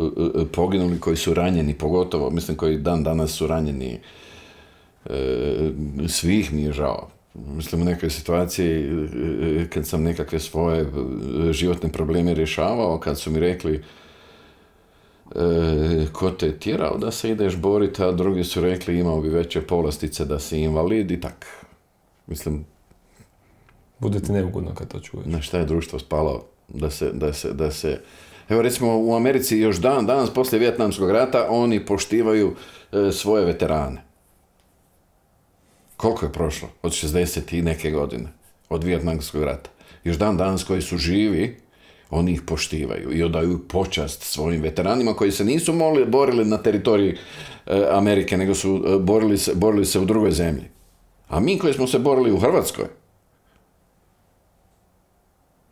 poginuli, koji su ranjeni, pogotovo, mislim, koji dan danas su ranjeni. Svih mi je žao. Mislim, u nekoj situaciji, kad sam nekakve svoje životne probleme rješavao, kad su mi rekli ko te je tjerao da se ideš boriti, a drugi su rekli imao bi veće povlastice da si invalid i tak. Mislim, bude ti neugodno kad to čuješ. Na šta je društvo spalo da se... Evo, recimo, u Americi još danas poslije Vijetnamskog rata oni poštivaju svoje veterane. Koliko je prošlo? Od 60 i neke godine. Od Vijetnamskog rata. Još danas koji su živi, oni ih poštivaju i odaju počast svojim veteranima koji se nisu borili na teritoriji Amerike, nego su borili se u drugoj zemlji. A mi koji smo se borili u Hrvatskoj,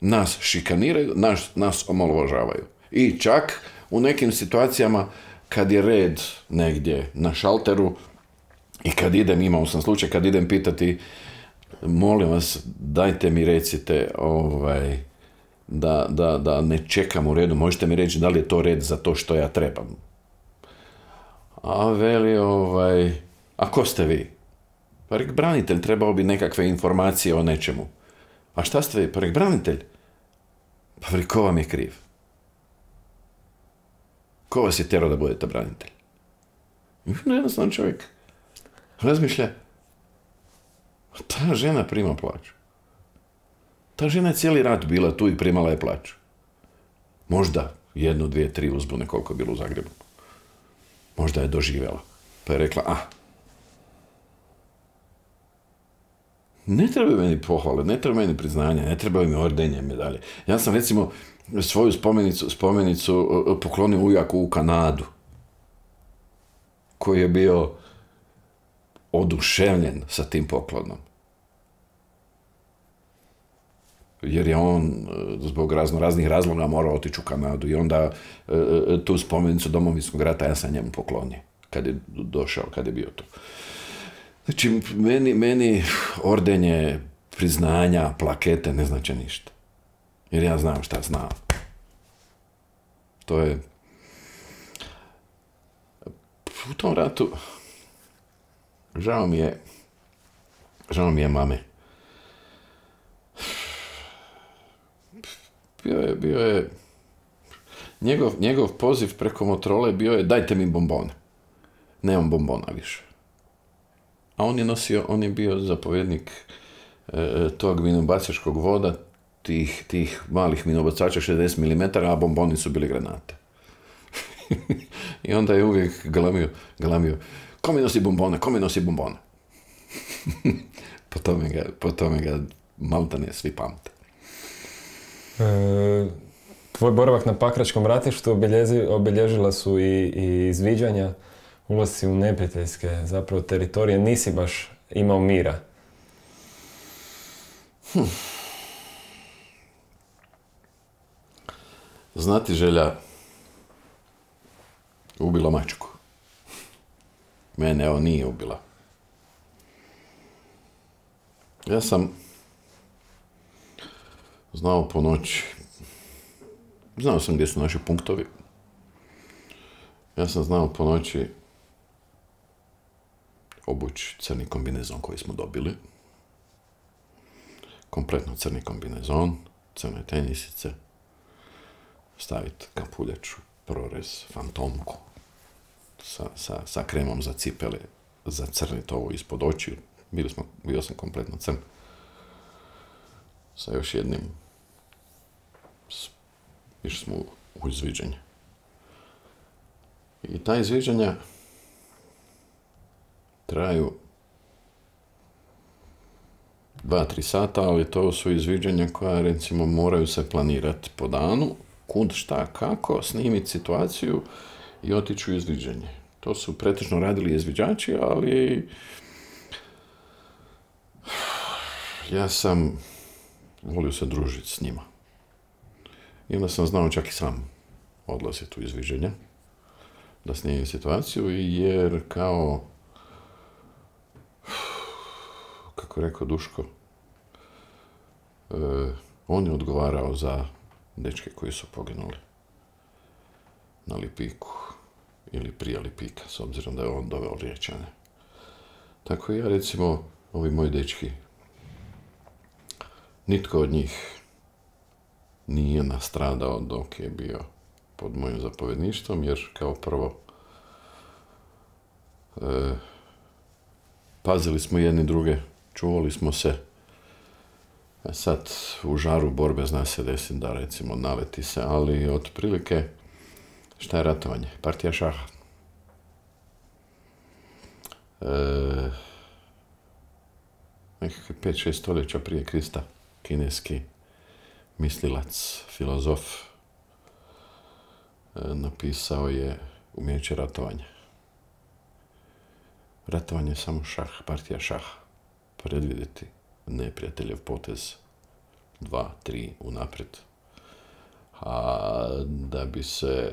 nas šikaniraju, nas omalovažavaju. I čak u nekim situacijama kad je red negdje na šalteru i kad imao sam slučaj, kad idem pitati, molim vas, dajte mi recite da ne čekam u redu, možete mi reći da li je to red za to što ja trebam. A veli, a ko ste vi? Pa rek, branitelj, trebao bi nekakve informacije o nečemu. A šta ste vi? Pa rek, branitelj. Pa veli, ko vam je kriv? Ko vas je tjerao da budete branitelj? Jednostavno čovjek razmišlja, ta žena prima plaću. Ta žena je cijeli rat bila tu i primala je plaću. Možda 1, 2, 3 uzbune koliko je bilo u Zagrebu. Možda je doživjela. Pa je rekla, ne trebaju meni pohvale, ne trebaju meni priznanja, ne trebaju mi ordenje, medalje. Ja sam recimo svoju spomenicu poklonio ujaku u Kanadu, koji je bio oduševljen sa tim poklonom. Jer je on zbog raznih razloga morao otići u Kanadu i onda tu spomenicu Domovinskog rata ja sam njemu poklonio kad je došao, kad je bio tu. Znači, meni ordenje, priznanja, plakete ne znače ništa. Jer ja znam šta znam. To je... U tom ratu žao mi je mame. bio je njegov poziv preko Motorola bio je dajte mi bombone. Nemam bombona više. A on je bio zapovjednik tog minobacačkog voda, tih malih minobacača 60 mm, a bomboni su bili granate. I onda je uvijek galamio, ko mi nosi bombone? po tome ga maltene svi pamte. Tvoj boravak na Pakračkom ratištu obilježila su i izviđanja, ulasci u neprijateljske zapravo teritorije. Nisi baš imao mira. Znati želja ubila mačku. Mene nije ubila. Ja sam znao po noći. Znao sam gdje su naši punktovi. Ja sam znao po noći obući crni kombinezon koji smo dobili. Kompletno crni kombinezon, crne tenisice, staviti kapuljaču, prorez, fantomku sa kremom za cipele, zacrniti ovo ispod očiju. Bio sam kompletno crn. Sa još jednim. Išli smo u izviđanje. I ta izviđanja traju 2-3 sata, ali to su izviđanja koja, recimo, moraju se planirati po danu, kud, šta, kako, snimiti situaciju i otići u izviđanje. To su pretežno radili izviđači, ali ja sam volio se družiti s njima. I onda sam znao čak i sam odlaziti u izviđenja, da snimim situaciju, jer kao, kako je rekao Duško, on je odgovarao za dečke koji su poginuli na Lipiku ili prije Lipika, s obzirom da je on doveo Riječane. Tako ja, recimo, ovi moji dečki, nitko od njih nije nastradao dok je bio pod mojim zapovjedništvom, jer kao prvo pazili smo jedni druge, čuvali smo se. A sad u žaru borbe zna se desiti da, recimo, naleti se, ali otprilike šta je ratovanje? Partija šaha. Nekakve 5-6 stoljeća prije Krista, kineski mislilac, filozof, napisao je umijeće ratovanja. Ratovanje je samo šah, partija šaha. Predvidjeti neprijateljev potez 2-3 unaprijed. A da bi se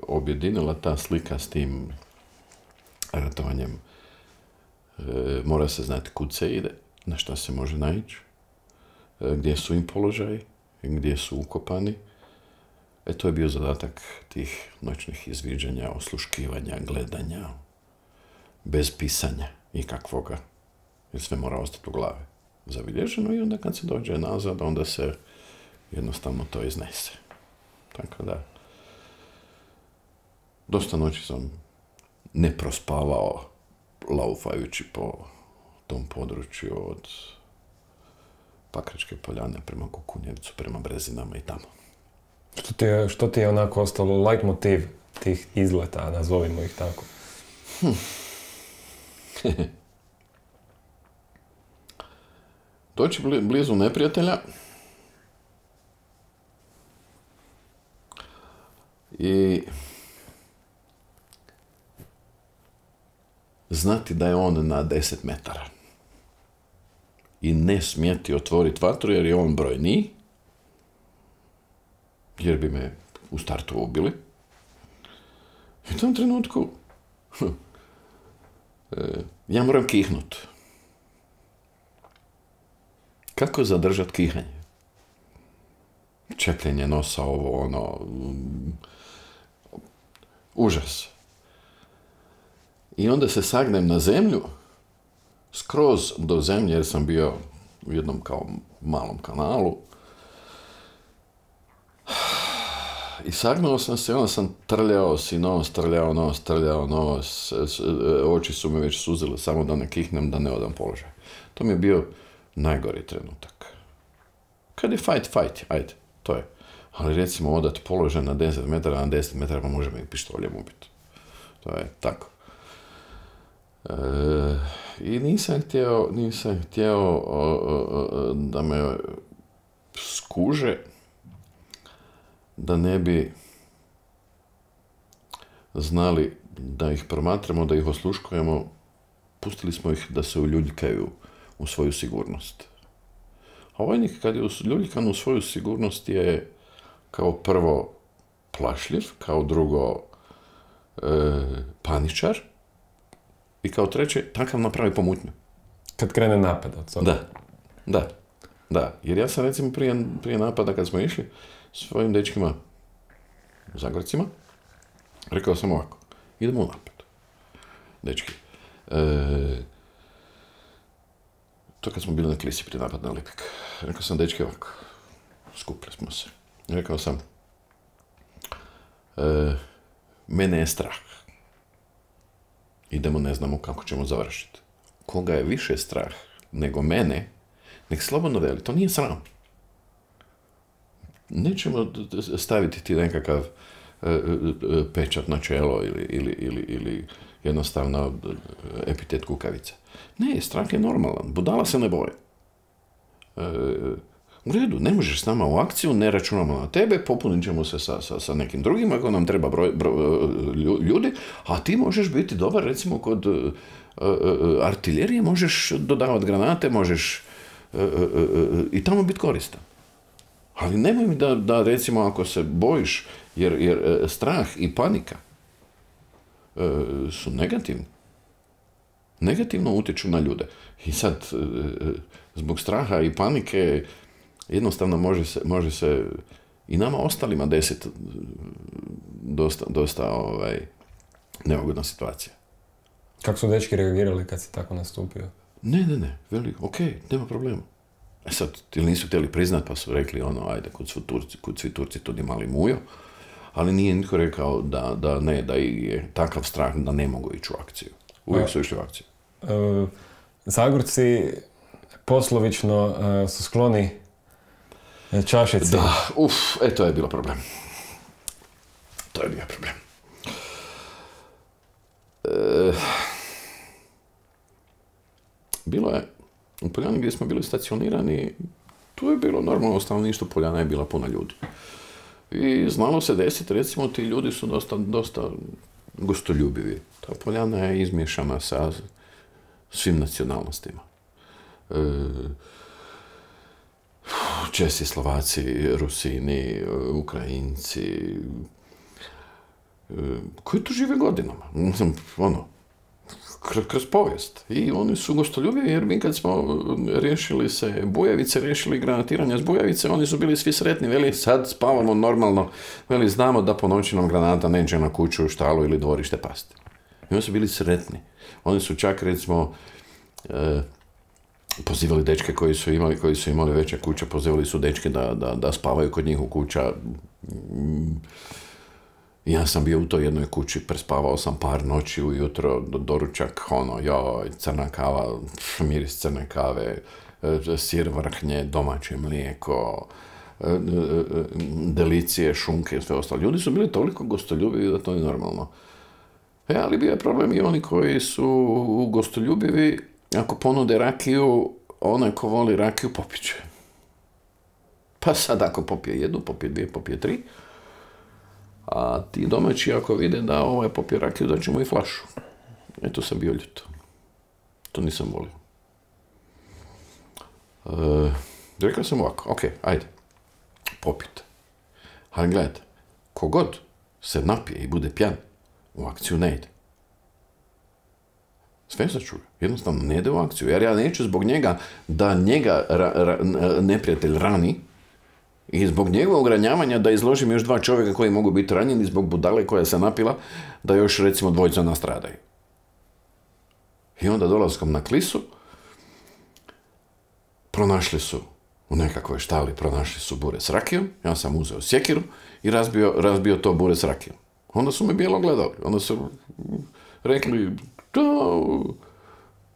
objedinila ta slika s tim ratovanjem, mora se znati kud se ide, na šta se može naići, gdje su im položaji, gdje su ukopani. To je bio zadatak tih noćnih izviđanja, osluškivanja, gledanja, bez pisanja ikakvoga, jer sve mora ostati u glavi zabilježeno i onda kad se dođe nazad, onda se jednostavno to iznese. Tako da, dosta noći sam ne prospavao laufajući po tom području od Pakračke poljane prema Kukunjevcu, prema Brezinama i tamo. Što ti je onako ostalo leitmotiv tih izleta, nazovimo ih tako? Doći blizu neprijatelja i znati da je on na 10 metara i ne smjeti otvoriti vatru jer je on brojniji, jer bi me u startu ubili. I u tom trenutku ja moram kihnut. Kako zadržati kihanje? Čepljenje nosa, ovo, ono, užas. I onda se sagnem na zemlju, skroz do zemlje, jer sam bio u jednom kao malom kanalu. I sagnuo sam se, onda sam trljao si nos, trljao nos, oči su me već suzile, samo da ne kihnem, da ne odam položaj. To mi je bio najgori trenutak. Kad je fight, ajde, to je. Ali recimo odat položaj na 10 metara, na 10 metara pa može me i pištoljem ubiti. To je tako. I nisam htio da me skuže, da ne bi znali da ih promatramo, da ih osluškujemo. Pustili smo ih da se uljuljkaju u svoju sigurnost. A vojnik kad je uljuljkan u svoju sigurnost je kao prvo plašljiv, kao drugo paničar i kao treće takav napravi pomutnju. Kad krene napad od toga. Da. Jer ja sam recimo prije napada kad smo išli svojim dečkima, Zagorcima, rekao sam ovako, idemo u napad. Dečki, to kad smo bili na Klisi prije napad na Lipik. Rekao sam, dečki, ovako, skupili smo se. Rekao sam, mene je strah. Idemo, ne znamo kako ćemo završiti. Koga je više strah nego mene, nek slobodno veli, to nije sram. Nećemo staviti ti nekakav pečat na čelo ili jednostavno epitet kukavica. Ne, strah je normalan. Budala se ne boje. U redu, ne možeš s nama u akciju, ne računamo na tebe, popunit ćemo se sa nekim drugim ako nam treba ljudi, a ti možeš biti dobar, recimo kod artiljerije, možeš dodavati granate, možeš i tamo biti koristan. Ali nemoj mi da recimo ako se bojiš, jer strah i panika su negativni. Negativno utječu na ljude. I sad, zbog straha i panike, jednostavno može se i nama ostalima desiti dosta neugodna situacija. Kako su dečki reagirali kad si tako nastupio? Ne, veli, ok, nema problema. Sad, ili nisu htjeli priznat, pa su rekli, ajde, kud svi Turci, tudi mali mujo, ali nije nitko rekao da je takav strah da ne mogu ići u akciju. Uvijek su išli u akciju. Zagorci poslovično su skloni čašici. Da, to je bilo problem. To je bio problem. Bilo je, u Poljani gdje smo bili stacionirani, tu je bilo normalno stanovništvo, Poljana je bila puna ljudi. I znalo se desiti, recimo, ti ljudi su dosta gostoljubivi. Ta Poljana je izmiješana sa svim nacionalnostima. Česi, Slovaci, Rusini, Ukrajinci, koji tu žive godinama. Kroz povijest. I oni su gostoljubivi jer mi kad smo riješili se Bujavice, riješili granatiranje s Bujavice, oni su bili svi sretni, veli sad spavamo normalno, veli znamo da po noći nam granata neće na kuću, štalu ili dvorište pasti. I oni su bili sretni. Oni su čak recimo pozivali dečke koji su imali veće kuće, pozivali su dečke da spavaju kod njih u kuća. Ja sam bio u toj jednoj kući, prespavao sam par noći ujutro, doručak, crna kava, miris crne kave, sir vrhnje, domaće mlijeko, delicije, šunke i sve ostalo. Ljudi su bili toliko gostoljubivi da to je normalno. Ali bio je problem i oni koji su gostoljubivi, ako ponude rakiju, onaj ko voli rakiju popiće. Pa sad ako popije jednu, popije dvije, popije tri, a ti domaći ako vide da ovaj popije rakiju, da ćemo i flašu. Eto sam bio ljut. To nisam volio. Rekao sam ovako, ok, ajde, popite. Ali gledajte, kogod se napije i bude pjan, u akciju ne ide. Sve se čuje. Jednostavno ne ide u akciju. Jer ja neću zbog njega da njega neprijatelj rani i zbog njegovog ranjavanja da izložim još 2 čovjeka koji mogu biti ranjeni zbog budale koja se napila da još recimo 2 nastradaju. I onda dolaskom na Klisu pronašli su u nekakvoj štali, pronašli su bure s rakijom, ja sam uzeo sjekiru i razbio to bure s rakijom. Onda su me bijelo gledali. Onda su rekli,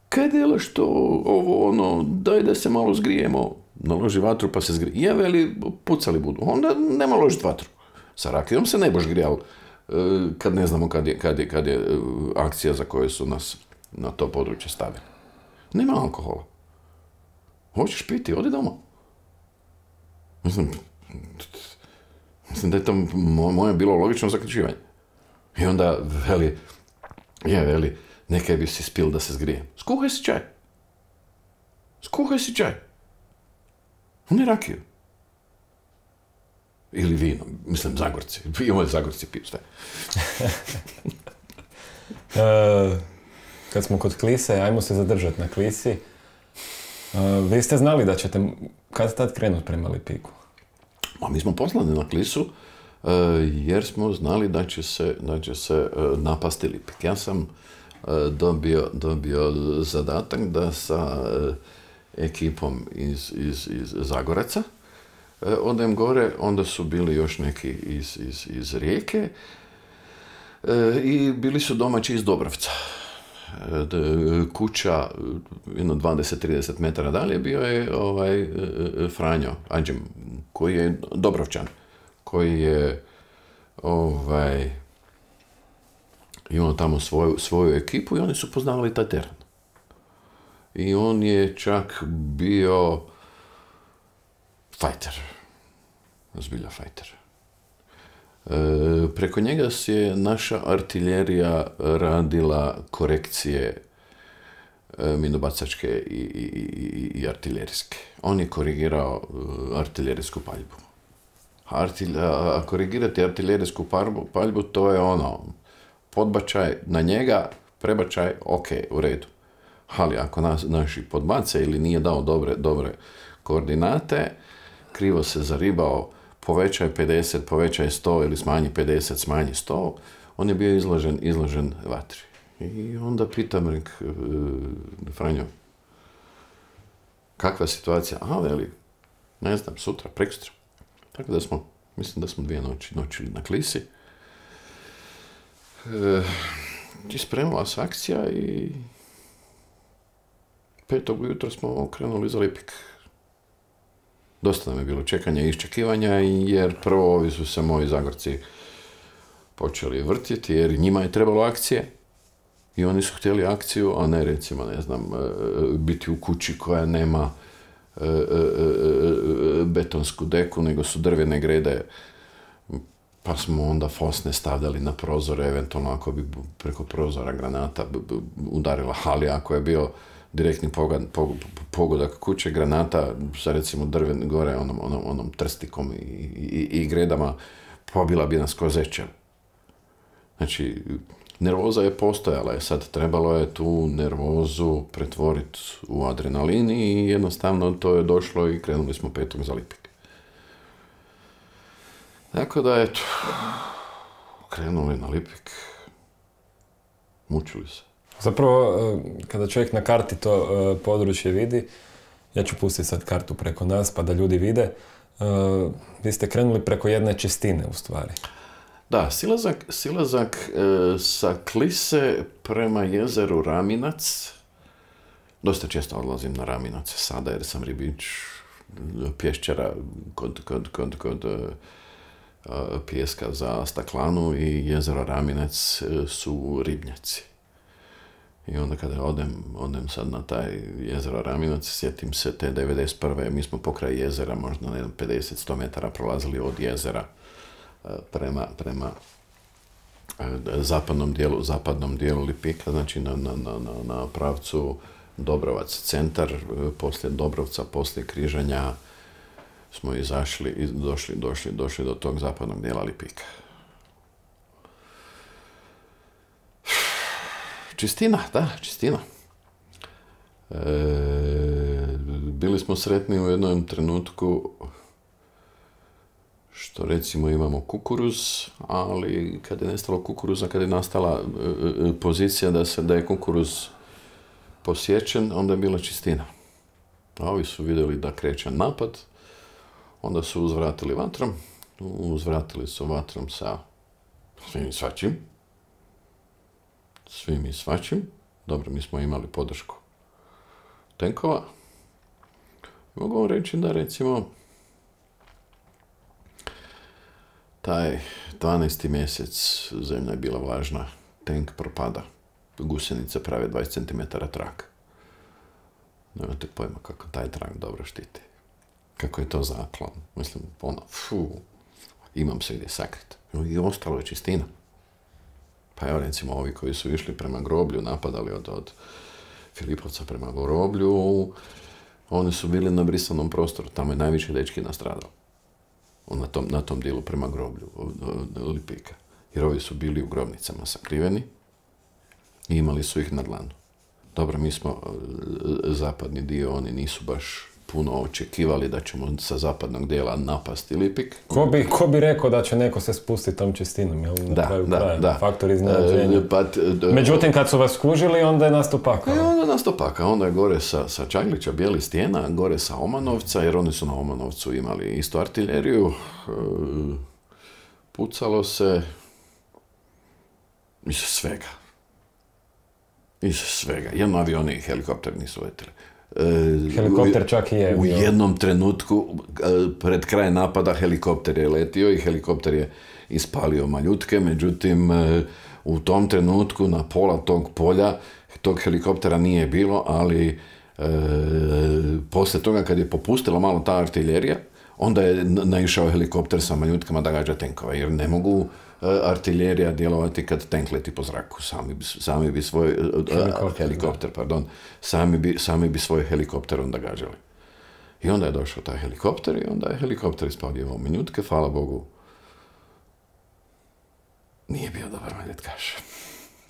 kaj delaš to, ovo, ono, daj da se malo zgrijemo. Naloži vatru pa se zgrije. Je, veli, pucali budu. Onda nema ložiti vatru. Sa rakijom se ne boš grijal kad ne znamo kad je akcija za koju su nas na to područje stavili. Nema alkohola. Hoćeš piti, odi doma. Mislim da je to moje bilo logično zaključivanje. I onda veli, nekaj bi si spil da se zgrije. Skuhaj si čaj. Ne rakiju. Ili vino, mislim Zagorci. Zagorci piju sve. Kad smo kod Klise, ajmo se zadržati na Klisi. Vi ste znali da ćete kad tad krenuti prema Lipiku? Mi smo poslani na Klisu jer smo znali da će se napasti Lipik. Ja sam dobio zadatak da sa ekipom iz Zagoraca odem gore, onda su bili još neki iz Rijeke i bili su domaći iz Dobrovca. Kuća, jedno 20-30 metara dalje, bio je Franjo Anđem, koji je Dobrovčan, koji je imao tamo svoju ekipu i oni su poznavali taj teren. I on je čak bio fajter. Zbilja fajter. Preko njega je naša artiljerija radila korekcije minobacačke i artiljerijske. On je korigirao artiljerijsku paljbu. A korigirati artiljerijsku paljbu, to je podbačaj na njega, prebačaj, ok, u redu. Ali ako naši podbace ili nije dao dobre koordinate, krivo se zaribao, povećaj 50, povećaj 100 ili smanji 50, smanji 100, on je bio izložen vatri. I onda pitam Franjo, kakva je situacija? Veli, ne znam, sutra, prekosutra. Tako da mislim da smo 2 noći na Klisi. I spremila se akcija i 5. ujutro smo krenuli za Lipik. Dosta nam je bilo čekanja i iščekivanja, jer prvo ovi su se moji Zagorci počeli vrtjeti, jer njima je trebalo akcije. I oni su htjeli akciju, a ne recimo, ne znam, biti u kući koja nema betonsku deku, nego su drvene grede. Pa smo onda fosne stavljali na prozore, eventualno ako bi preko prozora granata udarila, ali ako je bio direktni pogodak kuće, granata sa recimo drven gore, onom trstikom i gredama, pobila bi nas ko zečev. Znači, nervoza je postojala, sad trebalo je tu nervozu pretvoriti u adrenalin i jednostavno to je došlo i krenuli smo 5. za Lipik. Tako da, eto, krenuli na Lipik, mučili se. Zapravo, kada čovjek na karti to područje vidi, ja ću pustiti sad kartu preko nas pa da ljudi vide, vi ste krenuli preko jedne čistine u stvari. Da, silazak sa Klise prema jezeru Raminac. Dosta često odlazim na Raminac sada jer sam ribič pješčara kod pijeska za Staklanu i jezero Raminac su ribnjaci. I onda kada odem sad na taj jezero Raminac, sjetim se te 91. Mi smo pokraj jezera, možda na 50-100 metara prolazili od jezera prema zapadnom dijelu Lipika, znači na pravcu Dobrovac centar, poslije Dobrovca, poslije križanja smo izašli i došli do tog zapadnog dijela Lipika. Čistina, da, čistina. Bili smo sretni u jednom trenutku što recimo imamo kukuruz, ali kad je nestalo kukuruza, kad je nastala pozicija da je kukuruz posječen, onda je bila čistina. A ovi su vidjeli da kreće napad, onda su uzvratili vatrom uzvratili su vatrom sa svim i svačim. Dobro, mi smo imali podršku tenkova. Mogu vam reći da, recimo, taj 12. mjesec zemlja je bila vlažna, tenk propada, gusjenice prave 20 cm trak. Nemate pojma kako taj trak dobro štiti. Kako je to zaklon. Mislim, imam se gdje sakriti. I ostalo je čistina. Pa evo, recimo, ovi koji su išli prema groblju, napadali od Filipovca prema groblju, oni su bili na brisanom prostoru. Tamo je najviše dečki nastradao. Na tom dijelu prema groblju Lipika. Jer ovi su bili u grobnicama sakriveni i imali su ih na dlanu. Dobro, mi smo zapadni dio, oni nisu baš puno očekivali da ćemo sa zapadnog dijela napasti Lipik. Ko bi rekao da će neko se spustiti tom čistinom, jel? Da. Faktor iznenađenja. Međutim, kad su vas skužili, onda je nastao pakao. Onda je gore sa Čaglića, Bijeli stijena, gore sa Omanovca, jer oni su na Omanovcu imali isto artiljeriju. Pucalo se iz svega. Jedno avioni i helikopter nisu letili. Helikopter čak i je. U jednom trenutku, pred kraj napada, helikopter je letio i helikopter je ispalio maljutke, međutim, u tom trenutku na pola tog polja tog helikoptera nije bilo, ali poslije toga kad je popustila malo ta artiljerija, onda je naišao helikopter sa maljutkama da gađa tenkova, jer ne mogu artiljerija djelovati kad tank leti po zraku. Sami bi svoj helikopter onda gađali. I onda je došao taj helikopter i onda je helikopter ispalio minutke, hvala Bogu. Nije bio dobar maljutkaš.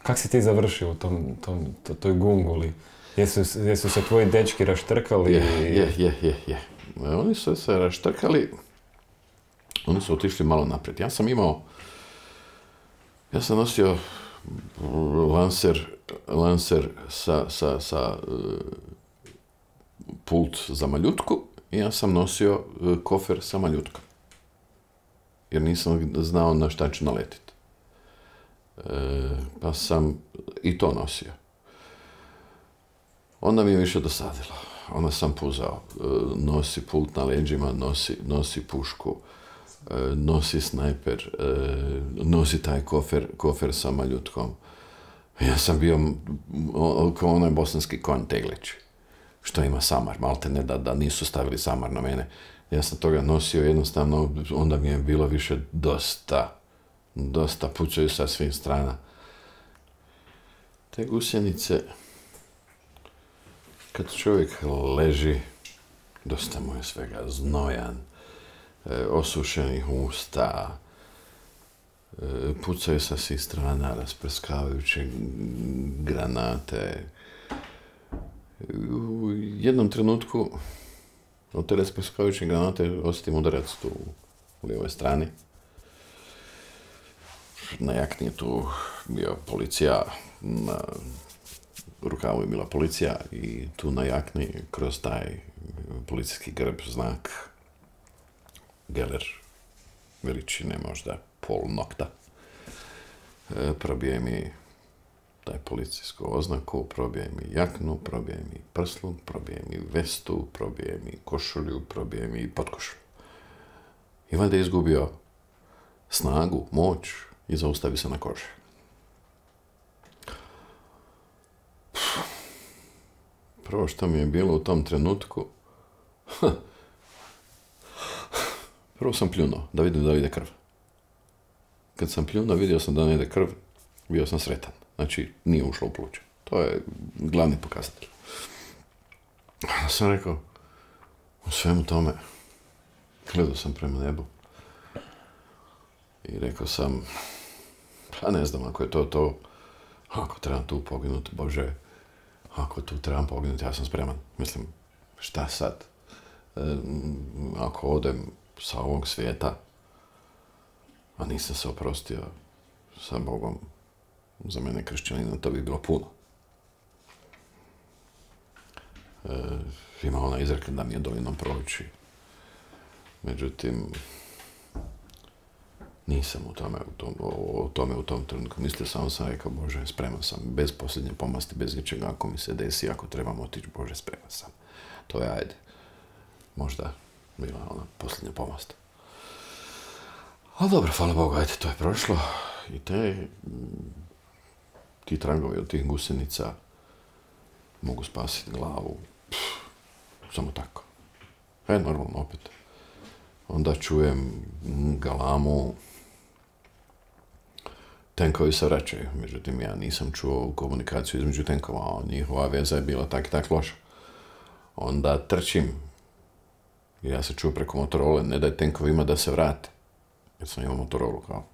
Kak si ti završio u toj gunguli? Jesu se tvoji dečki raštrkali? Je. Oni su se raštrkali, oni su otišli malo naprijed. Ja sam nosio lancer sa pult za maljutku i ja sam nosio kofer sa maljutkom. Jer nisam znao na šta ću naletiti. Pa sam i to nosio. Onda mi je više dosadilo. Onda sam puzao. Nosi pult na leđima, nosi pušku, nosi snajper, nosi taj kofer sa maljutkom. Ja sam bio kao onaj bosanski konj Teglić, što ima samar, malte ne da nisu stavili samar na mene. Ja sam toga nosio jednostavno, onda mi je bilo više dosta pucaju sa svih strana. Te gusjenice, kad čovjek leži, dosta mu je svega znojan, osušenih usta, pucaju sa svih strana, rasprskavajuće granate. U jednom trenutku od te rasprskavajuće granate osjetim udarac tu u lijevoj strani. Na jakni je tu bio policija, na rukavu je bila policija i tu na jakni kroz taj policijski grb znak Geller veličine možda pol nokta. Probije mi taj policijsku oznaku, probije mi jaknu, probije mi prsluk, probije mi vestu, probije mi košulju, probije mi potkošulju. I valjda je izgubio snagu, moć i zaustavi se na koži. Prvo što mi je bilo u tom trenutku, prvo sam pljunuo da vidim da li ide krv. Kad sam pljunuo, vidio sam da ne ide krv, bio sam sretan. Znači, nije ušlo u pluće. To je glavni pokazatelj. Ja sam rekao, u svemu tome, gledao sam prema nebu i rekao sam, pa ne znam, ako je to, ako trebam tu poginuti, Bože, ako tu trebam poginuti, ja sam spreman. Mislim, šta sad? Ako odem sa ovog svijeta, a nisam se oprostio sa Bogom, za mene kršćanina, to bi bilo puno. Ima ona izreka da mi je dovoljno proći. Međutim, Nisam o tome u tom trenutku mislio, samo sam rekao, Bože, spreman sam, bez posljednje pomasti, bez ničega, ako mi se desi, ako trebam otići, Bože, spreman sam. To je, ajde, možda bila ona posljednja pomast. Ali dobro, hvala Bogu, ajde, to je prošlo. I ti tragovi od tih gusenica mogu spasiti glavu. Samo tako. Normalno, opet. Onda čujem galamu. Tenkovi se vraćaju, međutim ja nisam čuo komunikaciju između tenkova, a njihova veza je bila tak i tak loša. Onda trčim, ja se čuo preko Motorole, ne daj tenkovima da se vrate, jer sam imao Motorolu kao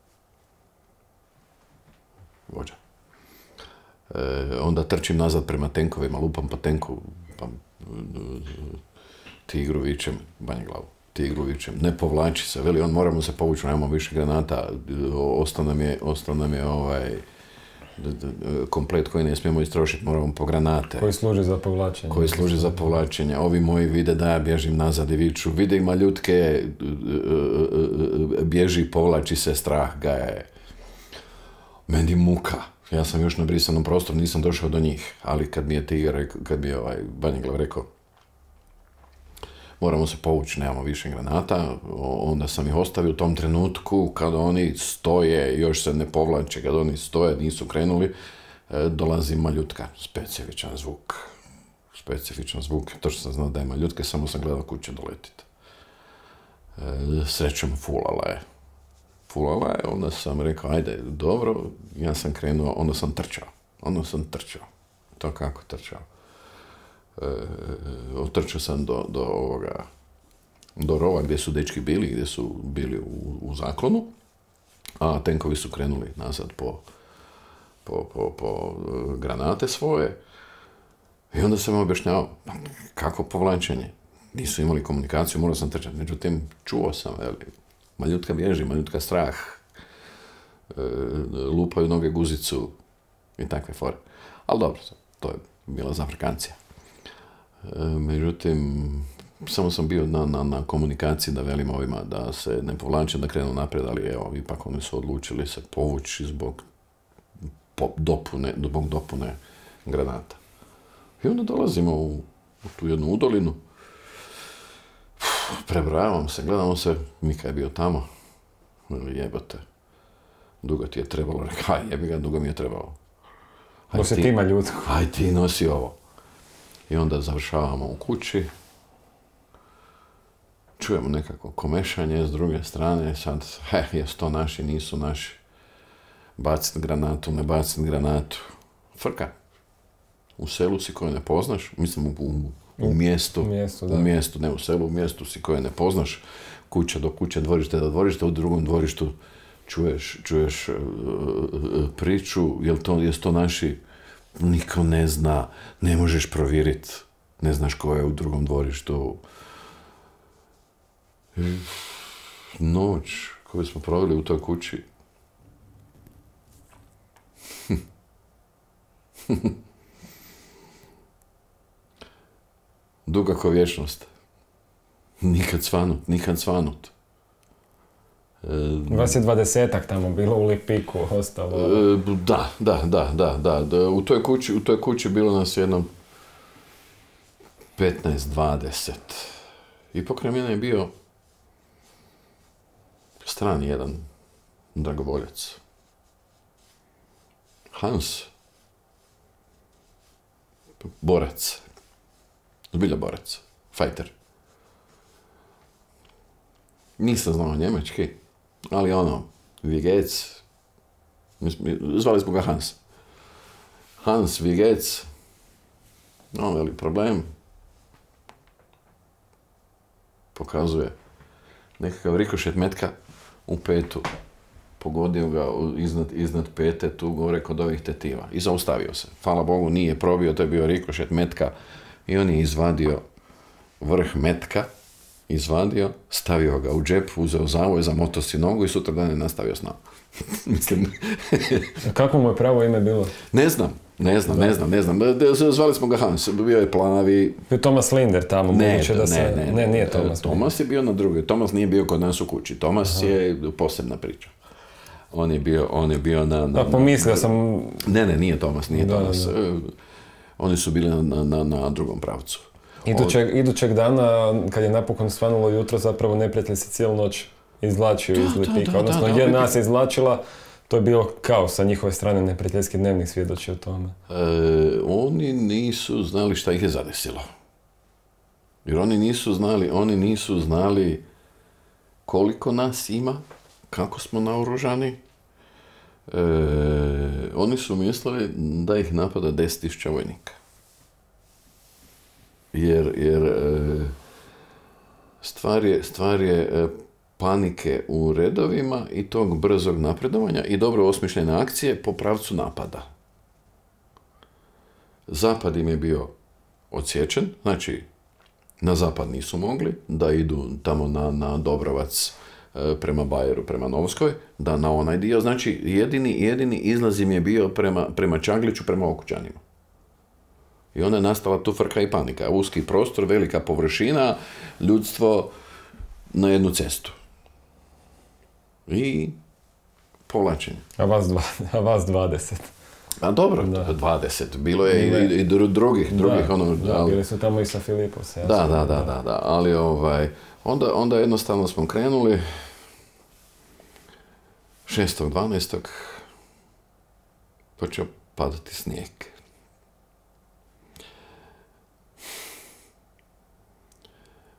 vođa. Onda trčim nazad prema tenkovima, lupam po tenku, pa Tigru vičem, Banja Glavu. Tigru vičem, ne povlači se, veli on, moramo se povući, nemamo više granata, ostao nam je komplet koji ne smijemo istrošiti, moramo po granate. Koji služi za povlačenje. Koji služi za povlačenje. Ovi moji vide da ja bježim nazad i viču, vide ima ljutke, bježi, povlači se, strah ga je. Meni muka. Ja sam još na brisanom prostoru, nisam došao do njih, ali kad mi je Tigar, kad mi je Banja Glav rekao, moramo se povući, nemamo više granata, onda sam ih ostavio u tom trenutku, kada oni stoje, još se ne povlače, kada oni stoje, nisu krenuli, dolazi maljutka, specifičan zvuk, to što sam znao da je maljutke, samo sam gledao kuće doletiti. Srećom fulala je, onda sam rekao, ajde, dobro, ja sam krenuo, onda sam trčao, to kako trčao. Otrčao sam do rova gdje su dečki bili, gdje su bili u zaklonu, a tenkovi su krenuli nazad po granate svoje. I onda sam objašnjavao kako povlačenje. Nisu imali komunikaciju, morao sam trčati. Međutim, čuo sam, maljutka bježi, maljutka strah, lupaju noge guzicu i takve fore. Ali dobro, to je bila zafrkancija. Međutim, samo sam bio na komunikaciji da velim ovima da se ne povlače, da krenu naprijed, ali evo, ipak oni su odlučili se povući zbog dopune granata. I onda dolazimo u tu jednu udolinu, prebrojavam se, gledamo se, Mika je bio tamo, jebote, dugo ti je trebalo, rekao, jebi ga, dugo mi je trebalo. Nosi ti maljutku. Aj ti nosi ovo. I onda završavamo u kući, čujemo nekako komešanje s druge strane, sad, jesu to naši, nisu naši, bacit granatu, ne bacit granatu, frka. U selu si koje ne poznaš, mislim u mjestu, ne u selu, u mjestu si koje ne poznaš, kuća do kuće, dvorište do dvorišta, u drugom dvorištu čuješ priču, jesu to naši, niko ne zna, ne možeš provjeriti, ne znaš ko je u drugom dvorištu. Noć koju smo proveli u toj kući, duga ko vječnost. Nikad svanut. Vas je 20-ak tamo bilo u Lipiku, ostalo? Da. U toj kući bilo nas jedno 15-20. I pokraj mene je bio strani jedan dragovoljac. Hans. Borac. Zbilja borac. Fajter. Nisam znao njemački, ali Vigec, zvali smo ga Hans. Hans Vigec, veli problem, pokazuje nekakav rikošet metka u petu, pogodio ga iznad pete, tu gore kod ovih tetiva i zaustavio se. Hvala Bogu nije probio, to je bio rikošet metka i on je izvadio vrh metka, stavio ga u džep, uzeo zavoj, zamotao si nogu i sutra dan je nastavio s nama. Mislim... Kako mu je pravo ime bilo? Ne znam. Zvali smo ga Hans, bio je plavi... Bio Thomas Linder tamo, moguće da se... Ne, nije Thomas. Thomas je bio na drugoj. Thomas nije bio kod nas u kući. Thomas je posebna priča. on je bio na... Pomislio sam... Ne, nije Tomas. Da. Oni su bili na drugom pravcu. Idućeg dana, kad je napokon svanulo jutro, zapravo neprijatelj se cijelu noć izvlačio iz Lipika. Odnosno, jedna se izvlačila, to je bilo kao sa njihove strane neprijateljski dnevnik svjedoči o tome. Oni nisu znali šta ih je zadesilo. Jer oni nisu znali koliko nas ima, kako smo naoružani. Oni su mislili da ih napada 10.000 vojnika. Jer stvar je panike u redovima i tog brzog napredovanja i dobro osmišljene akcije po pravcu napada. Zapad im je bio odsječen, znači na zapad nisu mogli, da idu tamo na Dobrovac prema Bajeru, prema Novskoj, da na onaj dio, znači jedini izlaz im je bio prema Čagliću, prema Okučanima. I onda je nastala tu frka i panika. Uski prostor, velika površina, ljudstvo na jednu cestu. I povlačenje. A vas 20. A dobro, 20. Bilo je i drugih. Bili su tamo i sa Filipovsa. Da. Ali onda jednostavno smo krenuli 6.12. počeo padati snijeg.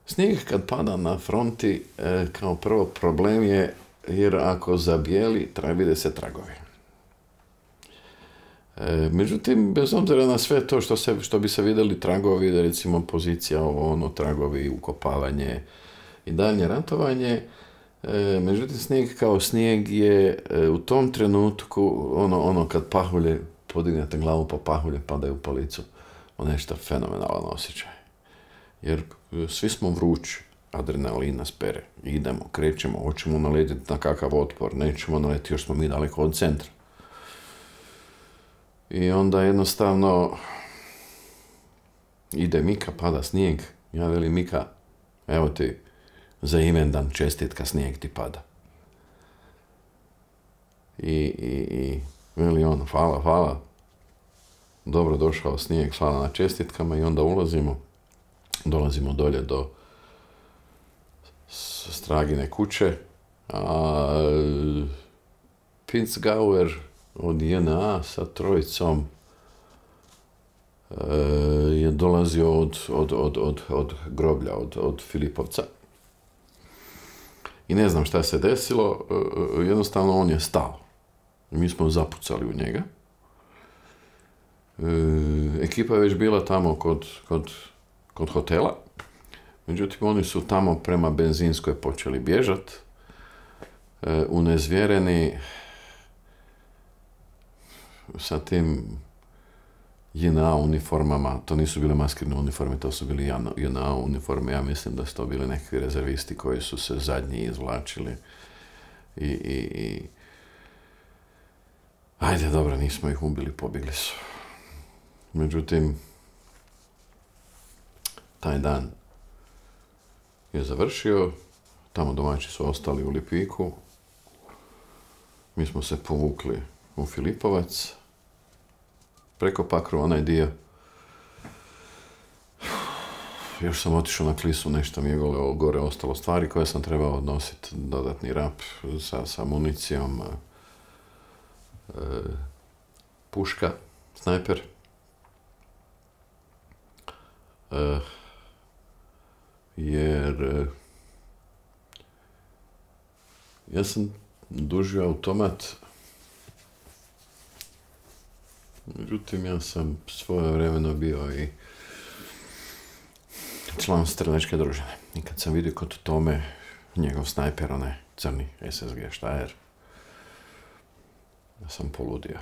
Snijeg kad pada na fronti, kao prvo problem je, jer ako zabijeli, vide se tragovi. Međutim, bez obzira na sve to što bi se vidjeli tragovi, recimo pozicija, tragovi, ukopavanje i daljnje ratovanje, međutim, snijeg kao snijeg je u tom trenutku, kad pahulje, podignete glavu pa pahulje padaju po licu, nešto fenomenalan osjećaj. Jer svi smo vrući, adrenalin nas pere, idemo, krećemo, hoćemo naletiti na kakav otpor, nećemo naletiti, još smo mi daleko od centra. I onda jednostavno ide Mika, pada snijeg, ja velim Mika, evo ti za imendan čestitka, snijeg ti pada. I veli on, hvala, dobro došao snijeg, hvala na čestitkama i onda dolazimo dolje do Stragine kuće, a Pinzgauer od JNA sa trojicom je dolazio od groblja, od Filipovca. I ne znam šta se desilo, jednostavno on je stao. Mi smo zapucali u njega. Ekipa je već bila tamo kod hotela. Međutim, oni su tamo prema benzinskoj počeli bježat. Unezvjereni sa tim JNA uniformama, to nisu bile maskirne uniforme, to su bili JNA uniforme, ja mislim da su to bili neki rezervisti koji su se zadnji izvlačili i ajde, dobro, nismo ih ubili, pobjegli su. Međutim, taj dan je završio, tamo domaći su ostali u Lipiku, mi smo se povukli u Filipovac, preko Pakru, onaj dio. Još sam otišao na Klisu, nešto mi je gore ostalo stvari koje sam trebao odnositi, dodatni rap sa municijom, puška, snajper. Jer ja sam dužio automat, međutim ja sam svojevremeno bio i član stranačke družine. I kad sam vidio kod Tome njegov snajper, onaj crni SSG Steyr, ja sam poludio.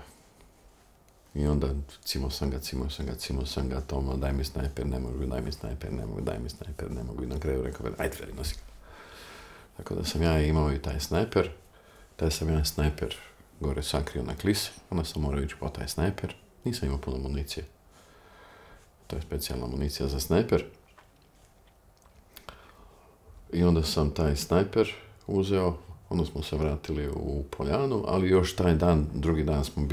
I onda cimo sam ga, Tomo, daj mi snajper, ne mogu, i na kraju rekao, ajde, nosi ga. Tako da sam ja imao i taj snajper, gore sakrio na Klisi, onda sam morao ići po taj snajper, nisam imao puno municije. To je specijalna municija za snajper. I onda sam taj snajper uzeo, Onda smo se vratili u Poljanu, ali još taj dan, drugi dan smo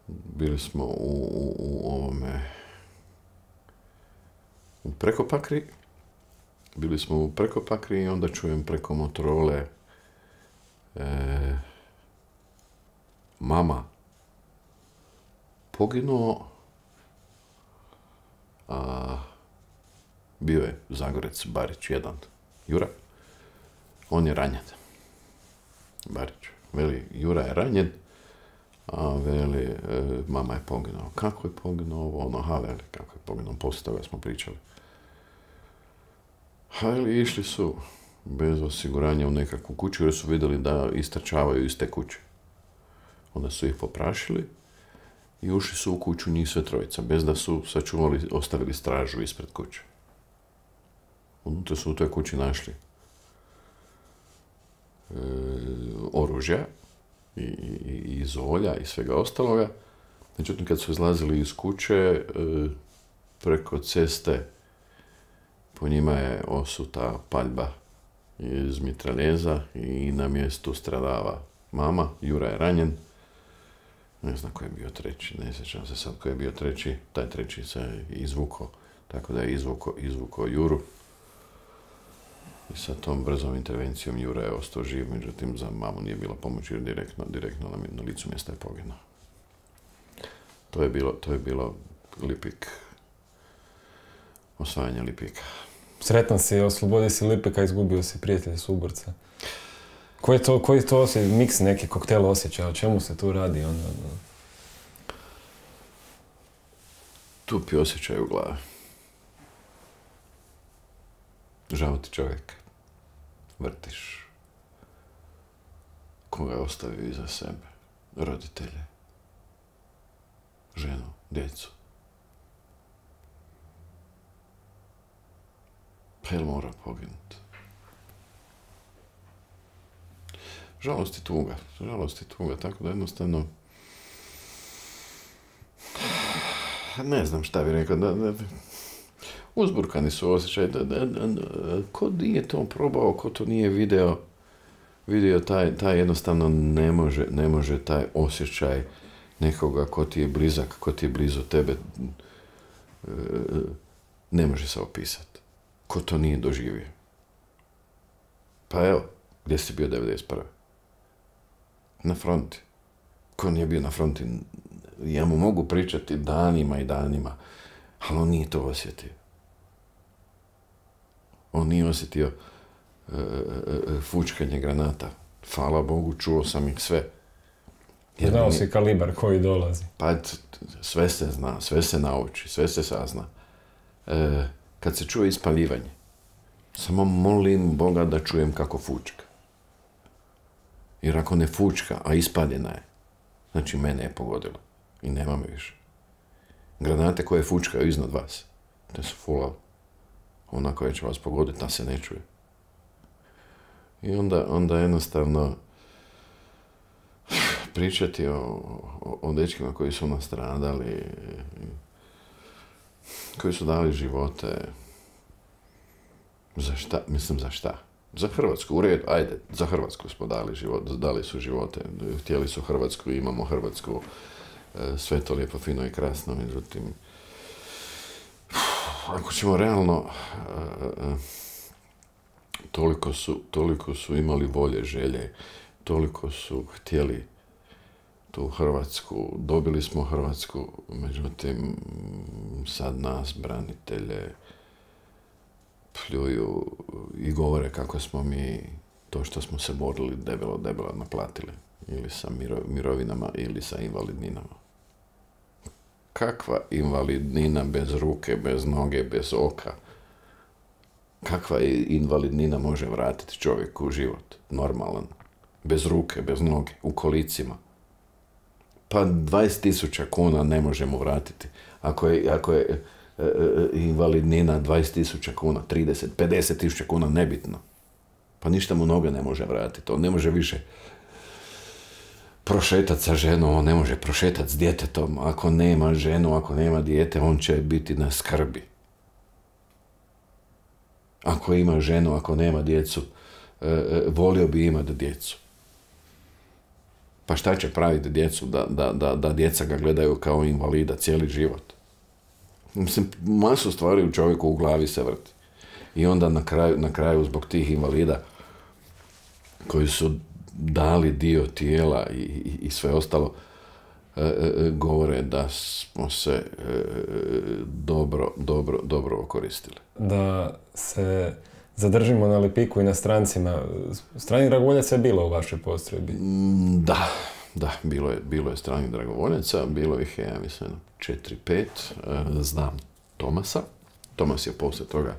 bili smo u Prekopakri. Bili smo u Prekopakri i onda čujem preko Motorole mama poginuo, a bio je Zagorec Barić jedan, Jura. On je ranjen. Barić. Veli, Jura je ranjen, a veli, mama je poginuo. Kako je poginuo? Veli, kako je poginuo? Poslije toga smo pričali. Veli, išli su bez osiguranja u nekakvu kuću jer su vidjeli da istrčavaju iz te kuće. Onda su ih poprašili i ušli su u kuću njih sve trojica, bez da su sačuvali, ostavili stražu ispred kuće. Unutra su u toj kući našli oružja i zolja i svega ostaloga. Međutim, kad su izlazili iz kuće, preko ceste po njima je osuta paljba iz mitraljeza i na mjestu stradava mama. Jura je ranjen. Ne znam ko je bio treći, ne sjećam se sad ko je bio treći. Taj treći se izvukao, tako da je izvukao Juru. I sa tom brzom intervencijom Jura je ostao živ, međutim za mamu nije bilo pomoći jer direktno na licu mjesta je poginuo. To je bilo Lipik. Osvajanje Lipika. Sretan si, oslobodio si Lipika, izgubio si prijatelja suborca. Koji je to miks neki koktel osjećaja? O čemu se tu radi? Tupi osjećaj u glavi. Žao ti čovjek. Vrtiš. Koga je ostavio iza sebe? Roditelje. Ženu, djecu. Pa jel mora poginuti? Žalost i tuga, tako da jednostavno ne znam šta bi rekao, uzburkani su osjećaj, ko nije to probao, ko to nije vidio taj jednostavno ne može taj osjećaj nekoga ko ti je blizak, ko ti je blizu tebe, ne može se opisati. Ko to nije doživio. Pa evo, gdje si bio 1991. Na fronti. Ko nije bio na fronti, ja mu mogu pričati danima i danima, ali on nije to osjetio. On nije osjetio fučkanje granata. Hvala Bogu, čuo sam ih sve. Znao si kalibar koji dolazi. Pa sve se zna, sve se nauči, sve se sazna. Kad se čuje ispaljivanje, samo molim Boga da čujem kako fučka. Jer ako ne fučka, a ispaljena je, znači mene je pogodilo. I nema me više. Granate koje fučkaju iznad vas, te su full. Ona koja će vas pogoditi, ta se ne čuje. I onda jednostavno pričati o dečkima koji su nastradali, koji su dali živote. Za šta? Mislim, za šta? Za Hrvatsku, u redu, ajde, za Hrvatsku smo dali su živote, htjeli su Hrvatsku, imamo Hrvatsku, sve to lijepo, fino i krasno, međutim, ako ćemo realno, toliko su imali volje, želje, toliko su htjeli tu Hrvatsku, dobili smo Hrvatsku, međutim, sad nas, branitelje, pljuju i govore kako smo mi to što smo se borili debelo naplatili. Ili sa mirovinama, ili sa invalidninama. Kakva invalidnina bez ruke, bez noge, bez oka? Kakva invalidnina može vratiti čovjeku u život? Normalan. Bez ruke, bez noge, u kolicima. Pa 20.000 kuna ne možemo vratiti. Ako je invalidnina 20.000 kuna, 30, 50.000 kuna, nebitno. Pa ništa mu noge ne može vratiti. On ne može više prošetati sa ženom, on ne može prošetati s djetetom. Ako nema ženu, ako nema dijete, on će biti na skrbi. Ako ima ženu, ako nema djecu, volio bi imati djecu. Pa šta će praviti djecu da djeca ga gledaju kao invalida cijeli život? Mislim, masu stvari u čovjeku u glavi se vrti. I onda na kraju zbog tih invalida koji su dali dio tijela i sve ostalo, govore da smo se dobro okoristili. Da se zadržimo na Lipiku i na strancima. Stranih dragovoljaca je bilo u vašoj postrojbi? Da, bilo je stranih dragovoljaca, bilo ih je, ja mislim, 4-5. Znam Tomasa. Tomas je poslije toga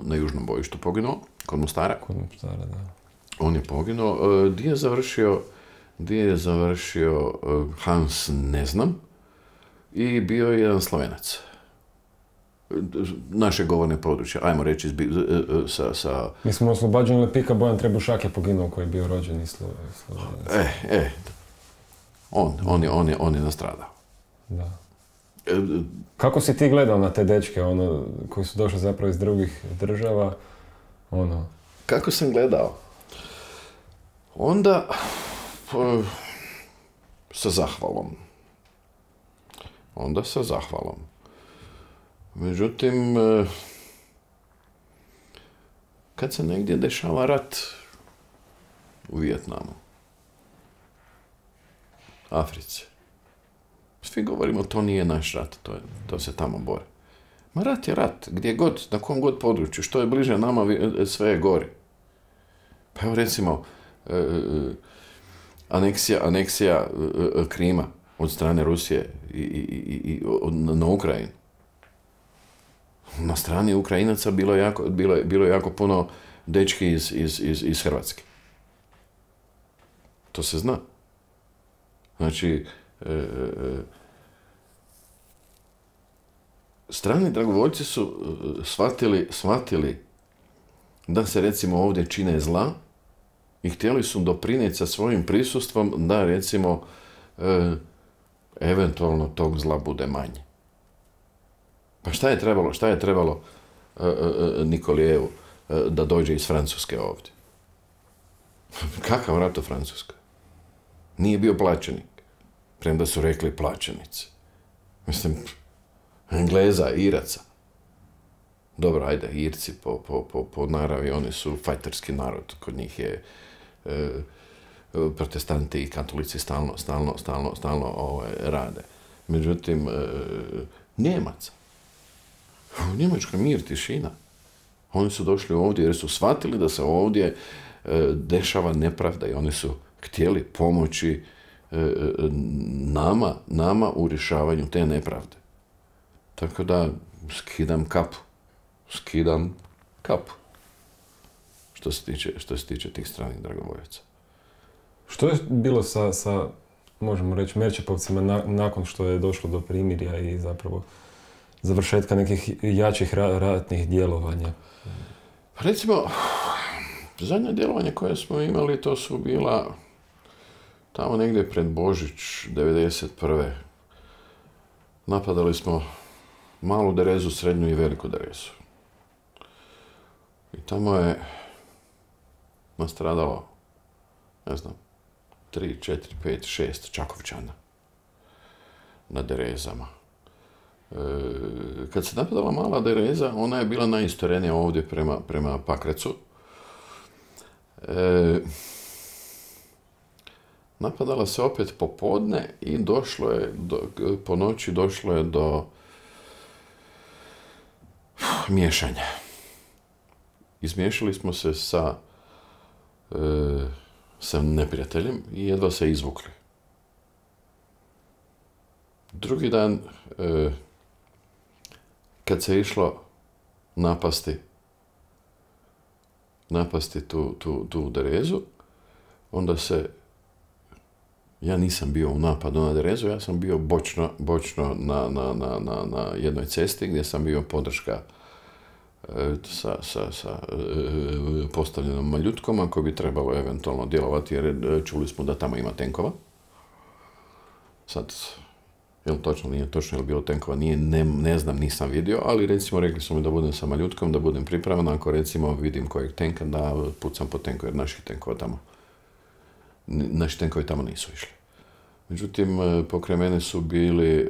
na južnom bojištu poginuo, kod Mostara. Kod Mostara, da. On je poginuo. Gdje je završio Hans, ne znam. I bio je jedan Slovenac. Naše govorne područje, ajmo reći, sa... Mi smo oslobađeni Lipika, Bojan Trebušak je poginuo koji je bio rođen iz Slovenac. On je nastradao. Da. Kako si ti gledao na te dečke, koji su došli zapravo iz drugih država, Kako sam gledao? Onda, sa zahvalom. Međutim, kad se negdje dešava rat u Vijetnamu, Africi, svi govorimo to nije naš rat, to se tamo bore. Ma rat je rat, gdje god, na kom god području, što je bliže nama, sve je gori. Pa evo recimo, aneksija Krima od strane Rusije na Ukrajinu. Na strani Ukrajinaca bilo je jako puno dečki iz Hrvatske. To se zna. Znači, strani dragovoljci su shvatili da se recimo ovdje čine zla i htjeli su doprinijeti sa svojim prisustvom da recimo eventualno tog zla bude manje. Pa šta je trebalo Nikolijevu da dođe iz Francuske ovdje? Kakav rat u Francuskoj? Nije bio plaćenik, premda su rekli plaćenici. Mislim, Engleza, Iraca. Dobro, ajde, Irci po naravi, oni su fajterski narod. Kod njih je protestanti i katolici stalno rade. Međutim, Njemaca. U Njemačkoj mir, tišina. Oni su došli ovdje jer su shvatili da se ovdje dešava nepravda i oni su htjeli pomoći nama u rješavanju te nepravde. Tako da skidam kapu. Što se tiče tih stranih dragovoljaca. Što je bilo sa možemo reći, Merčepovcima nakon što je došlo do primirja i zapravo završetka nekih jačih ratnih djelovanja? Recimo, zadnje djelovanje koje smo imali, to su bila tamo negdje pred Božić 1991. Napadali smo Malu Derezu, Srednju i Veliku Derezu. I tamo je nastradalo, ne znam, 3, 4, 5, 6 Čakovčana na Derezama. Kad se napadala Mala Dereza, ona je bila najistorenija ovdje prema Pakrecu. Napadala se opet popodne i po noći došlo je do miješanja. Izmiješali smo se sa neprijateljem i jedva se izvukli. Drugi dan, kad se išlo napasti tu Derezu, onda ja nisam bio u napadu na Derezu, ja sam bio bočno na jednoj cesti gdje sam bio podrška sa postavljenom maljutkom ako bi trebalo eventualno djelovati jer čuli smo da tamo ima tenkova. Sad, Je li točno, nije točno, je li bilo tenkova, nije, ne znam, nisam vidio, ali recimo rekli su mi da budem sa maljutkom, da budem pripravan, ako recimo vidim kojeg tenka, da pucam po tenku, jer naši tenkovi tamo nisu išli. Međutim, pokraj mene su bili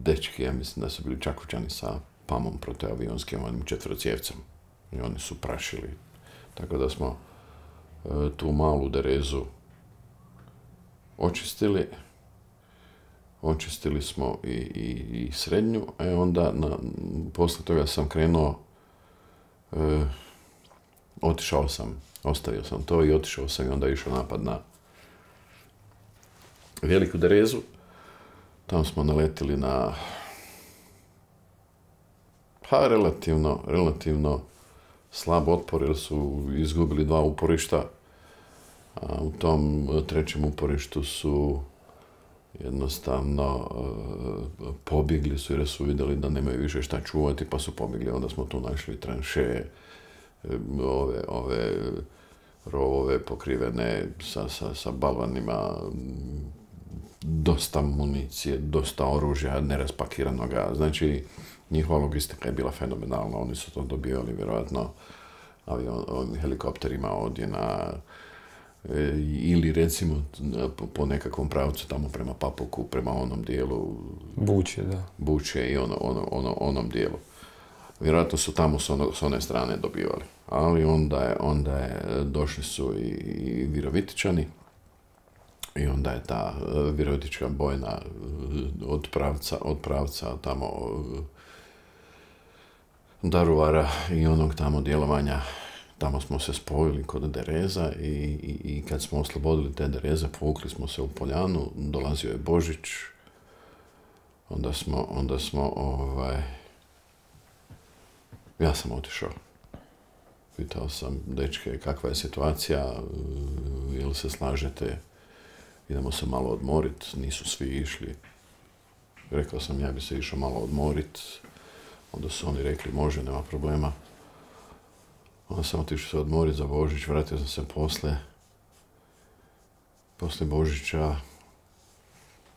dečki, ja mislim da su bili Čakovčani sa pamom protiavionskim, onim četvrocjevcem. I oni su prašili. Tako da smo tu malu derezu očistili. Očistili smo i srednju, onda posle toga sam krenuo, ostavio sam to i otišao sam i onda išao napad na Veliku derezu. Tamo smo naletili na relativno slab otpor, jer su izgubili 2 uporišta. A u tom 3. uporištu su jednostavno pobjegli su jer su vidjeli da nemaju više šta čuvati, pa su pobjegli. Onda smo tu našli tranše, ove rovove pokrivene sa balvanima, dosta municije, dosta oružja, neraspakiranoga. Znači, njihova logistika je bila fenomenalna. Oni su to dobivali vjerojatno helikopterima ovdje ili recimo po nekakvom pravcu tamo prema Papuku, prema onom dijelu Buče i onom dijelu. Vjerojatno su tamo s one strane dobivali. Ali onda je došli su i Virovitičani i onda je ta virovitička bojna od pravca tamo Daruvara i onog tamo djelovanja. Tamo smo se spojili kod Dereza i kad smo oslobodili te Dereze, povukli smo se u Poljanu, dolazio je Božić, onda smo ja sam otišao. Pitao sam dečke kakva je situacija, jel se slažete, idemo se malo odmorit, nisu svi išli. Rekao sam ja bi se išao malo odmorit, onda su oni rekli može, nema problema. Onda sam otišao se odmoriti za Božić, vratio sam se poslije Božića.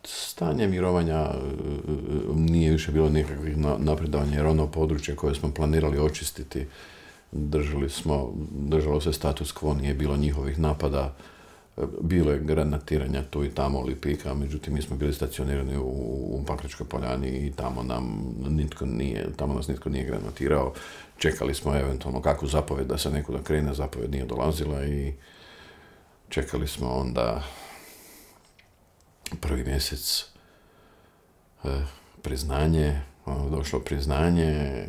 Stanje mirovanja nije više bilo nikakvih napredovanja, jer ono područje koje smo planirali očistiti, držalo se status quo, nije bilo njihovih napada, bilo je granatiranja tu i tamo Lipika, međutim mi smo bili stacionirani u Pakračkoj Poljani i tamo nas nitko nije granatirao. Čekali smo eventualno kakvu zapovjed da se nekuda krene, zapovjed nije dolazila i čekali smo onda 1. mjesec priznanje, došlo priznanje,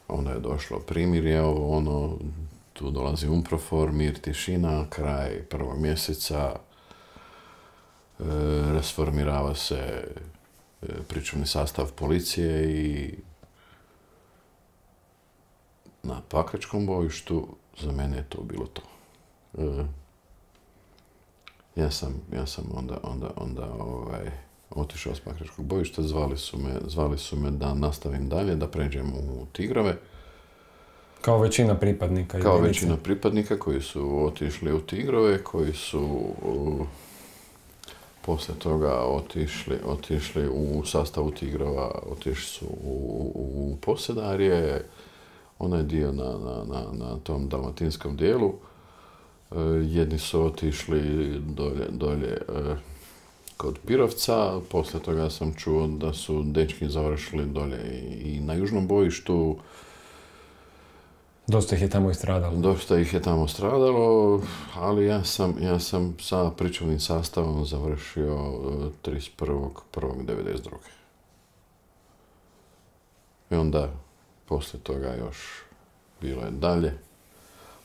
onda je došlo primirje, tu dolazi UNPROFOR, mir, tišina, kraj 1. mjeseca, rasformirava se pričuvni sastav policije i na Pakračkom bojištu za mene je to bilo to. Ja sam onda otišao s Pakračkog bojišta, zvali su me da nastavim dalje, da pređem u Tigrove. Kao većina pripadnika. Kao većina pripadnika koji su otišli u Tigrove, koji su poslije toga otišli u sastavu Tigrova, otišli su u Posedarje, onaj dio na tom dalmatinskom dijelu. Jedni su otišli dolje kod Pirovca, poslije toga sam čuo da su dečki završili dolje i na južnom bojištu. Dosta ih je tamo stradalo, ali ja sam sa pričuvnim sastavom završio 31.1.1992. I onda poslije toga još bilo je dalje,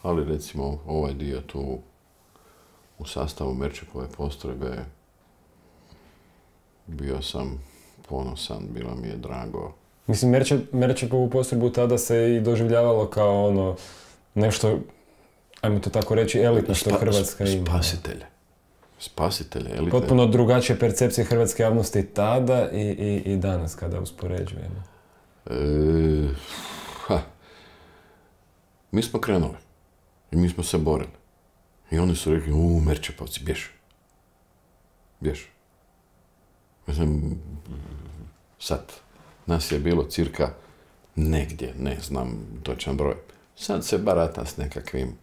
ali recimo ovaj dio tu u sastavu Merčepove postrojbe bio sam ponosan, bilo mi je drago. Mislim, Merčepovu postrojbu tada se i doživljavalo kao nešto, ajmo to tako reći, elitno što Hrvatska ima. Spasitelje, elitne. Potpuno drugačije percepcije hrvatske javnosti tada i danas kada uspoređujemo. Mi smo krenuli i mi smo se borili. I oni su rekli, Merčepovci, bjež. Bješ. Mislim, sad, nas je bilo cirka negdje, ne znam točan broj. Sad se barata s nekakvim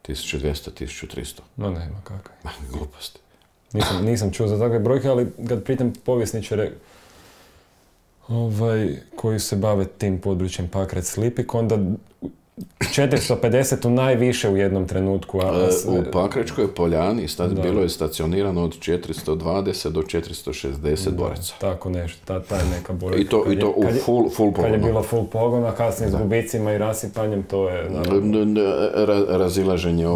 1200, 1300. No nema kakve. Gluposti. Nisam čuo za takve brojke, ali kad pitam povjesničare koji se bave tim područjem Pakrac-Lipik, onda 450 najviše u jednom trenutku. U Pakračkoj Poljani bilo je stacionirano od 420 do 460 boraca. Tako nešto, ta je neka brojka. I to u full pogonu. Kad je bilo full pogona, kasnije s gubicima i rasipanjem, to je... Razilaženje,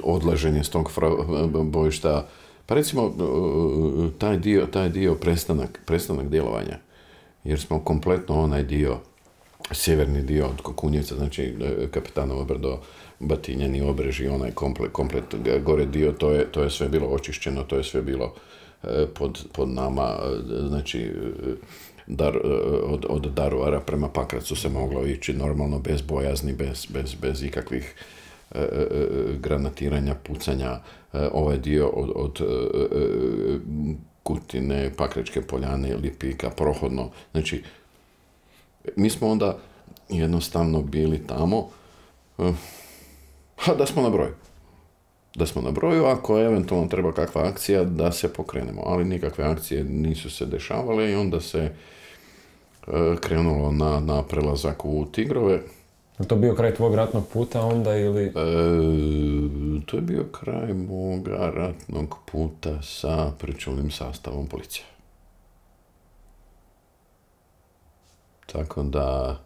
odlaženje s tog bojišta. Pa recimo, taj dio prestanak djelovanja, jer smo kompletno onaj dio, sjeverni dio od Kokunjevca, znači Kapitanovo brdo, Batinjani obreži, onaj komplet gore dio, to je sve bilo očišćeno, to je sve bilo pod nama, znači od Daruvara prema Pakracu se moglo ići normalno, bez bojazni, bez ikakvih granatiranja, pucanja. Ovaj dio od Kutine, Pakračke Poljane, Lipika, prohodno. Znači, mi smo onda jednostavno bili tamo, da smo na broju. Da smo na broju, ako eventualno treba kakva akcija, da se pokrenemo. Ali nikakve akcije nisu se dešavale i onda se krenulo na prelazak u Tigrove. Je to bio kraj tvog ratnog puta onda ili... To je bio kraj moga ratnog puta sa pričuvnim sastavom policije. Tako da...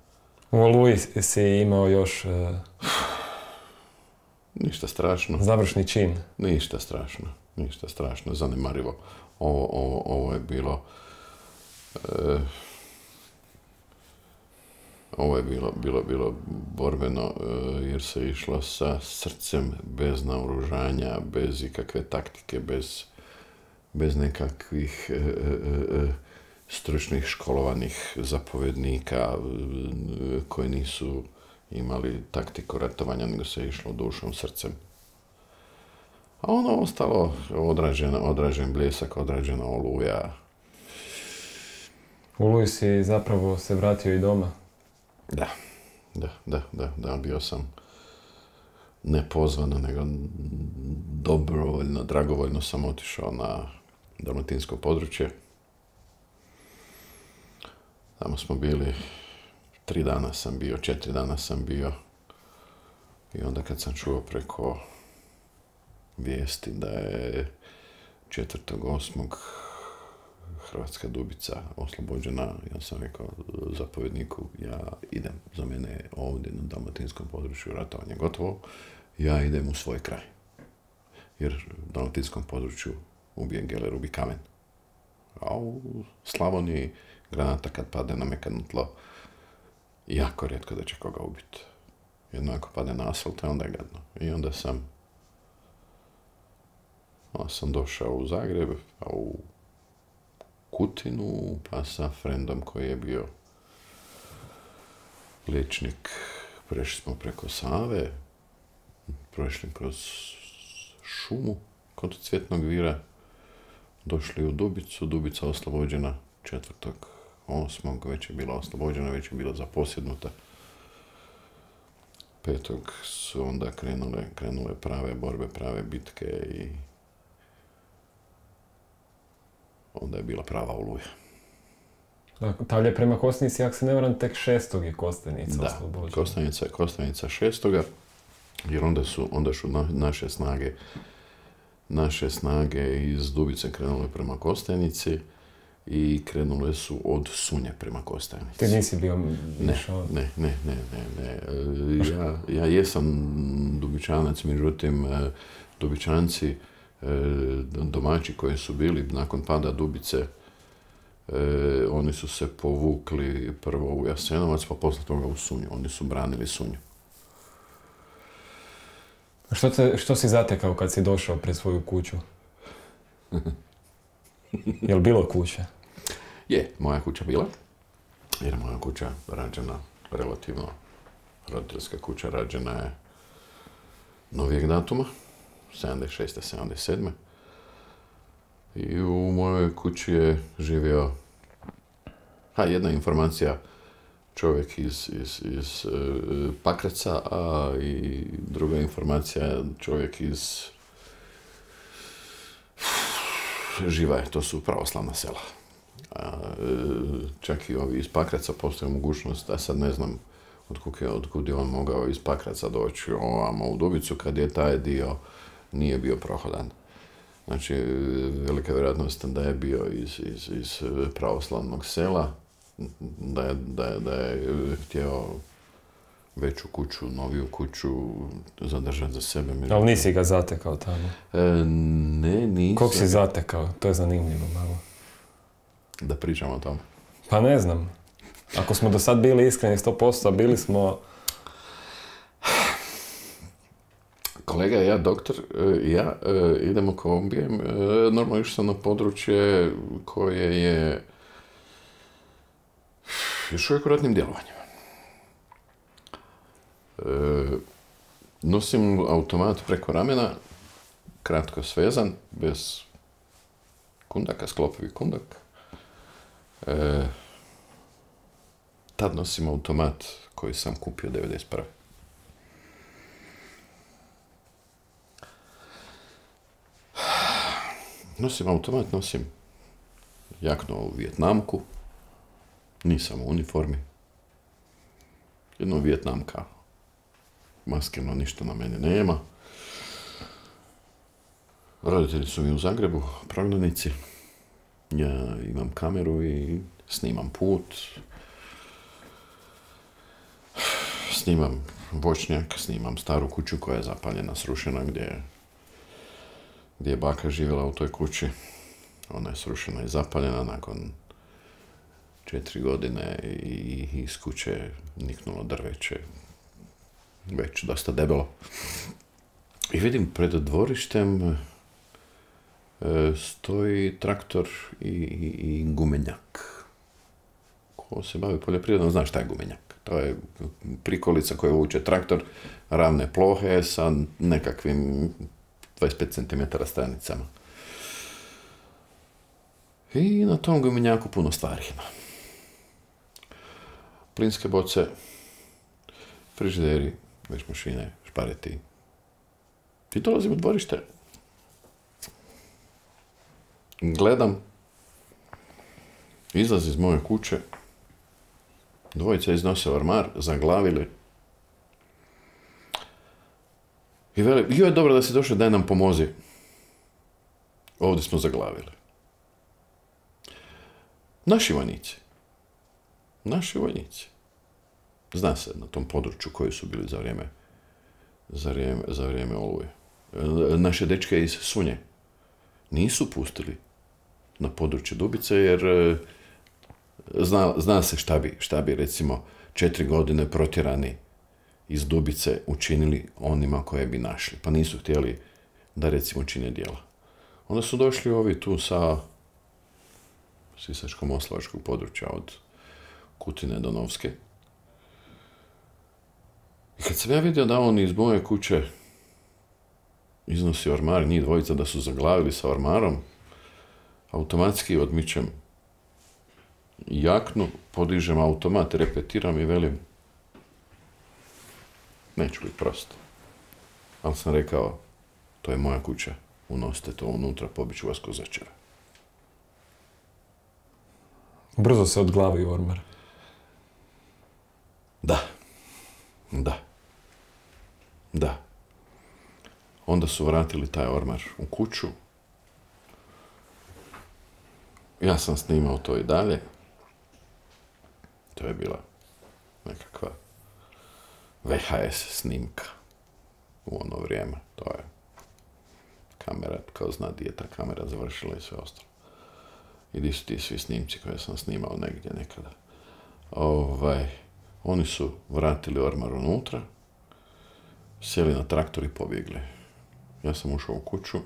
U Oluji si imao još... Ništa strašno. Završni čin. Ništa strašno, zanemarivo. Ovo je bilo... Ovo je bilo borbeno, jer se išlo sa srcem, bez naoružanja, bez ikakve taktike, bez nekakvih stručnih školovanih zapovjednika koji nisu imali taktiku ratovanja, nego se išlo dušom, srcem. A ono ostalo, odrađen Bljesak, odrađena Oluja. U Oluji si zapravo se vratio i doma? Da, bio sam nepozvano, nego dobrovoljno, dragovoljno sam otišao na dalmatinsko područje. Tamo smo bili, 4 dana sam bio. I onda kad sam čuo preko vijesti da je 4.8. Hrvatska Dubica oslobođena, ja sam rekao zapovjedniku, ja idem, za mene je ovdje na dalmatinskom području ratovanje gotovo, ja idem u svoj kraj. Jer u dalmatinskom području ubijen Geller, ubi kamen. A u Slavoniji granata kad padne na mekano tlo, jako rijetko da će koga ubiti. Jedno ako padne na asfalt, onda je gadno. I onda sam došao u Zagreb, a u Kutinu, pa sa frendom koji je bio liječnik, prešli smo preko Save, prošli kroz šumu kod Cvjetnog vira, došli u Dubicu, Dubica oslobođena 4.8. već je bila oslobođena, već je bila zaposjednuta. 5. su onda krenule prave borbe, prave bitke i onda je bila prava Oluja. Tavlje prema Kostajnici, ako se ne varam, tek 6. je Kostajnica oslobođena. Da, Kostajnica 6. jer onda su naše snage iz Dubice krenule prema Kostajnici i krenule su od Sunje prema Kostajnici. Ti nisi bio... Ne. Ja jesam Dubičanac, međutim, Dubičanci, domaći koji su bili nakon pada Dubice, oni su se povukli prvo u Jasenovac, pa poslije toga u Sunju. Oni su branili Sunju. Što si zatekao kad si došao pred svoju kuću? Je li bilo kuće? Je, moja kuća bila. Jer moja kuća rađena relativno, roditeljska kuća rađena je novijeg datuma, 76. 77. I u mojoj kući je živio, jedna informacija, čovjek iz Pakraca, a i druga informacija, čovjek iz Živaje, to su pravoslavna sela. Čak i ovi iz Pakraca postoji mogućnost, a sad ne znam otkud je on mogao iz Pakraca doći ovamo u Dubicu, kad je taj dio nije bio prohodan. Znači, velika vjerojatnost da je bio iz pravoslavnog sela, da je htio veću kuću, noviju kuću zadržati za sebe. Ali nisi ga zatekao tamo? Ne, nisam. Kog si zatekao? To je zanimljivo malo. Da pričamo o tome? Pa ne znam. Ako smo do sad bili iskreni 100%, bili smo... Kolega, ja, doktor, idemo kombijem. Normalno išao sam na područje koje je još uvijek u ratnim djelovanjima. Nosim automat preko ramena, kratko svezan, bez kundaka, sklopovi kundak. Tad nosim automat koji sam kupio 1991. Nosim automat, nosim jaknu u Vijetnamku, nisam u uniformi, jedno Vijetnamka, maskeno ništa na mene nema. Roditelji su mi u Zagrebu, prognanici, ja imam kameru i snimam put, snimam voćnjak, snimam staru kuću koja je zapaljena, srušena, gdje je baka živjela u toj kući. Ona je srušena i zapaljena nakon 4 godine i iz kuće je niknulo drveće, već dosta debelo. I vidim pred dvorištem stoji traktor i gumenjak. Ko se bavi poljoprivredom zna šta je gumenjak. To je prikolica koja vuče traktor, ravne plohe sa nekakvim 25 cm stranicama. I na tom gumenjaku puno stvari ima. Plinske boce, frižideri, veš mašine, špareti. I dolazim u dvorište. Gledam, izlazi iz moje kuće, dvojica iznose ormar, zaglavili. I veli, joj, dobro da si došao, daj nam pomozi. Ovdje smo zaglavili. Naši vojnici. Zna se na tom području koji su bili za vrijeme Oluje. Naše dečke iz Sunje nisu pustili na područje Dubice, jer zna se šta bi recimo 4 godine protjerani iz Dubice učinili onima koje bi našli. Pa nisu htjeli da recimo čine djela. Onda su došli ovi tu sa Sisačko-moslavačkog područja od Kutine do Novske. I kad sam ja vidio da on iz moje kuće iznosi ormar, njih dvojica da su zaglavili sa ormarom, automatski odmičem jaknu, podižem automat, repetiram i velim, neću biti prosto. Ali sam rekao, to je moja kuća, unosite to unutra, pobiću vas ko začera. Brzo se odglavi ormar. Da. Onda su vratili taj ormar u kuću. Ja sam snimao to i dalje. To je bila nekakva VHS snimka u ono vrijeme. To je kamera, kao zna di je ta kamera završila i sve ostalo. I di su ti svi snimci koje sam snimao negdje nekada. Oni su vratili ormar unutra, sjeli na traktor i pobjegli. Ja sam ušao u kuću.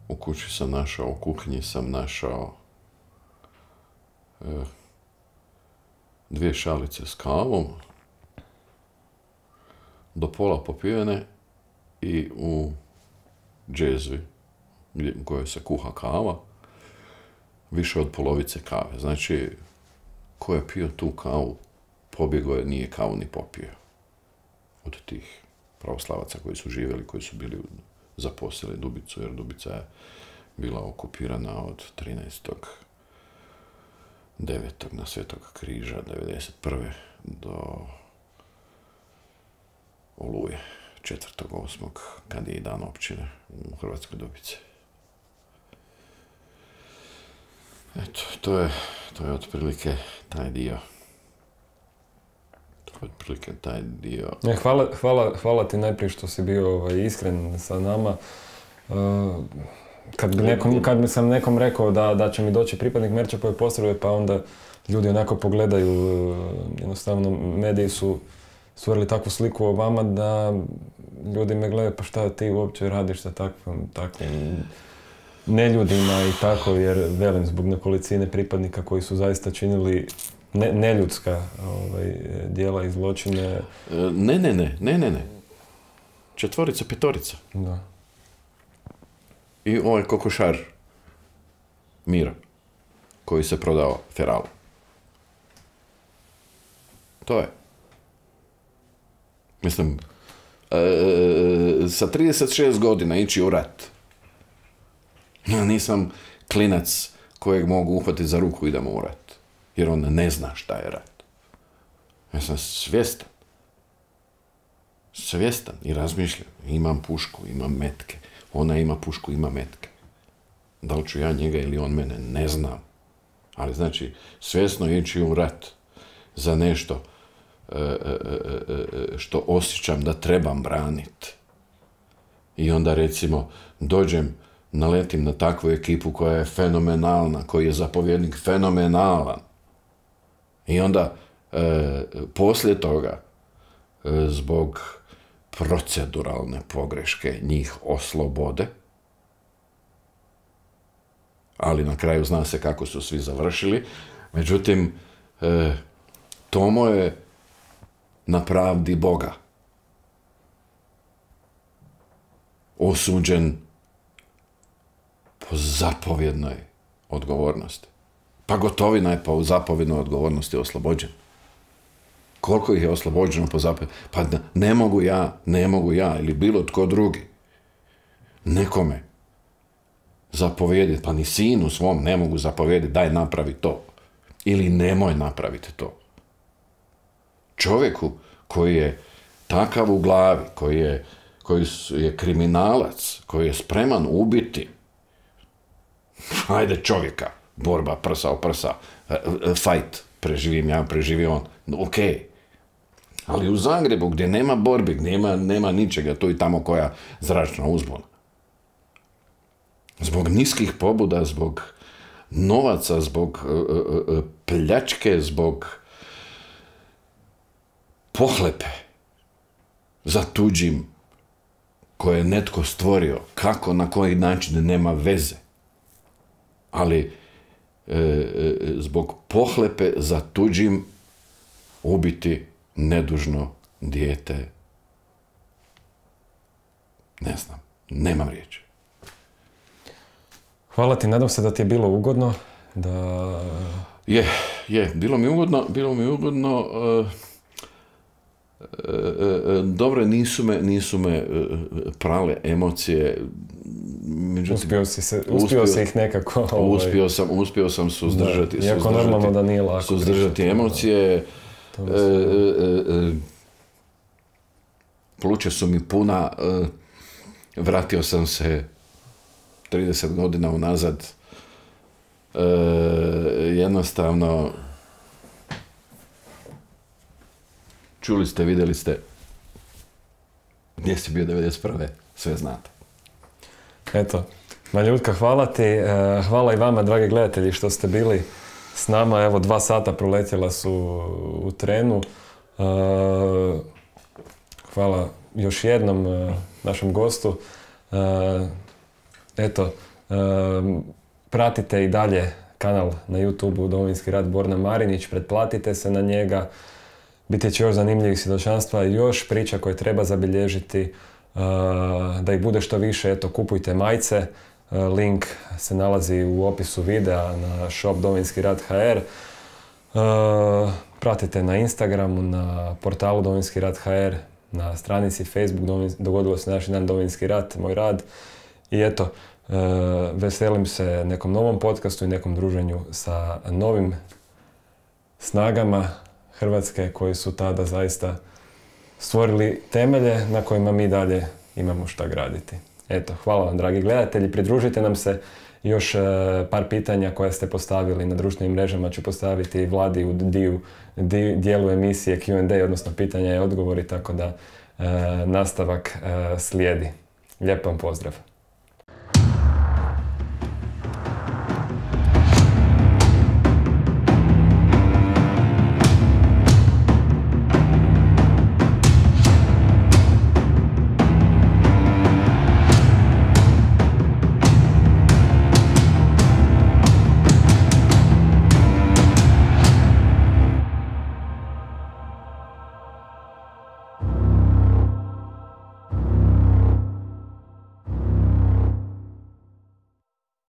U kući sam našao, u kuhinji sam našao 2 šalice s kavom, do pola popijene i u džezvi u kojoj se kuha kava, više od polovice kave. Znači, ko je pio tu kavu, pobjegao je, nije kavu ni popio. Od tih pravoslavaca koji su živjeli, koji su bili zaposlili Dubicu, jer Dubica je bila okupirana od 13.9. na Svetog križa 1991. do Oluje 4.8. kad je i dan općine u Hrvatskoj Dubici. Eto, to je otprilike taj dio. Hvala ti najprije što si bio iskren sa nama. Kad bi sam nekom rekao da će mi doći pripadnik Merčepove postrojbe, pa onda ljudi onako pogledaju, jednostavno mediji su stvorili takvu sliku o vama da ljudi me gledaju, pa šta ti uopće radiš sa takvim neljudima i tako, jer velim, zbog nekolicine pripadnika koji su zaista činili neljudska djela i zločine. Ne. 4, 5. Da. I ovaj kokošar Miro, koji se prodao Feralu. To je. Mislim, sa 36 godina ići u rat. Nisam klinac kojeg mogu uhvatiti za ruku i idemo u rat. Jer on ne zna šta je rat. Ja sam svjestan i razmišljam. Imam pušku, imam metke. Ona ima pušku, ima metke. Da li ću ja njega ili on mene, ne znam. Ali znači, svjesno ići u rat za nešto što osjećam da trebam braniti. I onda recimo naletim na takvu ekipu koja je fenomenalna, koji je zapovjednik fenomenalan. I onda poslije toga, zbog proceduralne pogreške, njih oslobode, ali na kraju zna se kako su svi završili. Međutim, Tomo je na pravdi Boga osuđen po zapovjednoj odgovornosti. Pa Gotovina je po zapovjednoj odgovornosti oslobođen. Koliko ih je oslobođeno po zapovjednoj? Pa ne mogu ja ili bilo tko drugi nekome zapovjediti, pa ni sinu svom ne mogu zapovjediti daj napravi to ili nemoj napraviti to. Čovjeku koji je takav u glavi, koji je kriminalac, koji je spreman ubiti, ajde čovjeka, borba prsa o prsa, fight, preživim ja, preživi on, ok. Ali u Zagrebu gdje nema borbi, gdje nema ničega, tu i tamo koja zračna uzbuna. Zbog niskih pobuda, zbog novaca, zbog pljačke, zbog pohlepe za tuđim koje je netko stvorio, kako, na koji način, nema veze. Ali zbog pohlepe za tuđim ubiti nedužno dijete, ne znam, nemam riječi. Hvala ti, nadam se da ti je bilo ugodno, da... Je, bilo mi ugodno, dobro, nisu me prale emocije. Međutim, uspio si ih nekako... Uspio sam suzdržati. Iako normalno da nije lako. Suzdržati emocije. Pluća su mi puna. Vratio sam se 30 godina unazad. Jednostavno, čuli ste, vidjeli ste gdje si bio 1991. Sve znate. Eto, Maljutka, hvala ti. Hvala i vama, dragi gledatelji, što ste bili s nama. Evo, 2 sata proletjela su u trenu. Hvala još jednom našem gostu. Eto, pratite i dalje kanal na YouTube-u Domovinski rat Borna Marinić, pretplatite se na njega. Biti će još zanimljivih svjedočanstva, još priča koje treba zabilježiti, da ih bude što više. Eto, kupujte majice, Link se nalazi u opisu videa na shop Domovinski rat HR. Pratite na Instagramu, na portalu Domovinski rat HR, na stranici Facebook Dogodilo se naš dan Domovinski rat, moj rad. I eto, veselim se nekom novom podcastu i nekom druženju sa novim snagama Hrvatske koji su tada zaista stvorili temelje na kojima mi dalje imamo šta graditi. Eto, hvala vam dragi gledatelji, pridružite nam se. Još par pitanja koja ste postavili na društvenim mrežama ću postaviti Vladi u dijelu emisije Q&A, odnosno pitanja i odgovori, tako da nastavak slijedi. Lijep vam pozdrav!